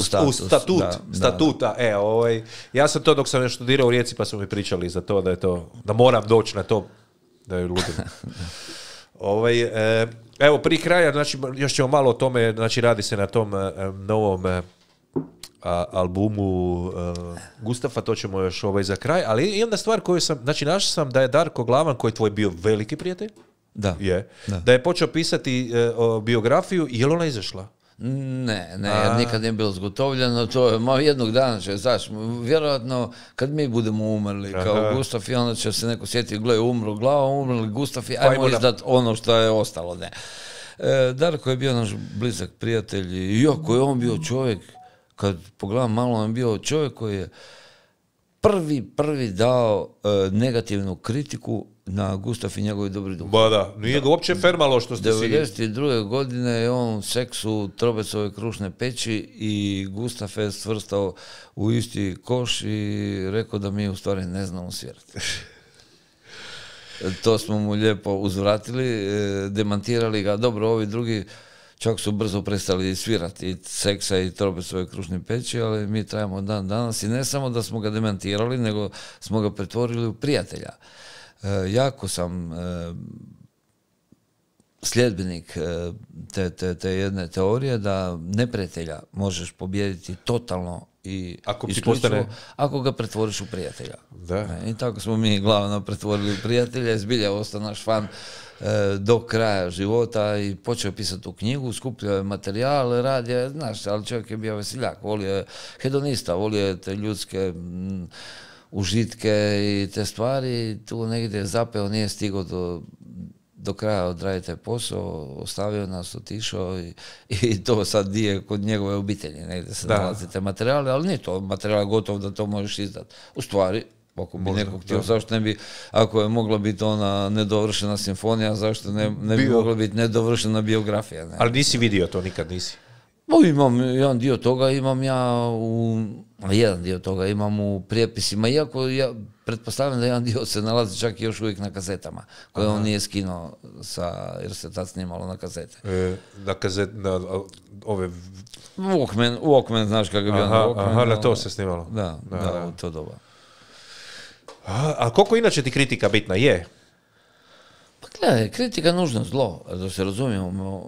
Speaker 1: statuta. Ja sam to dok sam študirao u Rijeci, pa su mi pričali za to da moram doći na to, da je ludim. Evo, prije kraja, znači, još ćemo malo o tome, znači, radi se na tom novom albumu Gustafa, to ćemo još za kraj, ali i onda stvar koju sam, znači našao sam da je Darko Glavan, koji je tvoj bio veliki prijatelj, da je počeo pisati biografiju, je li ona izašla?
Speaker 3: Ne, jer nikad nije bilo zgotovljeno, to je, jednog dana će, znaš, vjerojatno kad mi budemo umrli kao Gustaf i onda će se neko sjetiti, gle, umro glava, umrli Gustaf i ajmo izdat ono što je ostalo, ne. Darko je bio naš blizak prijatelj i iako je on bio čovjek, kad pogledam malo, on je bio čovjek koji je prvi dao negativnu kritiku na Gustaf i njegovi dobri duh.
Speaker 1: Ba da, nije ga uopće fermalo što ste si...
Speaker 3: 92. godine je on seksu Trobecove krušne peći i Gustaf je svrstao u isti koš i rekao da mi u stvari ne znamo svirati. To smo mu lijepo uzvratili, demantirali ga. Dobro, ovi drugi čak su brzo prestali svirati i seksa i Trobecove krušne peći, ali mi trajamo dan danas i ne samo da smo ga demantirali, nego smo ga pretvorili u prijatelja. Jako sam sljedbenik te jedne teorije da neprijatelja možeš pobijediti totalno i isključivo ako ga pretvoriš u prijatelja. I tako smo mi glavno pretvorili u prijatelja, zbilja ostao naš fan do kraja života i počeo pisati tu knjigu, skupljao je materijal, radio, znaš, ali čovjek je bio veseljak, volio je hedonista, volio je te ljudske užitke i te stvari, tu negdje zapeo, nije stigao do kraja odraditi taj posao, ostavio nas, otišao i to sad nije kod njegove obitelji, negdje se nalazi te materijale, ali nije to materijal gotov da to možeš izdati. U stvari, ako bi neko htio, zašto ne bi, ako je mogla biti ona nedovršena simfonija, zašto ne bi mogla biti nedovršena biografija? Ne?
Speaker 1: Ali nisi vidio to, nikad nisi?
Speaker 3: Imam jedan dio toga, jedan dio toga imam u prijepisima, iako ja pretpostavljam da jedan dio se nalazi čak i još uvijek na kazetama, koje on nije skinuo jer se tad snimalo na kazete.
Speaker 1: Na ove...
Speaker 3: Walkman, znaš kako je bio na Walkman.
Speaker 1: Aha, na to se snimalo.
Speaker 3: Da, u to doba.
Speaker 1: A koliko inače ti kritika bitna je?
Speaker 3: Pa gledaj, kritika je nužno zlo, da se razumijemo.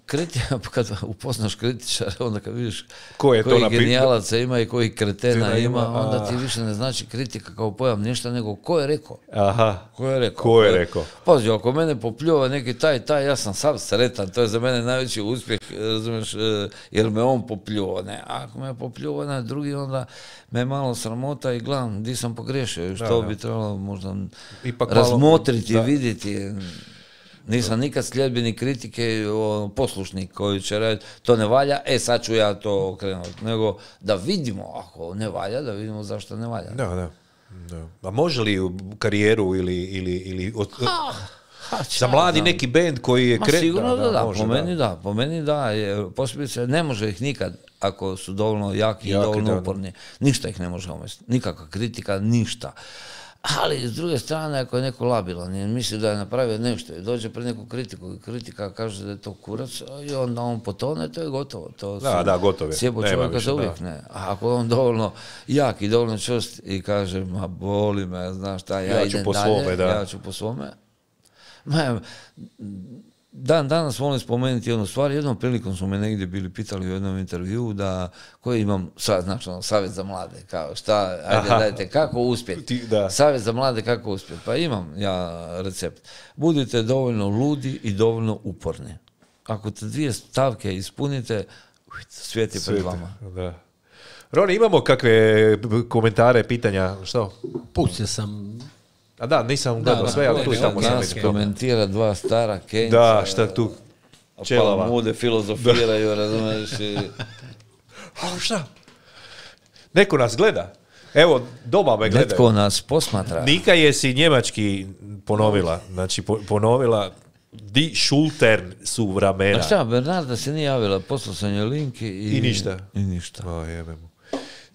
Speaker 3: Kritika, kad upoznaš kritičara, onda kad vidiš koji genijalaca ima i koji kretena ima, onda ti više ne znači kritika kao pojam ništa, nego ko je rekao.
Speaker 1: Aha, ko je rekao?
Speaker 3: Pazi, ako mene popljuje neki taj, ja sam sav sretan, to je za mene najveći uspjeh, razumiješ, jer me on popljuje, ne. Ako me popljuje drugi, onda me malo sramota i gledam, di sam pogriješio, što bi trebalo možda razmotriti, vidjeti. Nisam nikad sljedbenik kritike, poslušnik koji će raditi, to ne valja, sad ću ja to okrenuti, nego da vidimo, ako ne valja, da vidimo zašto ne valja.
Speaker 1: Da. A može li u karijeru ili za mladi neki bend koji je krenuo?
Speaker 3: Sigurno da, po meni da, posebice ne može ih nikad, ako su dovoljno jaki i dovoljno uporni. Ništa ih ne može omesti, nikakva kritika, ništa. Ali, s druge strane, ako je neko labilan i misli da je napravio nešto i dođe pred neku kritiku i kritika kaže da je to kurac i onda on potone, to je gotovo.
Speaker 1: Gotovo je.
Speaker 3: Sjebo čovjeka za uvijek, ne. A ako je on dovoljno jak i dovoljno čvrst i kaže, ma boli me, znaš šta, ja idem dalje, ja ću po svome. Danas volim spomenuti jednu stvar, jednom prilikom su me negdje bili pitali u jednom intervjuu koji imam, znači savjet za mlade, kao šta, ajde dajte, kako uspjeti, savjet za mlade kako uspjeti, pa imam ja recept. Budite dovoljno ludi i dovoljno uporni. Ako te dvije stavke ispunite, svijet je pred vama.
Speaker 1: Da. Roni, imamo kakve komentare, pitanja, što?
Speaker 2: Pustio sam...
Speaker 1: A da, nisam gledao sve, ali tu i tamo sam
Speaker 3: nas komentira dva stara Kenjca.
Speaker 1: Da, šta tu čelava.
Speaker 3: Mude filozofiraju, razumiješ i...
Speaker 1: Šta? Neko nas gleda. Evo, doma me gledaju.
Speaker 3: Netko nas posmatra.
Speaker 1: Nika je si njemački ponovila. Znači, ponovila Die Schultern su vremena.
Speaker 3: A šta, Bernarda se nije javila, poslao sam joj link
Speaker 1: i ništa.
Speaker 3: I ništa.
Speaker 1: O, jebemo.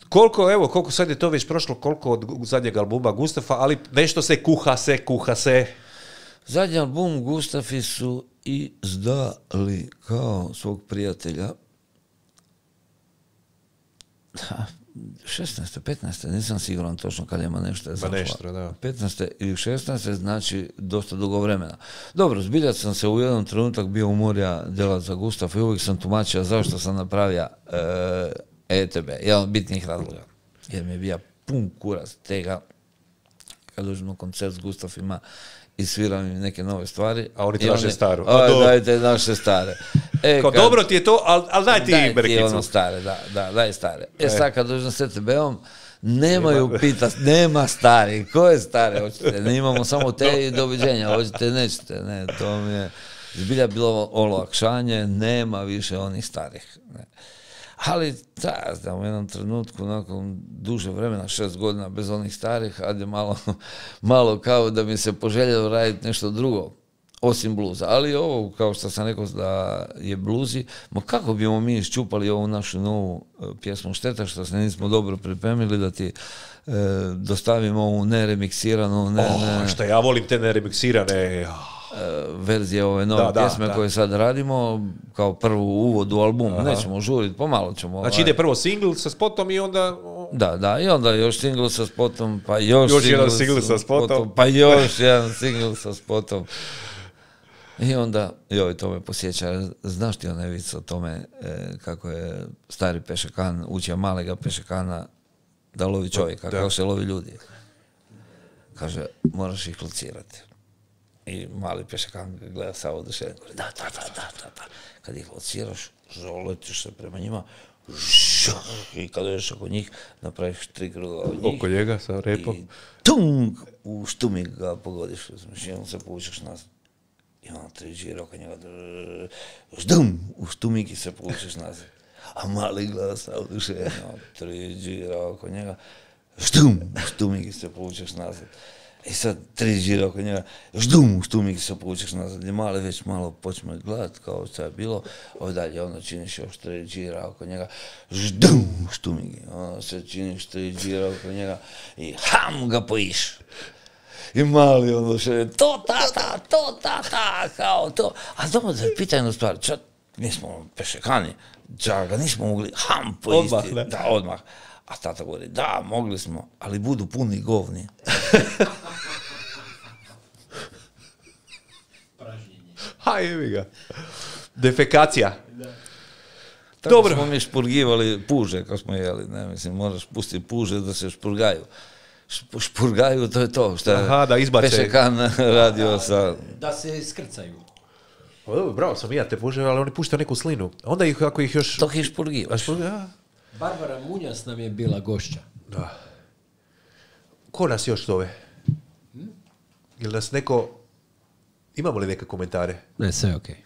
Speaker 1: Koliko sad je to već prošlo, koliko od zadnjeg albuma Gustafa, ali nešto se kuha se.
Speaker 3: Zadnji album Gustafi su izdali kao svog prijatelja 16. 15. nisam siguran točno kad ima nešto je zašla. 15. ili 16. znači dosta dugo vremena. Dobro, zbilja sam se u jednom trenutak bio umorja djelat za Gustafa i uvijek sam tumačio zašto sam napravio ETB, jedan od bitnijih razloga. Jer mi je bio pun kurac tega kad dođem na koncert s Gustafima i sviram im neke nove stvari.
Speaker 1: A oni traže staru.
Speaker 3: Dajte naše stare.
Speaker 1: Dobro ti je to, ali daj ti Brkicu. Daj ti
Speaker 3: ono stare, daj stare. Sad kad dođem s ETB-om, nemaju pitat, nema stari. Koje stare hoćete? Ne imamo samo te i doviđenja, hoćete, nećete. Ne, to mi je zbilja bilo olakšanje, nema više onih starih. Ne. Ali, u jednom trenutku, nakon duže vremena, 6 godina bez onih starih, ajde malo kao da mi se poželjelo raditi nešto drugo, osim bluza. Ali ovo, kao što sam rekao da je bluzi, kako bismo mi iščupali ovu našu novu pjesmu, šteta što se nismo dobro pripremili da ti dostavimo ovu neremiksiranu...
Speaker 1: Što ja volim te neremiksirane...
Speaker 3: verzije ove nove pjesme koje sad radimo kao prvu uvod u album. Nećemo žuriti, pomalo ćemo.
Speaker 1: Znači ide prvo single sa spotom i onda...
Speaker 3: Da, i onda još single sa spotom, pa još
Speaker 1: jedan single sa spotom,
Speaker 3: pa još jedan single sa spotom. I onda, to me posjeća, znaš ti onaj vic o tome kako je stari pešakan učio malega pešakana da lovi čovjeka, kako se lovi ljudi. Kaže, moraš ih locirati. I mali pešakan gleda sa odušenjem, da. Kad ih lociraš, letiš se prema njima, i kad dođeš oko njih, napraviš 3 kruga od njih.
Speaker 1: Oko njega sa repom.
Speaker 3: I tung, u štumik ga pogodiš, i on se povučeš nazad. I ono 3 džira oko njega, ždum, u štumiki se povučeš nazad. A mali glas, oduševljeno, 3 džira oko njega, ždum, u štumiki se povučeš nazad. I sad 3 džira oko njega, ždum, u štumiki se povučeš nazad. I mali već malo počne gledat kao što je bilo, dalje ono činiš još 3 džira oko njega, ždum, u štumiki. Ono se činiš 3 džira oko njega i ham ga pojiš. I mali ono še, to tata, kao to. A dobro da je pitanje stvar, čak mi smo pešekani, čak ga nismo mogli ham pojisti. Odmah, ne? Da, odmah. A tata govori, da, mogli smo, ali budu puni govni.
Speaker 2: Pražnjenje.
Speaker 1: Ha, jevi ga. Defekacija.
Speaker 3: Da. Tako dobro. Smo mi špurgivali puže kad smo jeli, ne, mislim, moraš pustiti puže da se špurgaju. Špurgaju, to je to što je Pešekan radio sa...
Speaker 2: Da se skrcaju.
Speaker 1: Bravo sam ja te puže, ali oni puštaju neku slinu. Onda ih, ako ih još...
Speaker 3: To ih špurgivaš.
Speaker 2: Barbara Munjas nam je bila gošća.
Speaker 1: Da. Ko nas još zove? Ili nas neko... Imamo li neke komentare?
Speaker 2: Ne, sve je okej.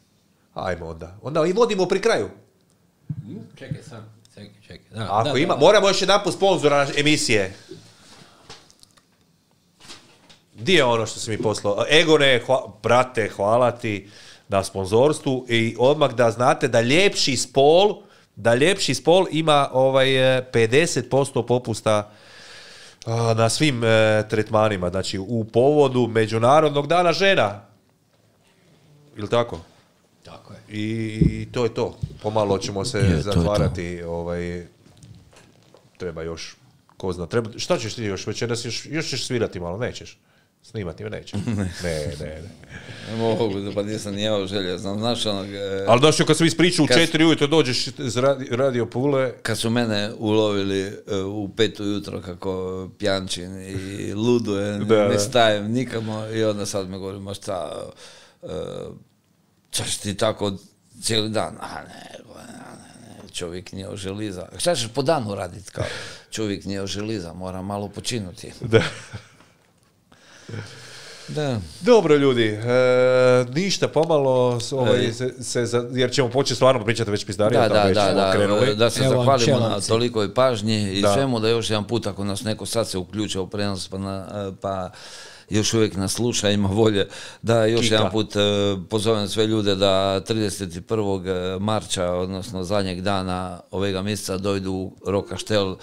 Speaker 1: Ajmo onda. Onda i vodimo pri kraju.
Speaker 2: Čekaj sam. Čekaj.
Speaker 1: Ako ima, moramo još jedanput sponzora emisije. Di je ono što si mi poslao? Egone, brate, hvala ti na sponzorstvu i odmah da znate da ljepši spol ima 50% popusta na svim tretmanima, znači u povodu Međunarodnog dana žena. Ili tako?
Speaker 2: Tako je.
Speaker 1: I to je to. Pomalo ćemo se zatvarati. Treba još, ko zna. Šta ćeš ti još večeras? Još ćeš svirati malo, nećeš? Snimati me neće. Ne.
Speaker 3: Ne mogu, pa nisam nijevao želje. Znaš onog...
Speaker 1: Ali znaš, kad sam ispričao u 4 ujutro, dođeš iz Radio Pule...
Speaker 3: Kad su mene ulovili u 5 ujutro kako pjančin i ludujem, ne stajem nikamo i onda sad me govori, ma šta, ćeš ti tako cijeli dan? A ne, čovjek nije oželiza. Šta ćeš po danu raditi kao? Čovjek nije oželiza, mora malo počinuti. Da.
Speaker 1: Dobro ljudi, ništa pomalo jer ćemo početi stvarno pričati već pizdarija.
Speaker 3: Da se zahvalimo na tolikoj pažnji i svemu, da još jedan put ako nas neko sad se uključio u prenos pa još uvijek nas sluša, ima volje, da još jedan put pozovem sve ljude da 31. marča, odnosno zadnjeg dana ovega mjeseca dojdu u Rokaštel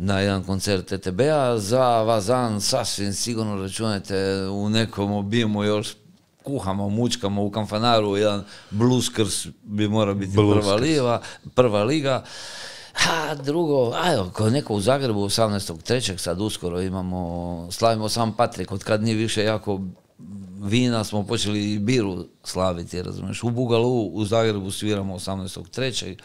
Speaker 3: na jedan koncert ETB-a. Za Vazan sasvim sigurno računajte u nekom obimu još kuhamo, mučkamo u Kamfanaru, jedan blueskrs bi mora biti prva liga. A drugo, ko neko u Zagrebu 18.3. sad uskoro slavimo Sam Patrik, od kad nije više jako vina smo počeli i biru slaviti, razumiješ. U Bugalu u Zagrebu sviramo 18.3.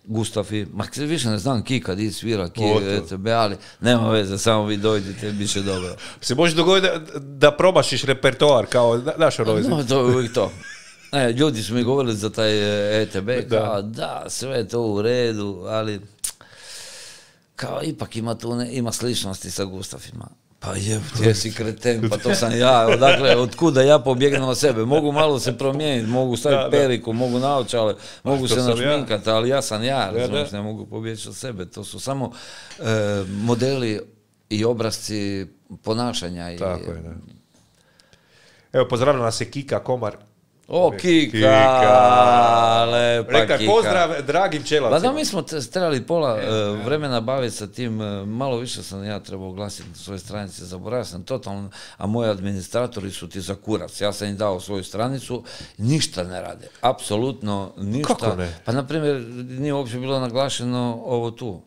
Speaker 3: Gustafi, više ne znam Kika di svira, ETB, ali nema veze, samo vi dojdite, bit će dobro.
Speaker 1: Se može dogoditi da promašiš repertoar kao naš Rojzi?
Speaker 3: No, to je uvijek to. Ljudi su mi govorili za taj ETB, kao da, sve je to u redu, ali kao ipak ima sličnosti sa Gustafima. Pa ti si kreten, pa to sam ja, odakle, otkuda ja pobjegnem od sebe, mogu malo se promijeniti, mogu staviti periku, mogu naočale, mogu se našminkati, ali ja sam ja, razumiješ, ne mogu pobjeći od sebe, to su samo modeli i obrazci ponašanja.
Speaker 1: Tako je, da. Evo, pozdravljam nas je Kika Komar.
Speaker 3: O, Kika, lepa Kika.
Speaker 1: Rekaj, pozdrav dragim čelavcima.
Speaker 3: Da, mi smo trebali pola vremena baviti sa tim, malo više sam ja trebao oglasiti na svoje stranice, zaboravio sam totalno, a moji administratori su ti za kurac. Ja sam im dao svoju stranicu, ništa ne rade, apsolutno ništa.
Speaker 1: Kako ne?
Speaker 3: Pa, na primjer, nije uopće bilo naglašeno ovo tu.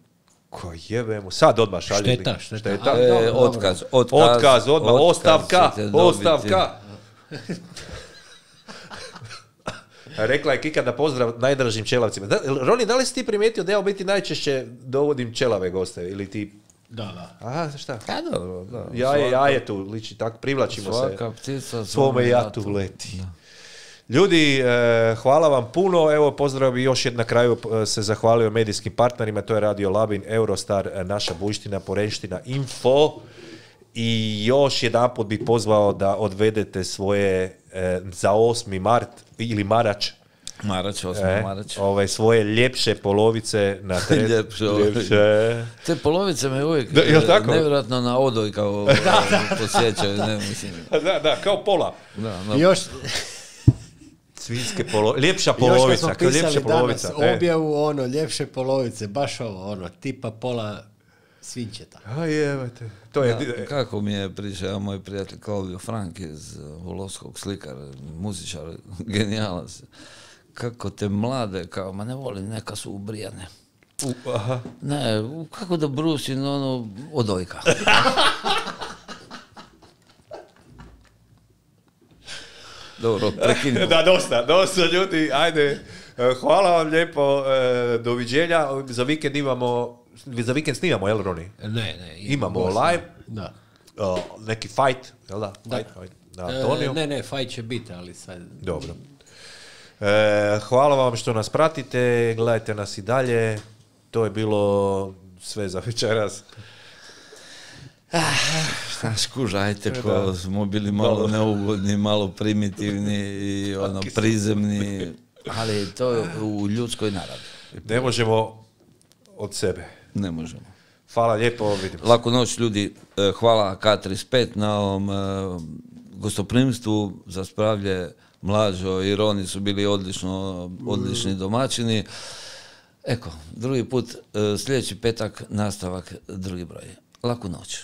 Speaker 1: Ko jebemo, sad odmah šalje.
Speaker 2: Šteta.
Speaker 3: Otkaz,
Speaker 1: odmah, ostavka. Rekla je Kika da pozdrav najdražim čelavcima. Roni, da li si ti primijetio da ja u biti najčešće dovodim čelave goste? Ili ti...
Speaker 2: Da.
Speaker 1: Aha, šta?
Speaker 3: Ja, dobro, da.
Speaker 1: Jaje tu, liči tako, privlačimo se.
Speaker 3: Svaka ptica
Speaker 1: svome jatu leti. Da. Ljudi, hvala vam puno. Evo, pozdrav i još na kraju se zahvalio medijskim partnerima. To je Radio Labin, Eurostar, Naša Bujština, Porenština, Info. I još jedanput bih pozvao da odvedete svoje za 8. mart ili Marać.
Speaker 3: Marać, 8. Marać.
Speaker 1: Svoje ljepše polovice na
Speaker 3: ljepše. Te polovice me uvijek nevjerojatno na odojka posjećaju. Ne, mislim.
Speaker 1: Da, kao pola.
Speaker 2: I još...
Speaker 1: Svinjske ljepša polovica.
Speaker 2: Još kad smo pisali danas objavu, ljepše polovice, baš tipa pola svinčeta.
Speaker 1: To je...
Speaker 3: Kako mi je pričao moj prijatelj Claudio Frank iz Volovskog, slikar, muzičar, genijalac. Kako te mlade, kao, ma ne volim, neka su ubrijane. Ne, kako da brusim, odojka. Dobro, prekinimo.
Speaker 1: Da, dosta ljudi, ajde. Hvala vam lijepo, doviđenja. Za vikend snimamo, jel Roni?
Speaker 2: Ne.
Speaker 1: Imamo live.
Speaker 2: Da.
Speaker 1: Neki fight, jel da? Fight na Antoniju.
Speaker 2: Ne, fight će biti, ali sad...
Speaker 1: Dobro. Hvala vam što nas pratite, gledajte nas i dalje. To je bilo sve za večeras.
Speaker 3: Skužajte, ko smo bili malo neugodni, malo primitivni i prizemni, ali to je u ljudskoj naravi.
Speaker 1: Ne možemo od sebe.
Speaker 3: Ne možemo.
Speaker 1: Hvala lijepo, vidimo se.
Speaker 3: Laku noć ljudi, hvala K35 na ovom gostoprimstvu za Spravlje. Mlađo i Roni su bili odlični domaćini. Eko, drugi put, sljedeći petak, nastavak, drugi broj. Laku noć.